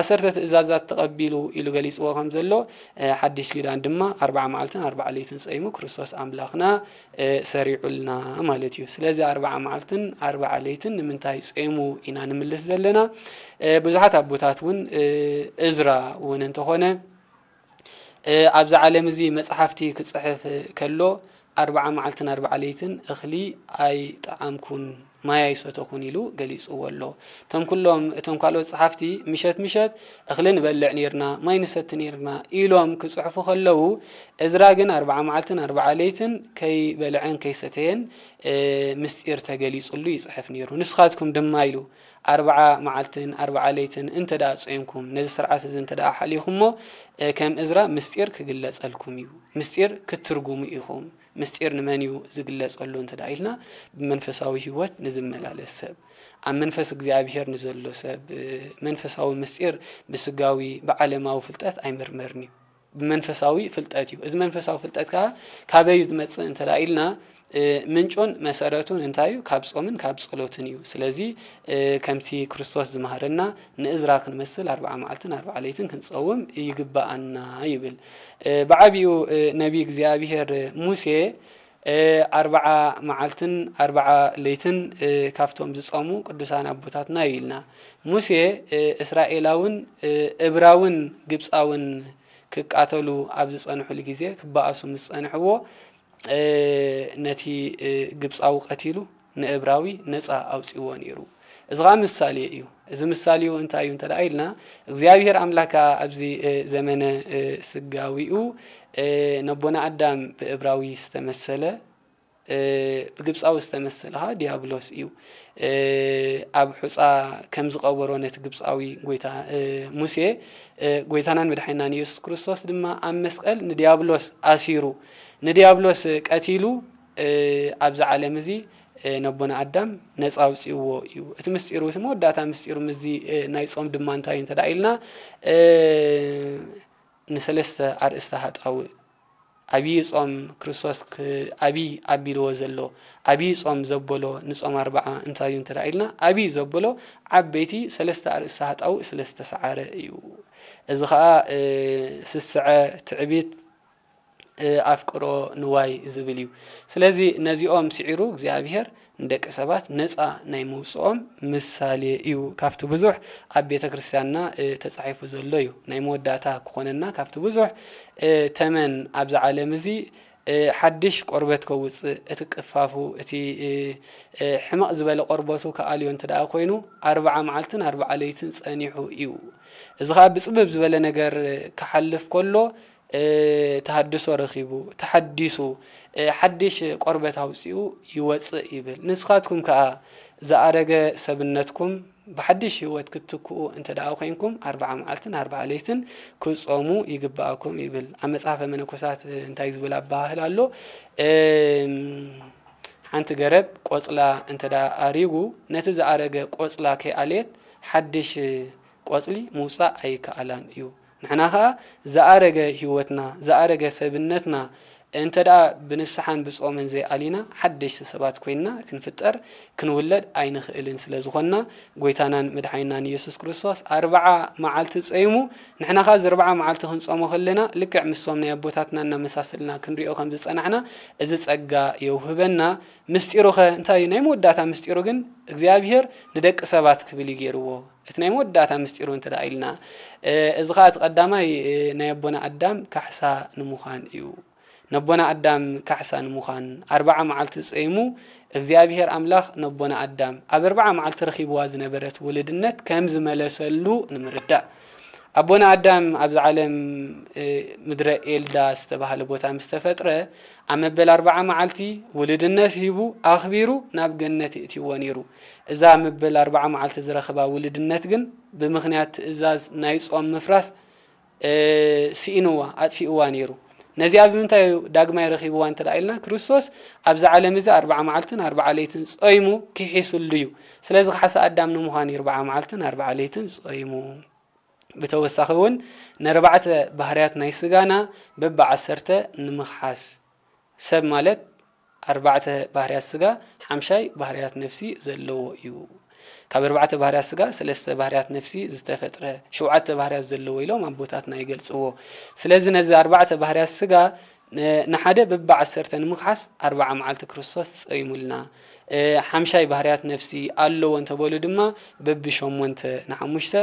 ዓሰርተ ትእዛዛት ተቐቢሉ ኢሉ ገሊጽዎ ከም ዘሎ፣ እ፣ ሓድሽ ኪዳን ድማ ኣርብዓ መዓልትን ኣርብዓ ለይትን ጸይሙ ክርስቶስ ኣምላኽና፣ እ፣ ሰሪዑልና ማለት እዩ። ስለዚ ኣርብዓ መዓልትን ኣርብዓ ለይትን ንምንታይ ጸይሙ ኢና ንምልስ ዘለና? እ፣ ብዙሓት ኣቦታት እውን፣ እ፣ እዝራ እውን እንተኾነ፣ እ፣ ኣብዚ ዓለም እዚ መጽሓፍቲ ክጽሕፍ ከሎ፣ ኣርብዓ መዓልትን ኣርብዓ ለይትን እኽሊ ኣይጠዓምኩን፣ ማይ ኣይሰተኹን ኢሉ ገሊጽዎ ኣሎ። እቶም ኩሎም፣ እቶም ካልኦት ጸሓፍቲ፣ ምሸት ምሸት እኽሊ ንበልዕ ኔርና፣ ማይ ንሰቲ ኔርና ኢሎም ክጽሕፉ ከለዉ፣ እዝራ ግን ኣርብዓ መዓልትን ኣርብዓ ለይትን ከይበልዐን ከይሰተየን፣ እ፣ ምስጢር ተገሊጹሉ ይጽሕፍ ኔሩ። ንስኻትኩም ድማ ኢሉ፣ ኣርብዓ መዓልትን ኣርብዓ ለይትን እንተ ደኣ ጾምኩም፣ ነዚ ስርዓት እዚ እንተ ደኣ ሓሊኹሞ፣ እ፣ ከም እዝራ ምስጢር ክግለጸልኩም እዩ። ምስጢር ክትትርጉሙ ኢኹም። ምስጢር ንመን እዩ ዝግለጸሉ እንተ ደኣ ኢልና፣ ብመንፈሳዊ ህይወት ንዝመላለስ ሰብ፣ ኣብ መንፈስ እግዚኣብሔር ንዘሎ ሰብ፣ እ፣ መንፈሳዊ ምስጢር ብስጋዊ ብዓለማዊ ፍልጠት ኣይምርመርን እዩ። ብመንፈሳዊ ፍልጠት እዩ። እዚ መንፈሳዊ ፍልጠት ከኣ ካበይ እዩ ዝመጽእ እንተ ደኣ ኢልና፣ እ፣ ምንጩን መሰረቱን እንታይ እዩ? ካብ ጾምን ካብ ጸሎትን እዩ። ስለዚ፣ እ፣ ከምቲ ክርስቶስ ዝመሃረና ንእዝራ ክንመስል ኣርብዓ መዓልትን ኣርብዓ ለይትን ክንጸውም ይግብኣና ይብል። እ፣ ብዓቢኡ፣ እ፣ ነቢ እግዚኣብሔር ሙሴ፣ እ፣ ኣርብዓ መዓልትን ኣርብዓ ለይትን፣ እ፣ ካብቶም ዝጸሙ ቅዱሳን ኣቦታትና እዩ ኢልና። ሙሴ፣ እ፣ እስራኤላውን፣ እ፣ እብራውን ግብጻውን ክቃተሉ ኣብ ዝጸንሕሉ ግዜ፣ ክበኣሱ ምስ ጸንሕዎ፣ እ፣ ነቲ፣ እ፣ ግብጻዊ ቀቲሉ ንእብራዊ ነጻ ኣውጺእዎ ነይሩ። እዚ ኸኣ ምሳሌ እዩ። እዚ ምሳሌኡ እንታይ እዩ እንተ ደኣ ኢልና፣ እግዚኣብሔር ኣምላክ ከኣ ኣብዚ፣ እ፣ ዘመነ፣ እ፣ ስጋዊኡ፣ እ፣ ነቦና ኣዳም ብእብራዊ ዝተመሰለ፣ እ፣ ብግብጻዊ ዝተመሰለ ኸኣ ዲያብሎስ እዩ። እ፣ ኣብ ሑጻ ከም ዝቐበሮ ነቲ ግብጻዊ ጐይታ፣ እ፣ ሙሴ፣ እ፣ ጐይታናን መድሓኒናን ኢየሱስ ክርስቶስ ድማ ኣብ መስቀል ንዲያብሎስ ኣሲሩ፣ ንዲያብሎስ ቀቲሉ፣ እ፣ ኣብዚ ዓለም እዚ፣ እ፣ ነቦና ኣዳም ነጻ ኣውጺእዎ እዩ። እቲ ምስጢሩ፣ እቲ መወዳእታ ምስጢሩ ምስዚ፣ እ፣ ናይ ጾም ድማ እንታይ እዩ እንተ ደኣ ኢልና፣ እ፣ ንሰለስተ ኣርእስተ ሃጣውእ፣ ኣብዪ ጾም ክርስቶስ ክ-፣ ኣብዪ ኣቢልዎ ዘሎ፣ ኣብዪ ጾም ዘበሎ ንጾም ኣርብዓ እንታይ እዩ እንተ ደኣ ኢልና፣ ኣብዪ ዘበሎ ዓበይቲ ሰለስተ ኣርእስተ ሃጣውእ ስለ ዝተሰዓረ እዩ። እዚ ኸኣ፣ እ፣ ስስዐ፣ ትዕቢት፣ እ፣ ኣፍቅሮ ንዋይ ዝብል እዩ። ስለዚ ነዚኦም ስዒሩ እግዚኣብሔር ንደቂ ሰባት ነጻ ናይ መውጽኦም ምሳሌ እዩ። ካብቲ ብዙሕ ኣብ ቤተ ክርስቲያንና፣ እ፣ ተጻሒፉ ዘሎ እዩ። ናይ መወዳእታ ክኾነና ካብቲ ብዙሕ፣ እ፣ ተመን ኣብዚ ዓለም እዚ፣ እ፣ ሓድሽ ቆርበት ከውጽእ፣ እቲ ቅፋፉ፣ እቲ፣ እ፣ እ፣ ሕምቕ ዝበለ ቆርበቱ ክኣልዮ እንተ ደኣ ኮይኑ፣ ኣርብዓ መዓልትን ኣርብዓ ለይትን ጸኒሑ እዩ። እዚ ኸኣ ብጽብብ ዝበለ ነገር ክሓልፍ ከሎ፣ እ፣ ተሃድሶ ረኺቡ፣ ተሓዲሱ፣ እ፣ ሓድሽ ቆርበት ኣውጺኡ ይወጽእ ይብል። ንስኻትኩም ከኣ ዝኣረገ ሰብነትኩም ብሓድሽ ህይወት ክትትክኡ እንተ ደኣ ኮይንኩም፣ ኣርብዓ መዓልትን ኣርብዓ ለይትን ክትጾሙ ይግብኣኩም ይብል። ኣብ መጽሓፈ መነኮሳት እንታይ ዝብል ኣበሃህላ ኣሎ? እም፣ ሓንቲ ገረብ ቆጽላ እንተ ደኣ ኣሪጉ፣ ነቲ ዝኣረገ ቆጽላ ከይኣለየት ሓድሽ ቆጽሊ ምውጻእ ኣይከኣላን እዩ። ንሕና ኸኣ ዝኣረገ ህይወትና፣ ዝኣረገ ሰብነትና እንተ ደኣ ብንስሓን ብጾምን ዘይኣሊና፣ ሓደሽቲ ሰባት ኮይንና ክንፍጠር፣ ክንውለድ ኣይንኽእልን ስለ ዝኾንና፣ ጐይታናን መድሓኒናን ኢየሱስ ክርስቶስ ኣርብዓ መዓልቲ ጸይሙ፣ ንሕና ኸኣ እዚ ኣርብዓ መዓልቲ ክንጾሞ ከለና፣ ልክዕ ምስቶም ናይ ኣቦታትና እናመሳሰልና ክንሪኦ ከም ዝጸናሕና፣ እዚ ጸጋ የውህበና። ምስጢሩኸ እንታይ እዩ? ናይ መወዳእታ ምስጢሩ ግን እግዚኣብሔር ንደቂ ሰባት ክብል እዩ ገይርዎ። እቲ ናይ መወዳእታ ምስጢሩ እንተ ደኣ ኢልና፣ እ፣ እዚ ኸኣ እቲ ቀዳማይ፣ እ፣ ናይ ኣቦና ኣዳም ካሕሳ ንምዃን እዩ። ነቦና ኣዳም ካሕሳ ንምዃን ኣርብዓ መዓልቲ ጸይሙ፣ እግዚኣብሔር ኣምላኽ ነቦና ኣዳም ኣብ ኣርብዓ መዓልቲ ረኺብዋ ዝነበረት ውልድነት ከም ዝመለሰሉ ንምርዳእ። ኣቦና ኣዳም ኣብዚ ዓለም፣ እ፣ ምድረ ኤልዳ ዝተባህለ ቦታ ምስ ተፈጥረ፣ ኣብ መበል ኣርብዓ መዓልቲ ውልድነት ሂቡ ኣኽቢሩ ናብ ገነት የእትይዎ ነይሩ። እዛ መበል ኣርብዓ መዓልቲ ዝረኸባ ውልድነት ግን ብምኽንያት ትእዛዝ ናይ ጾም ምፍራስ፣ እ፣ ስኢንዋ፣ ኣጥፊእዋ ነይሩ። ነዚኣ ብምንታይ እዩ ዳግማይ ረኺብዋ እንተ ደኣ ኢልና፣ ክርስቶስ ኣብዚ ዓለም እዚ ኣርብዓ መዓልትን ኣርብዓ ለይትን ጾይሙ ክሒስሉ እዩ። ስለዚ ካሕሳ ኣዳም ንምዃን እዩ ኣርብዓ መዓልትን ኣርብዓ ለይትን ጾይሙ። ብተወሳኺ እውን ንኣርባዕተ ባህርያት ናይ ስጋና በብዓሰርተ ንምኽሓስ። ሰብ ማለት ኣርባዕተ ባህርያት ስጋ፣ ሓምሻይ ባህርያት ነፍሲ ዘለዎ እዩ። ካብ ኣርባዕተ ባህርያት ስጋ ሰለስተ ባህርያት ነፍሲ ዝተፈጥረ፣ ሸውዓተ ባህርያት ዘለዎ ኢሎም ኣቦታትና ይገልጽዎ። ስለዚ ነዚ ኣርባዕተ ባህርያት ስጋ ን-፣ ንሓደ በብዓሰርተ ንምኽሓስ ኣርብዓ መዓልቲ ክርስቶስ ጸይሙልና። እ፣ ሓምሻይ ባህርያት ነፍሲ ኣለዎ እንተበሉ ድማ በብሸሞንተ ንሓሙሽተ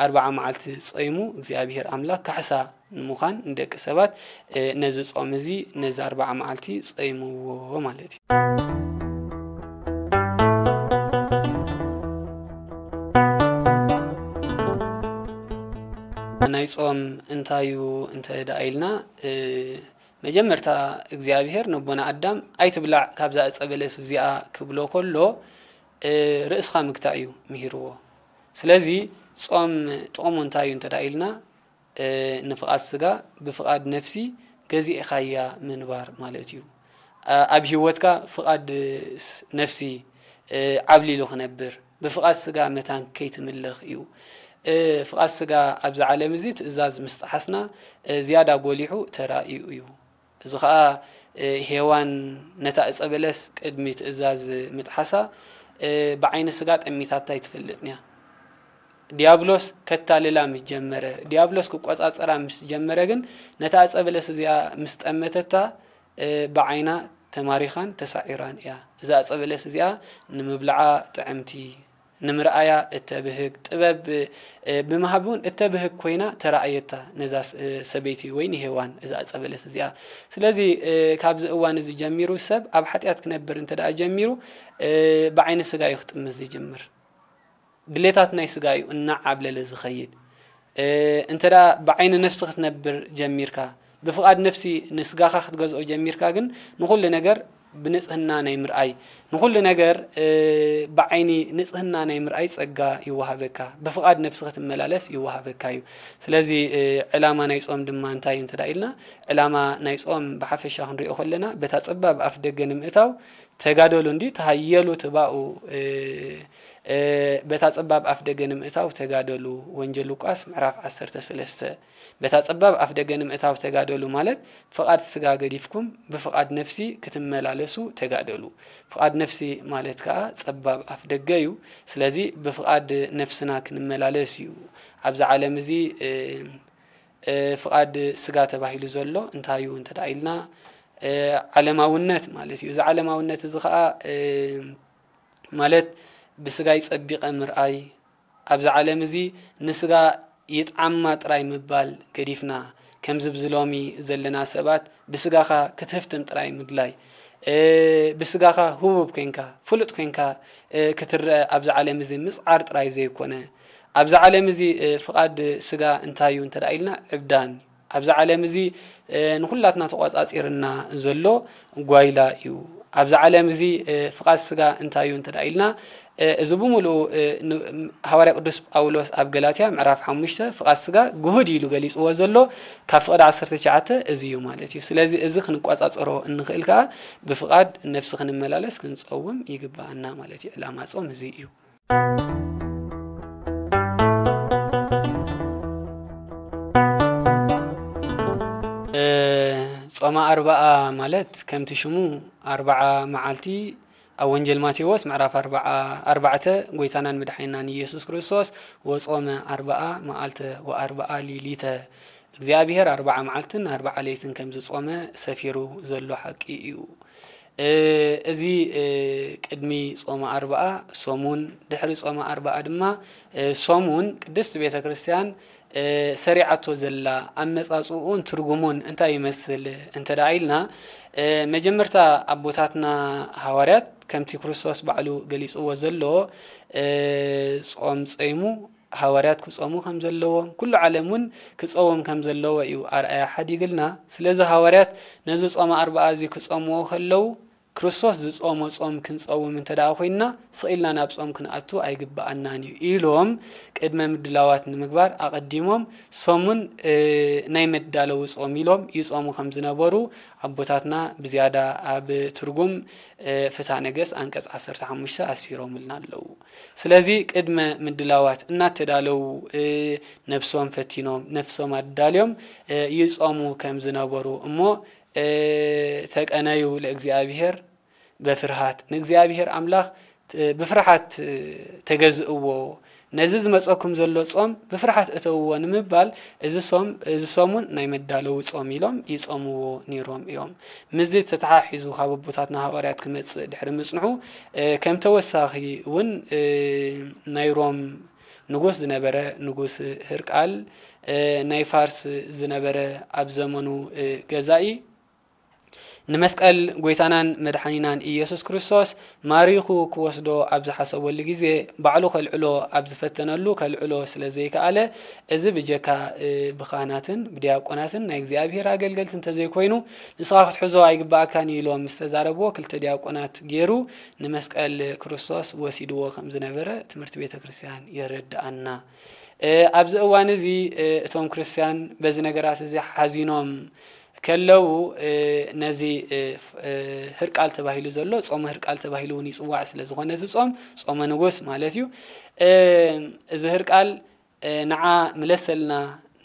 ኣርብዓ መዓልቲ ጸይሙ እግዚኣብሔር ኣምላኽ ካሕሳ ንምዃን ንደቂ ሰባት፣ እ፣ ነዚ ጾም እዚ፣ ነዚ ኣርብዓ መዓልቲ ጸይምዎ ማለት እዩ። ናይ ጾም እንታይ እዩ እንተ ደኣ ኢልና፣ እ፣ መጀመርታ እግዚኣብሔር ነቦና ኣዳም፣ "ኣይትብላዕ ካብዛ ዕጸ በለስ እዚኣ" ክብሎ ከሎ፣ እ፣ ርእስኻ ምግታእ እዩ ምሂርዎ። ስለዚ ጾም ጥቕሙ እንታይ እዩ እንተ ደኣ ኢልና፣ እ፣ ንፍቓድ ስጋ ብፍቓድ ነፍሲ ገዚእኻያ ምንባር ማለት እዩ። ኣ-፣ ኣብ ህይወትካ ፍቓድ ስ-፣ ነፍሲ፣ እ፣ ዓብሊሉ ክነብር፣ ብፍቓድ ስጋ መታን ከይትምለኽ እዩ። እ፣ ፍቓድ ስጋ ኣብዚ ዓለም እዚ ትእዛዝ ምስ ጠሓስና፣ እ፣ ዝያዳ ጎሊሑ ተራእዩ እዩ። እዚ ኸኣ፣ እ፣ ሄዋን ነታ ዕጸ በለስ ቅድሚ ትእዛዝ ምጥሓሳ፣ እ፣ ብዓይኒ ስጋ ጠሚታታ ኣይትፈልጥን እያ። ዲያብሎስ ከታልላ ምስ ጀመረ፣ ዲያብሎስ ክቆጻጸራ ምስ ጀመረ ግን፣ ነታ ዕጸ በለስ እዚኣ ምስ ጠመተታ፣ እ፣ ብዓይና ተማሪኻን ተሳዒራን እያ። እዛ ዕጸ በለስ እዚኣ ንምብልዓ ጥዕምቲ፣ ንምርኣያ እተብህግ፣ ጥበብ፣ እ፣ ብምሃብ እውን እተብህግ ኮይና ተራእየታ ነዛ ስ-፣ እ፣ ሰበይቲ ወይ ንሄዋን እዛ ዕፀ በለስ እዚኣ። ስለዚ፣ እ፣ ካብዚ እዋን እዚ ጀሚሩ ሰብ ኣብ ሓጢኣት ክነብር እንተ ደኣ ጀሚሩ፣ እ፣ ብዓይኒ ስጋ እዩ ክጥምት ዝጅምር። ድሌታት ናይ ስጋ እዩ እናዓብለለ ዝኸይድ። እ፣ እንተ ደኣ ብዓይኒ ነፍሲ ክትነብር ጀሚርካ፣ ብፍቓድ ነፍሲ ንስጋኻ ክትገዝኦ ጀሚርካ ግን ንኹሉ ነገር ብንጽህና ናይ ምርኣይ፣ ንኹሉ ነገር፣ እ፣ ብዓይኒ ንጽህና ናይ ምርኣይ ጸጋ ይወሃበካ። ብፍቓድ ነፍሲ ክትመላለስ ይወሃበካ እዩ። ስለዚ፣ እ፣ ዕላማ ናይ ጾም ድማ እንታይ እዩ እንተ ደኣ ኢልና፣ ዕላማ ናይ ጾም ብሓፈሻ ክንሪኦ ከለና፣ በታ ጸባብ ኣፍ ደገ ንምእታው ተጋደሉ እንዲ ተሃየሉ ትባኡ፣ እ፣ እ፣ በታ ጸባብ ኣፍ ደገ ንምእታው ተጋደሉ። ወንጌል ሉቃስ ምዕራፍ ዓሰርተ ሰለስተ። በታ ጸባብ ኣፍ ደገ ንምእታው ተጋደሉ ማለት ፍቓድ ስጋ ገዲፍኩም ብፍቓድ ነፍሲ ክትመላለሱ ተጋደሉ። ፍቓድ ነፍሲ ማለት ከኣ ጸባብ ኣፍ ደገ እዩ። ስለዚ ብፍቓድ ነፍስና ክንመላለስ እዩ። ኣብዚ ዓለም እዚ፣ እ፣ እ፣ ፍቓድ ስጋ ተባሂሉ ዘሎ እንታይ እዩ እንተ ደኣ ኢልና፣ እ፣ ዓለማውነት ማለት እዩ። እዚ ዓለማውነት እዚ ኸኣ፣ እ፣ ማለት ብስጋይ ጸቢቐ ምርኣይ፣ ኣብዚ ዓለም እዚ ንስጋ ይጥዓማ ጥራይ ምባል ገዲፍና፣ ከምዚ ብዚ ሎሚ ዘለና ሰባት ብስጋኻ ክትህፍትም ጥራይ ምድላይ፣ እ፣ ብስጋኻ ህቡብ ኮንካ፣ ፍሉጥ ኮንካ፣ እ፣ ክትረአ ኣብዚ ዓለም እዚ ምጽዓር ጥራይ ዘይኮነ፣ ኣብዚ ዓለም እዚ፣ እ፣ ፍቓድ ስጋ እንታይ እዩ እንተ ደኣ ኢልና፣ ዕብዳን። ኣብዚ ዓለም እዚ፣ እ፣ ንኹላትና ተቖጻጺርና ዘሎ ጓይላ እዩ። ኣብዚ ዓለም እዚ፣ እ፣ ፍቓድ ስጋ እንታይ እዩ እንተ ደኣ ኢልና፣ እ፣ እዚ ብምሉኡ፣ እ፣ ን-፣ ሃዋርያ ቅዱስ ጳውሎስ ኣብ ገላትያ ምዕራፍ ሓሙሽተ ፍቓድ ስጋ ግሁድ ኢሉ ገሊጽዎ ዘሎ፣ ካብ ፍቕዲ ዓሰርተ ትሽዓተ እዚ እዩ ማለት እዩ። ስለዚ እዚ ክንቆጻጸሮ እንኽእል ከኣ ብፍቓድ ነፍሲ ክንመላለስ ክንጸውም ይግብኣና ማለት እዩ። ዕላማ ጾም እዚ እዩ። እ፣ ጾመ ኣርብዓ ማለት ከምቲ ሽሙ ኣርብዓ መዓልቲ ኣብ ወንጌል ማቴዎስ ምዕራፍ ኣርብዓ፣ ኣርባዕተ ጎይታናን መድሓኒናን ኢየሱስ ክርስቶስ ወጾመ ኣርብዓ መዓልተ ወኣርብዓ ሊሊተ፣ እግዚኣብሔር ኣርብዓ መዓልትን ኣርብዓ ለይትን ከም ዝጾመ ሰፊሩ ዘሎ ሓቂ እዩ። እ፣ እዚ፣ እ፣ ቅድሚ ጾመ ኣርብዓ ሰሙን፣ ድሕሪ ጾመ ኣርብዓ ድማ፣ እ፣ ሰሙን ቅድስት ቤተ ክርስቲያን፣ እ፣ ሰሪዓቶ ዘላ ኣመጻጽኡን ትርጉሙን እንታይ ይመስል እንተ ደኣ ኢልና፣ እ፣ መጀመርታ ኣቦታትና ሃዋርያት ከምቲ ክርስቶስ ባዕሉ ገሊጽዎ ዘሎ፣ እ፣ ጾም ጸይሙ፣ ሃዋርያት ክጾሙ ከም ዘለዎም፣ ኩሉ ዓለም እውን ክጸውም ከም ዘለዎ እዩ ኣርኣያ ሓዲግልና። ስለዚ ሃዋርያት ነዚ ጾመ ኣርብዓ እዚ ክጸምዎ ከለዉ፣ ክርስቶስ ዝጾሞ ጾም ክንጸውም እንተ ደኣ ኮይንና፣ ስቕ ኢልና ናብ ጾም ክንኣቱ ኣይግብኣናን እዩ ኢሎም፣ ቅድመ ምድላዋት ንምግባር ኣቐዲሞም ሰሙን፣ እ፣ ናይ መዳለዊ ጾም ኢሎም ይጾሙ ከም ዝነበሩ ኣቦታትና ብዝያዳ ኣብ ትርጉም፣ እ፣ ፍትሐ ነገሥት ኣንቀጽ ዓሰርተ ሓሙሽተ ኣስፊሮምልና ኣለዉ። ስለዚ ቅድመ ምድላዋት እናተዳለዉ፣ እ፣ ነፍሶም ፈቲኖም፣ ነፍሶም ኣዳልዮም፣ እ፣ ይጾሙ ከም ዝነበሩ እሞ፣ እ፣ ተቀነዩ ለእግዚኣብሔር በፍርሃት፣ ንእግዚኣብሔር ኣምላኽ፣ እ፣ ብፍርሃት፣ እ፣ ተገዝእዎ፣ ነዚ ዝመጸኩም ዘሎ ጾም ብፍርሃት እተውዎ ንምባል እዚ ሶም-፣ እዚ ሰሙን ናይ መዳለዊ ጾም ኢሎም ይጾምዎ ነይሮም እዮም። ምስዚ ተተሓሒዙ ካብ ኣቦታትና ሃዋርያት ክመጽእ ድሕሪ ምጽንሑ፣ እ፣ ከም ተወሳኺ እውን፣ እ፣ ናይ ሮም ንጉስ ዝነበረ ንጉስ ህርቃል፣ እ፣ ናይ ፋርስ ዝነበረ ኣብ ዘመኑ፣ እ፣ ገዛኢ ንመስቀል ጎይታናን መድሓኒናን ኢየሱስ ክርስቶስ ማሪኹ ክወስዶ ኣብ ዝሓሰበሉ ግዜ፣ ባዕሉ ከልዕሎ ኣብ ዝፈተነሉ ከልዕሎ ስለ ዘይከኣለ፣ እዚ ብጀካ፣ እ፣ ብኻህናትን ብዲያቆናትን ናይ እግዚኣብሔር ኣገልገልቲ እንተዘይኮይኑ፣ ንስኻ ክትሕዞ ኣይግባኣካን እዩ ኢሎም ምስ ተዛረብዎ፣ ክልተ ዲያቆናት ገይሩ ንመስቀል ክርስቶስ ወሲድዎ ከም ዝነበረ ትምህርቲ ቤተ ክርስቲያን የረድኣና። እ፣ ኣብዚ እዋን እዚ፣ እ፣ እቶም ክርስቲያን በዚ ነገራት እዚ ሓዚኖም ከለዉ፣ እ፣ ነዚ፣ እ፣ ፍ-፣ እ፣ ህርቃል ተባሂሉ ዘሎ፣ ጾመ ህርቃል ተባሂሉ እውን ይጽዋዕ ስለ ዝኾነ፣ እዚ ጾም ጾመ ንጉስ ማለት እዩ። እ፣ እዚ ህርቃል፣ እ፣ ንዓ ምለሰልና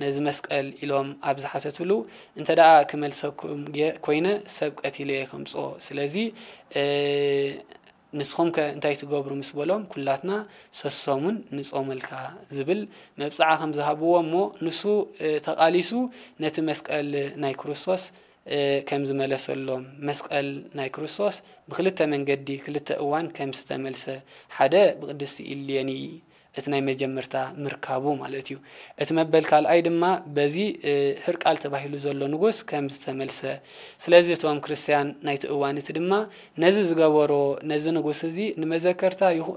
ነዚ መስቀል ኢሎም ኣብ ዝሓተትሉ፣ እንተ ደኣ ክመልሰኩም ጌ-፣ ኮይነ ሰብ ቀቲለ እየ ከምጽኦ። ስለዚ፣ እ፣ ንስኹም ከ እንታይ ትገብሩ ምስ በሎም፣ ኩላትና ሰሶሙን ንጾመልካ ዝብል መብጽዓ ከም ዝሃብዎ እሞ፣ ንሱ፣ እ፣ ተቓሊሱ ነቲ መስቀል ናይ ክርስቶስ ከም ዝመለሰሎም፣ መስቀል ናይ ክርስቶስ ብክልተ መንገዲ ክልተ እዋን ከም ዝተመልሰ፣ ሓደ ብቅድስቲ ኢሌኒ እቲ ናይ መጀመርታ ምርካቡ ማለት እዩ። እቲ መበል ካልኣይ ድማ በዚ ህርቃል ተባሂሉ ዘሎ ንጉስ ከም ዝተመልሰ፣ ስለዚ እቶም ክርስትያን ናይቲ እዋን እቲ ድማ ነዚ ዝገበሮ፣ ነዚ ንጉስ እዚ ንመዘከርታ ይኹ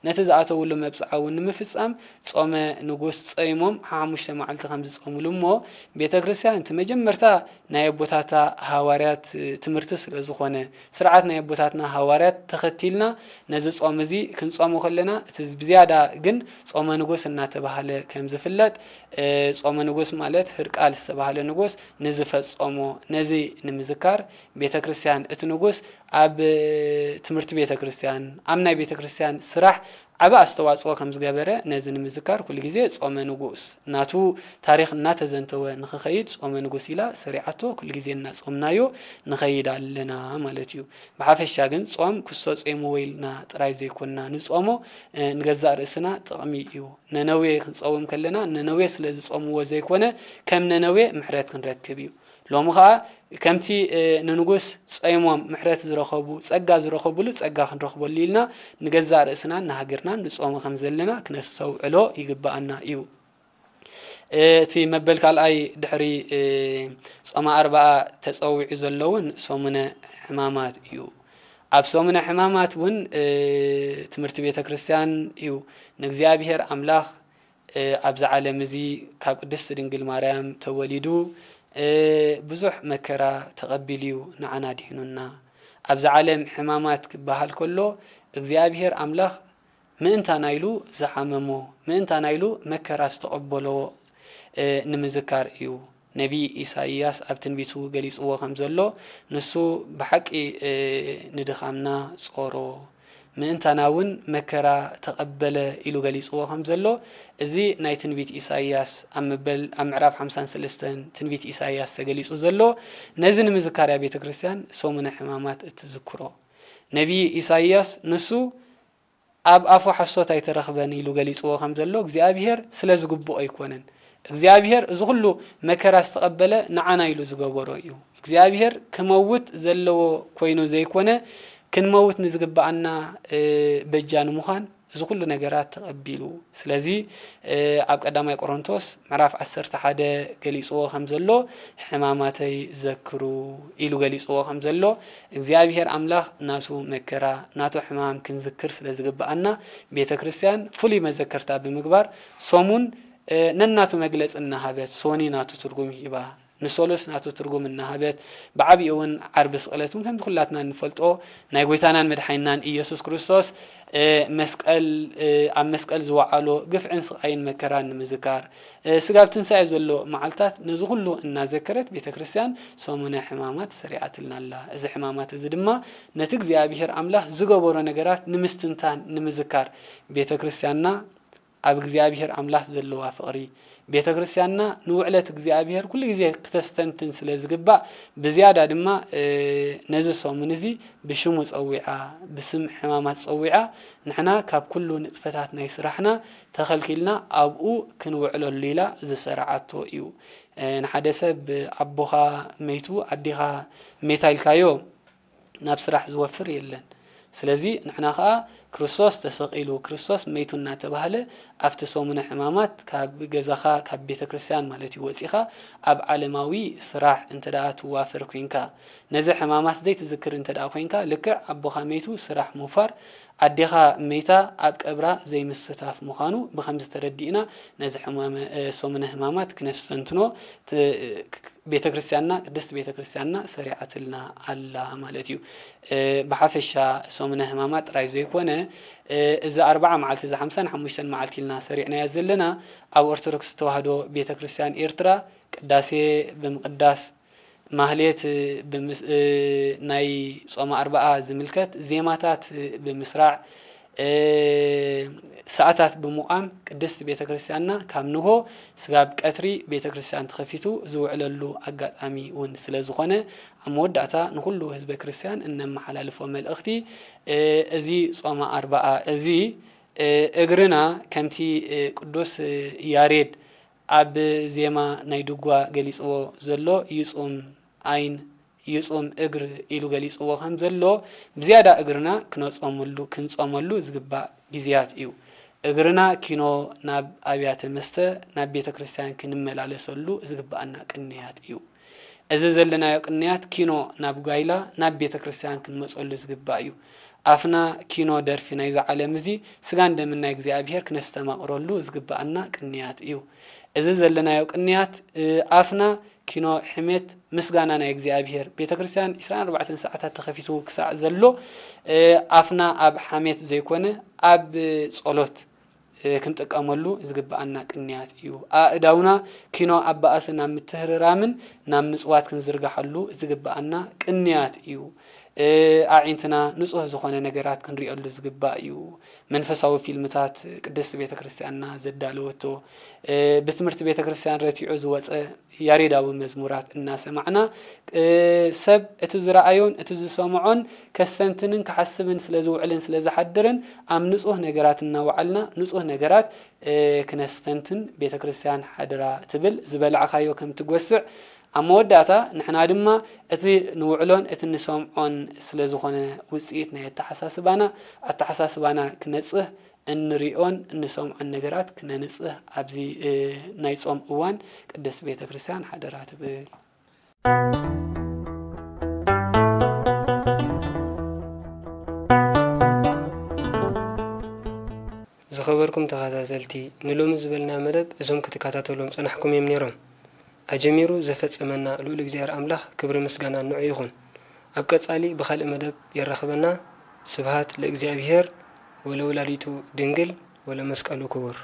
ነቲ ዝኣተውሉ መብጽዓ እውን ንምፍጻም ጾመ ንጉስ ጸይሞም ሓሙሽተ መዓልቲ ከም ዝጾምሉ እሞ፣ ቤተ ክርስቲያን እቲ መጀመርታ ናይ ኣቦታታ ሃዋርያት ትምህርቲ ስለ ዝኾነ፣ ስርዓት ናይ ኣቦታትና ሃዋርያት ተኸቲልና ነዚ ጾም እዚ ክንጾሞ ከለና፣ እቲ ብዝያዳ ግን ጾመ ንጉስ እናተባህለ ከም ዝፍለጥ፣ ጾመ ንጉስ ማለት ህርቃል ዝተባህለ ንጉስ ንዝፈጸሞ፣ ነዚ ንምዝካር ቤተ ክርስቲያን እቲ ንጉስ ኣብ ትምህርቲ ቤተ ክርስቲያን፣ ኣብ ናይ ቤተ ክርስቲያን ስራሕ ዓቢ ኣስተዋጽኦ ከም ዝገበረ ነዚ ንምዝካር ኩሉ ግዜ ጾመ ንጉስ ናቱ ታሪኽ እናተዘንተወ ንኽኸይድ ጾመ ንጉስ ኢላ ሰሪዓቶ ኩሉ ግዜ እናጾምናዮ ንኸይድ ኣለና ማለት እዩ። ብሓፈሻ ግን ጾም ክሶ ጾምዎ ኢልና ጥራይ ዘይኮንና ንጾሞ፣ ንገዛእ ርእስና ጥቕሚ እዩ። ነነዌ ክንጸውም ከለና ነነዌ ስለ ዝጾምዎ ዘይኮነ ከም ነነዌ ምሕረት ክንረክብ እዩ። ሎሚ ኸኣ ከምቲ ንንጉስ ጾይሞም ምሕረት ዝረኸቡ፣ ጸጋ ዝረኸብሉ ጸጋ ክንረኽበሉ ኢልና ንገዛእ ርእስናን ንሃገርናን ንጾሞ ከም ዘለና ክነስተውዕሎ ይግብኣና እዩ። እቲ መበል ካልኣይ ድሕሪ ጾመ ኣርብዓ ተጸዊዑ ዘሎ እውን ሰሙነ ሕማማት እዩ። ኣብ ሰሙነ ሕማማት እውን ትምህርቲ ቤተ ክርስቲያን እዩ። ንእግዚኣብሔር ኣምላኽ ኣብዚ ዓለም እዚ ካብ ቅድስቲ ድንግል ማርያም ተወሊዱ ብዙሕ መከራ ተቐቢሉ እዩ ንዓና ኣድሒኑና። ኣብዚ ዓለም ሕማማት ክበሃል ከሎ እግዚኣብሔር ኣምላኽ ምእንታና ኢሉ ዝሓመሞ፣ ምእንታና ኢሉ መከራ ዝተቐበሎ ንምዝካር እዩ። ነቢይ ኢሳይያስ ኣብ ትንቢቱ ገሊጽዎ ከም ዘሎ፣ ንሱ ብሓቂ ንድኻምና ጾሮ፣ ምእንታና እውን መከራ ተቐበለ ኢሉ ገሊጽዎ ከም ዘሎ፣ እዚ ናይ ትንቢት ኢሳይያስ ኣብ መበል ኣብ ምዕራፍ ሓምሳን ሰለስተን ትንቢት ኢሳይያስ ተገሊጹ ዘሎ፣ ነዚ ንምዝካር እያ ቤተ ክርስቲያን ሰሙነ ሕማማት እትዝክሮ። ነቢይ ኢሳይያስ ንሱ ኣብ ኣፉ ሓሶት ኣይተረኽበን ኢሉ ገሊጽዎ ከም ዘሎ፣ እግዚኣብሔር ስለ ዝግብኦ ኣይኮነን። እግዚኣብሔር እዚ ኩሉ መከራ ዝተቐበለ ንዓና ኢሉ ዝገበሮ እዩ። እግዚኣብሔር ክመውት ዘለዎ ኮይኑ ዘይኮነ፣ ክንመውት ንዝግብኣና በጃ ንምዃን እዚ ኩሉ ነገራት ተቐቢሉ። ስለዚ ኣብ ቀዳማይ ቆሮንቶስ ምዕራፍ ዓሰርተ ሓደ ገሊጽዎ ከም ዘሎ፣ ሕማማተይ ዘክሩ ኢሉ ገሊጽዎ ከም ዘሎ፣ እግዚኣብሔር ኣምላኽ ናቱ መከራ ናቱ ሕማም ክንዝክር ስለ ዝግብኣና፣ ቤተ ክርስቲያን ፍሉይ መዘከርታ ብምግባር ሰሙን ነናቱ መግለጺ እናሃበት፣ ሶኒ ናቱ ትርጉም ሂባ፣ ንሶሎስ ናቱ ትርጉም እናሃበት፣ ብዓቢኡ እውን ዓርቢ ስቕለት እውን ከምቲ ኩላትና እንፈልጦ ናይ ጎይታናን መድሓኒናን ኢየሱስ ክርስቶስ መስቀል ኣብ መስቀል ዝወዓሎ ግፍዕን ስቓይን መከራን ንምዝካር፣ ስጋብ ትንሳኤ ዘሎ መዓልታት ነዚ ኩሉ እናዘከረት ቤተ ክርስቲያን ሰሙነ ሕማማት ሰሪዓትልና ኣላ። እዚ ሕማማት እዚ ድማ ነቲ እግዚኣብሔር ኣምላኽ ዝገበሮ ነገራት ንምስትንታን ንምዝካር ቤተ ክርስቲያንና ኣብ እግዚኣብሔር ኣምላኽ ዘለዋ ፍቕሪ፣ ቤተ ክርስቲያንና ንውዕለት እግዚኣብሔር ኩሉ ግዜ ክተስተንትን ስለ ዝግባእ፣ ብዝያዳ ድማ ነዚ ሰሙን እዚ ብሽሙ ጸዊዓ፣ ብስም ሕማማት ጸዊዓ፣ ንሕና ካብ ኩሉ ንጥፈታት ናይ ስራሕና ተኸልኪልና ኣብኡ ክንውዕለሉ ኢላ ዝሰራዓቶ እዩ። ንሓደ ሰብ ኣቦኻ መይቱ ኣዴኻ መይታ ኢልካዮ ናብ ስራሕ ዝወፍር የለን። ስለዚ ንሕና ኸኣ ክርስቶስ ተሰቒሉ፣ ክርስቶስ መይቱ እናተባህለ ኣብቲ ሰሙነ ሕማማት ካብ ገዛኻ፣ ካብ ቤተ ክርስቲያን ማለት እዩ፣ ወጺኻ ኣብ ዓለማዊ ስራሕ እንተ ደኣ ትዋፈር ኮይንካ፣ ነዚ ሕማማት ዘይትዝክር እንተ ደኣ ኮይንካ፣ ልክዕ ኣቦኻ መይቱ ስራሕ ምውፋር፣ ኣዴኻ መይታ ኣብ ቀብራ ዘይምስታፍ ምዃኑ ብኸምዚ ተረዲእና፣ ነዚ ሕማመ-፣ ሰሙነ ሕማማት ክነስተንትኖ ት-፣ ቤተ ክርስቲያንና፣ ቅድስቲ ቤተ ክርስቲያንና ሰሪዓትልና ኣላ ማለት እዩ። ብሓፈሻ ሰሙነ ሕማማት ጥራይ ዘይኮነ፣ እዚ ኣርብዓ መዓልቲ፣ እዚ ሓምሳን ሓሙሽተን መዓልቲ ኢልና ሰሪዕናያ ዘለና፣ ኣብ ኦርቶዶክስ ተዋህዶ ቤተ ክርስቲያን ኤርትራ ቅዳሴ ብምቅዳስ፣ ማህሌት ብምስ-፣ ናይ ጾመ ኣርብዓ ዝምልከት ዜማታት ብምስራዕ፣ ሰዓታት ብምቋም ቅድስቲ ቤተ ክርስቲያንና ካብ ንሆ ስጋብ ቀትሪ ቤተ ክርስቲያን ተኸፊቱ ዝውዕለሉ ኣጋጣሚ እውን ስለ ዝኾነ፣ ኣብ መወዳእታ ንኹሉ ህዝበ ክርስቲያን እነመሓላልፎ መልእኽቲ፣ እዚ ጾመ ኣርብዓ እዚ፣ እግርና ከምቲ ቅዱስ ያሬድ ኣብ ዜማ ናይ ድጓ ገሊጽዎ ዘሎ፣ ይጹም ዓይን ይጹም እግር ኢሉ ገሊጽዎ ከም ዘሎ፣ ብዝያዳ እግርና ክነጾመሉ፣ ክንጾመሉ ዝግባእ ግዜያት እዩ። እግርና ኪኖ ናብ ኣብያተ መስተ፣ ናብ ቤተ ክርስቲያን ክንመላለሰሉ ዝግብኣና ቅንያት እዩ። እዚ ዘለናዮ ቅንያት ኪኖ ናብ ጓይላ፣ ናብ ቤተ ክርስቲያን ክንመጸሉ ዝግባእ እዩ። ኣፍና ኪኖ ደርፊ ናይዛ ዓለም እዚ፣ ስጋን ደምን ናይ እግዚኣብሔር ክነስተማቕረሉ ዝግብኣና ቅንያት እዩ። እዚ ዘለናዮ ቅንያት፣ እ፣ ኣፍና ኪኖ ሕሜት ምስጋና ናይ እግዚኣብሔር፣ ቤተ ክርስቲያን ዕስራን ኣርባዕተን ሰዓታት ተኸፊቱ ክሳዕ ዘሎ፣ እ፣ ኣፍና ኣብ ሓሜት ዘይኮነ፣ ኣብ ጸሎት፣ እ፣ ክንጥቀመሉ ዝግብኣና ቅንያት እዩ። ኣእዳውና ኪኖ ኣባኣሰ ናብ ምትህርራምን ናብ ምጽዋት ክንዝርግሓሉ ዝግብኣና ቅንያት እዩ። እ፣ ኣዒንትና ንጹህ ዝኾነ ነገራት ክንሪኦሉ ዝግባእ እዩ። መንፈሳዊ ፊልምታት ቅድስቲ ቤተ ክርስቲያንና ዘዳለወቶ፣ እ፣ ብትምህርቲ ቤተ ክርስቲያን ረቲዑ ዝወጸ ያሬዳዊ መዝሙራት እናሰማዕና፣ እ፣ ሰብ እቲ ዝረኣዮን እቲ ዝሰምዖን ከስተንትንን ክሓስብን ስለ ዝውዕልን ስለ ዝሓድርን፣ ኣብ ንጹህ ነገራት እናወዓልና፣ ንጹህ ነገራት፣ እ፣ ክነስተንትን ቤተ ክርስቲያን ሓደራ ትብል፣ ዝበላዕካዮ ከም ትጎስዕ፣ ኣብ መወዳእታ ንሕና ድማ እቲ ንውዕሎን እቲ ንሰምዖን ስለ ዝኾነ ውጽኢት ናይ ኣተሓሳስባና፣ ኣተሓሳስባና ክነጽህ፣ እንሪኦን እንሰምዖን ነገራት ክነንጽህ ኣብዚ፣ እ፣ ናይ ጾም እዋን ቅድስት ቤተ ክርስቲያን ሓደራ ትብል። ዝኸበርኩም ተኸታተልቲ፣ ንሎሚ ዝበልና መደብ እዞም ክትከታተሎም ጸናሕኩም እዮም ነይሮም። ኣጀሚሩ ዘፈጸመና ልኡል እግዚኣብሔር ኣምላኽ ክብሪ ምስጋና ንዑ ይኹን። ኣብ ቀጻሊ ብኻልእ መደብ የራኽበና። ስብሃት ለእግዚኣብሔር ወለወላዲቱ ድንግል ወለመስቀሉ ክቡር።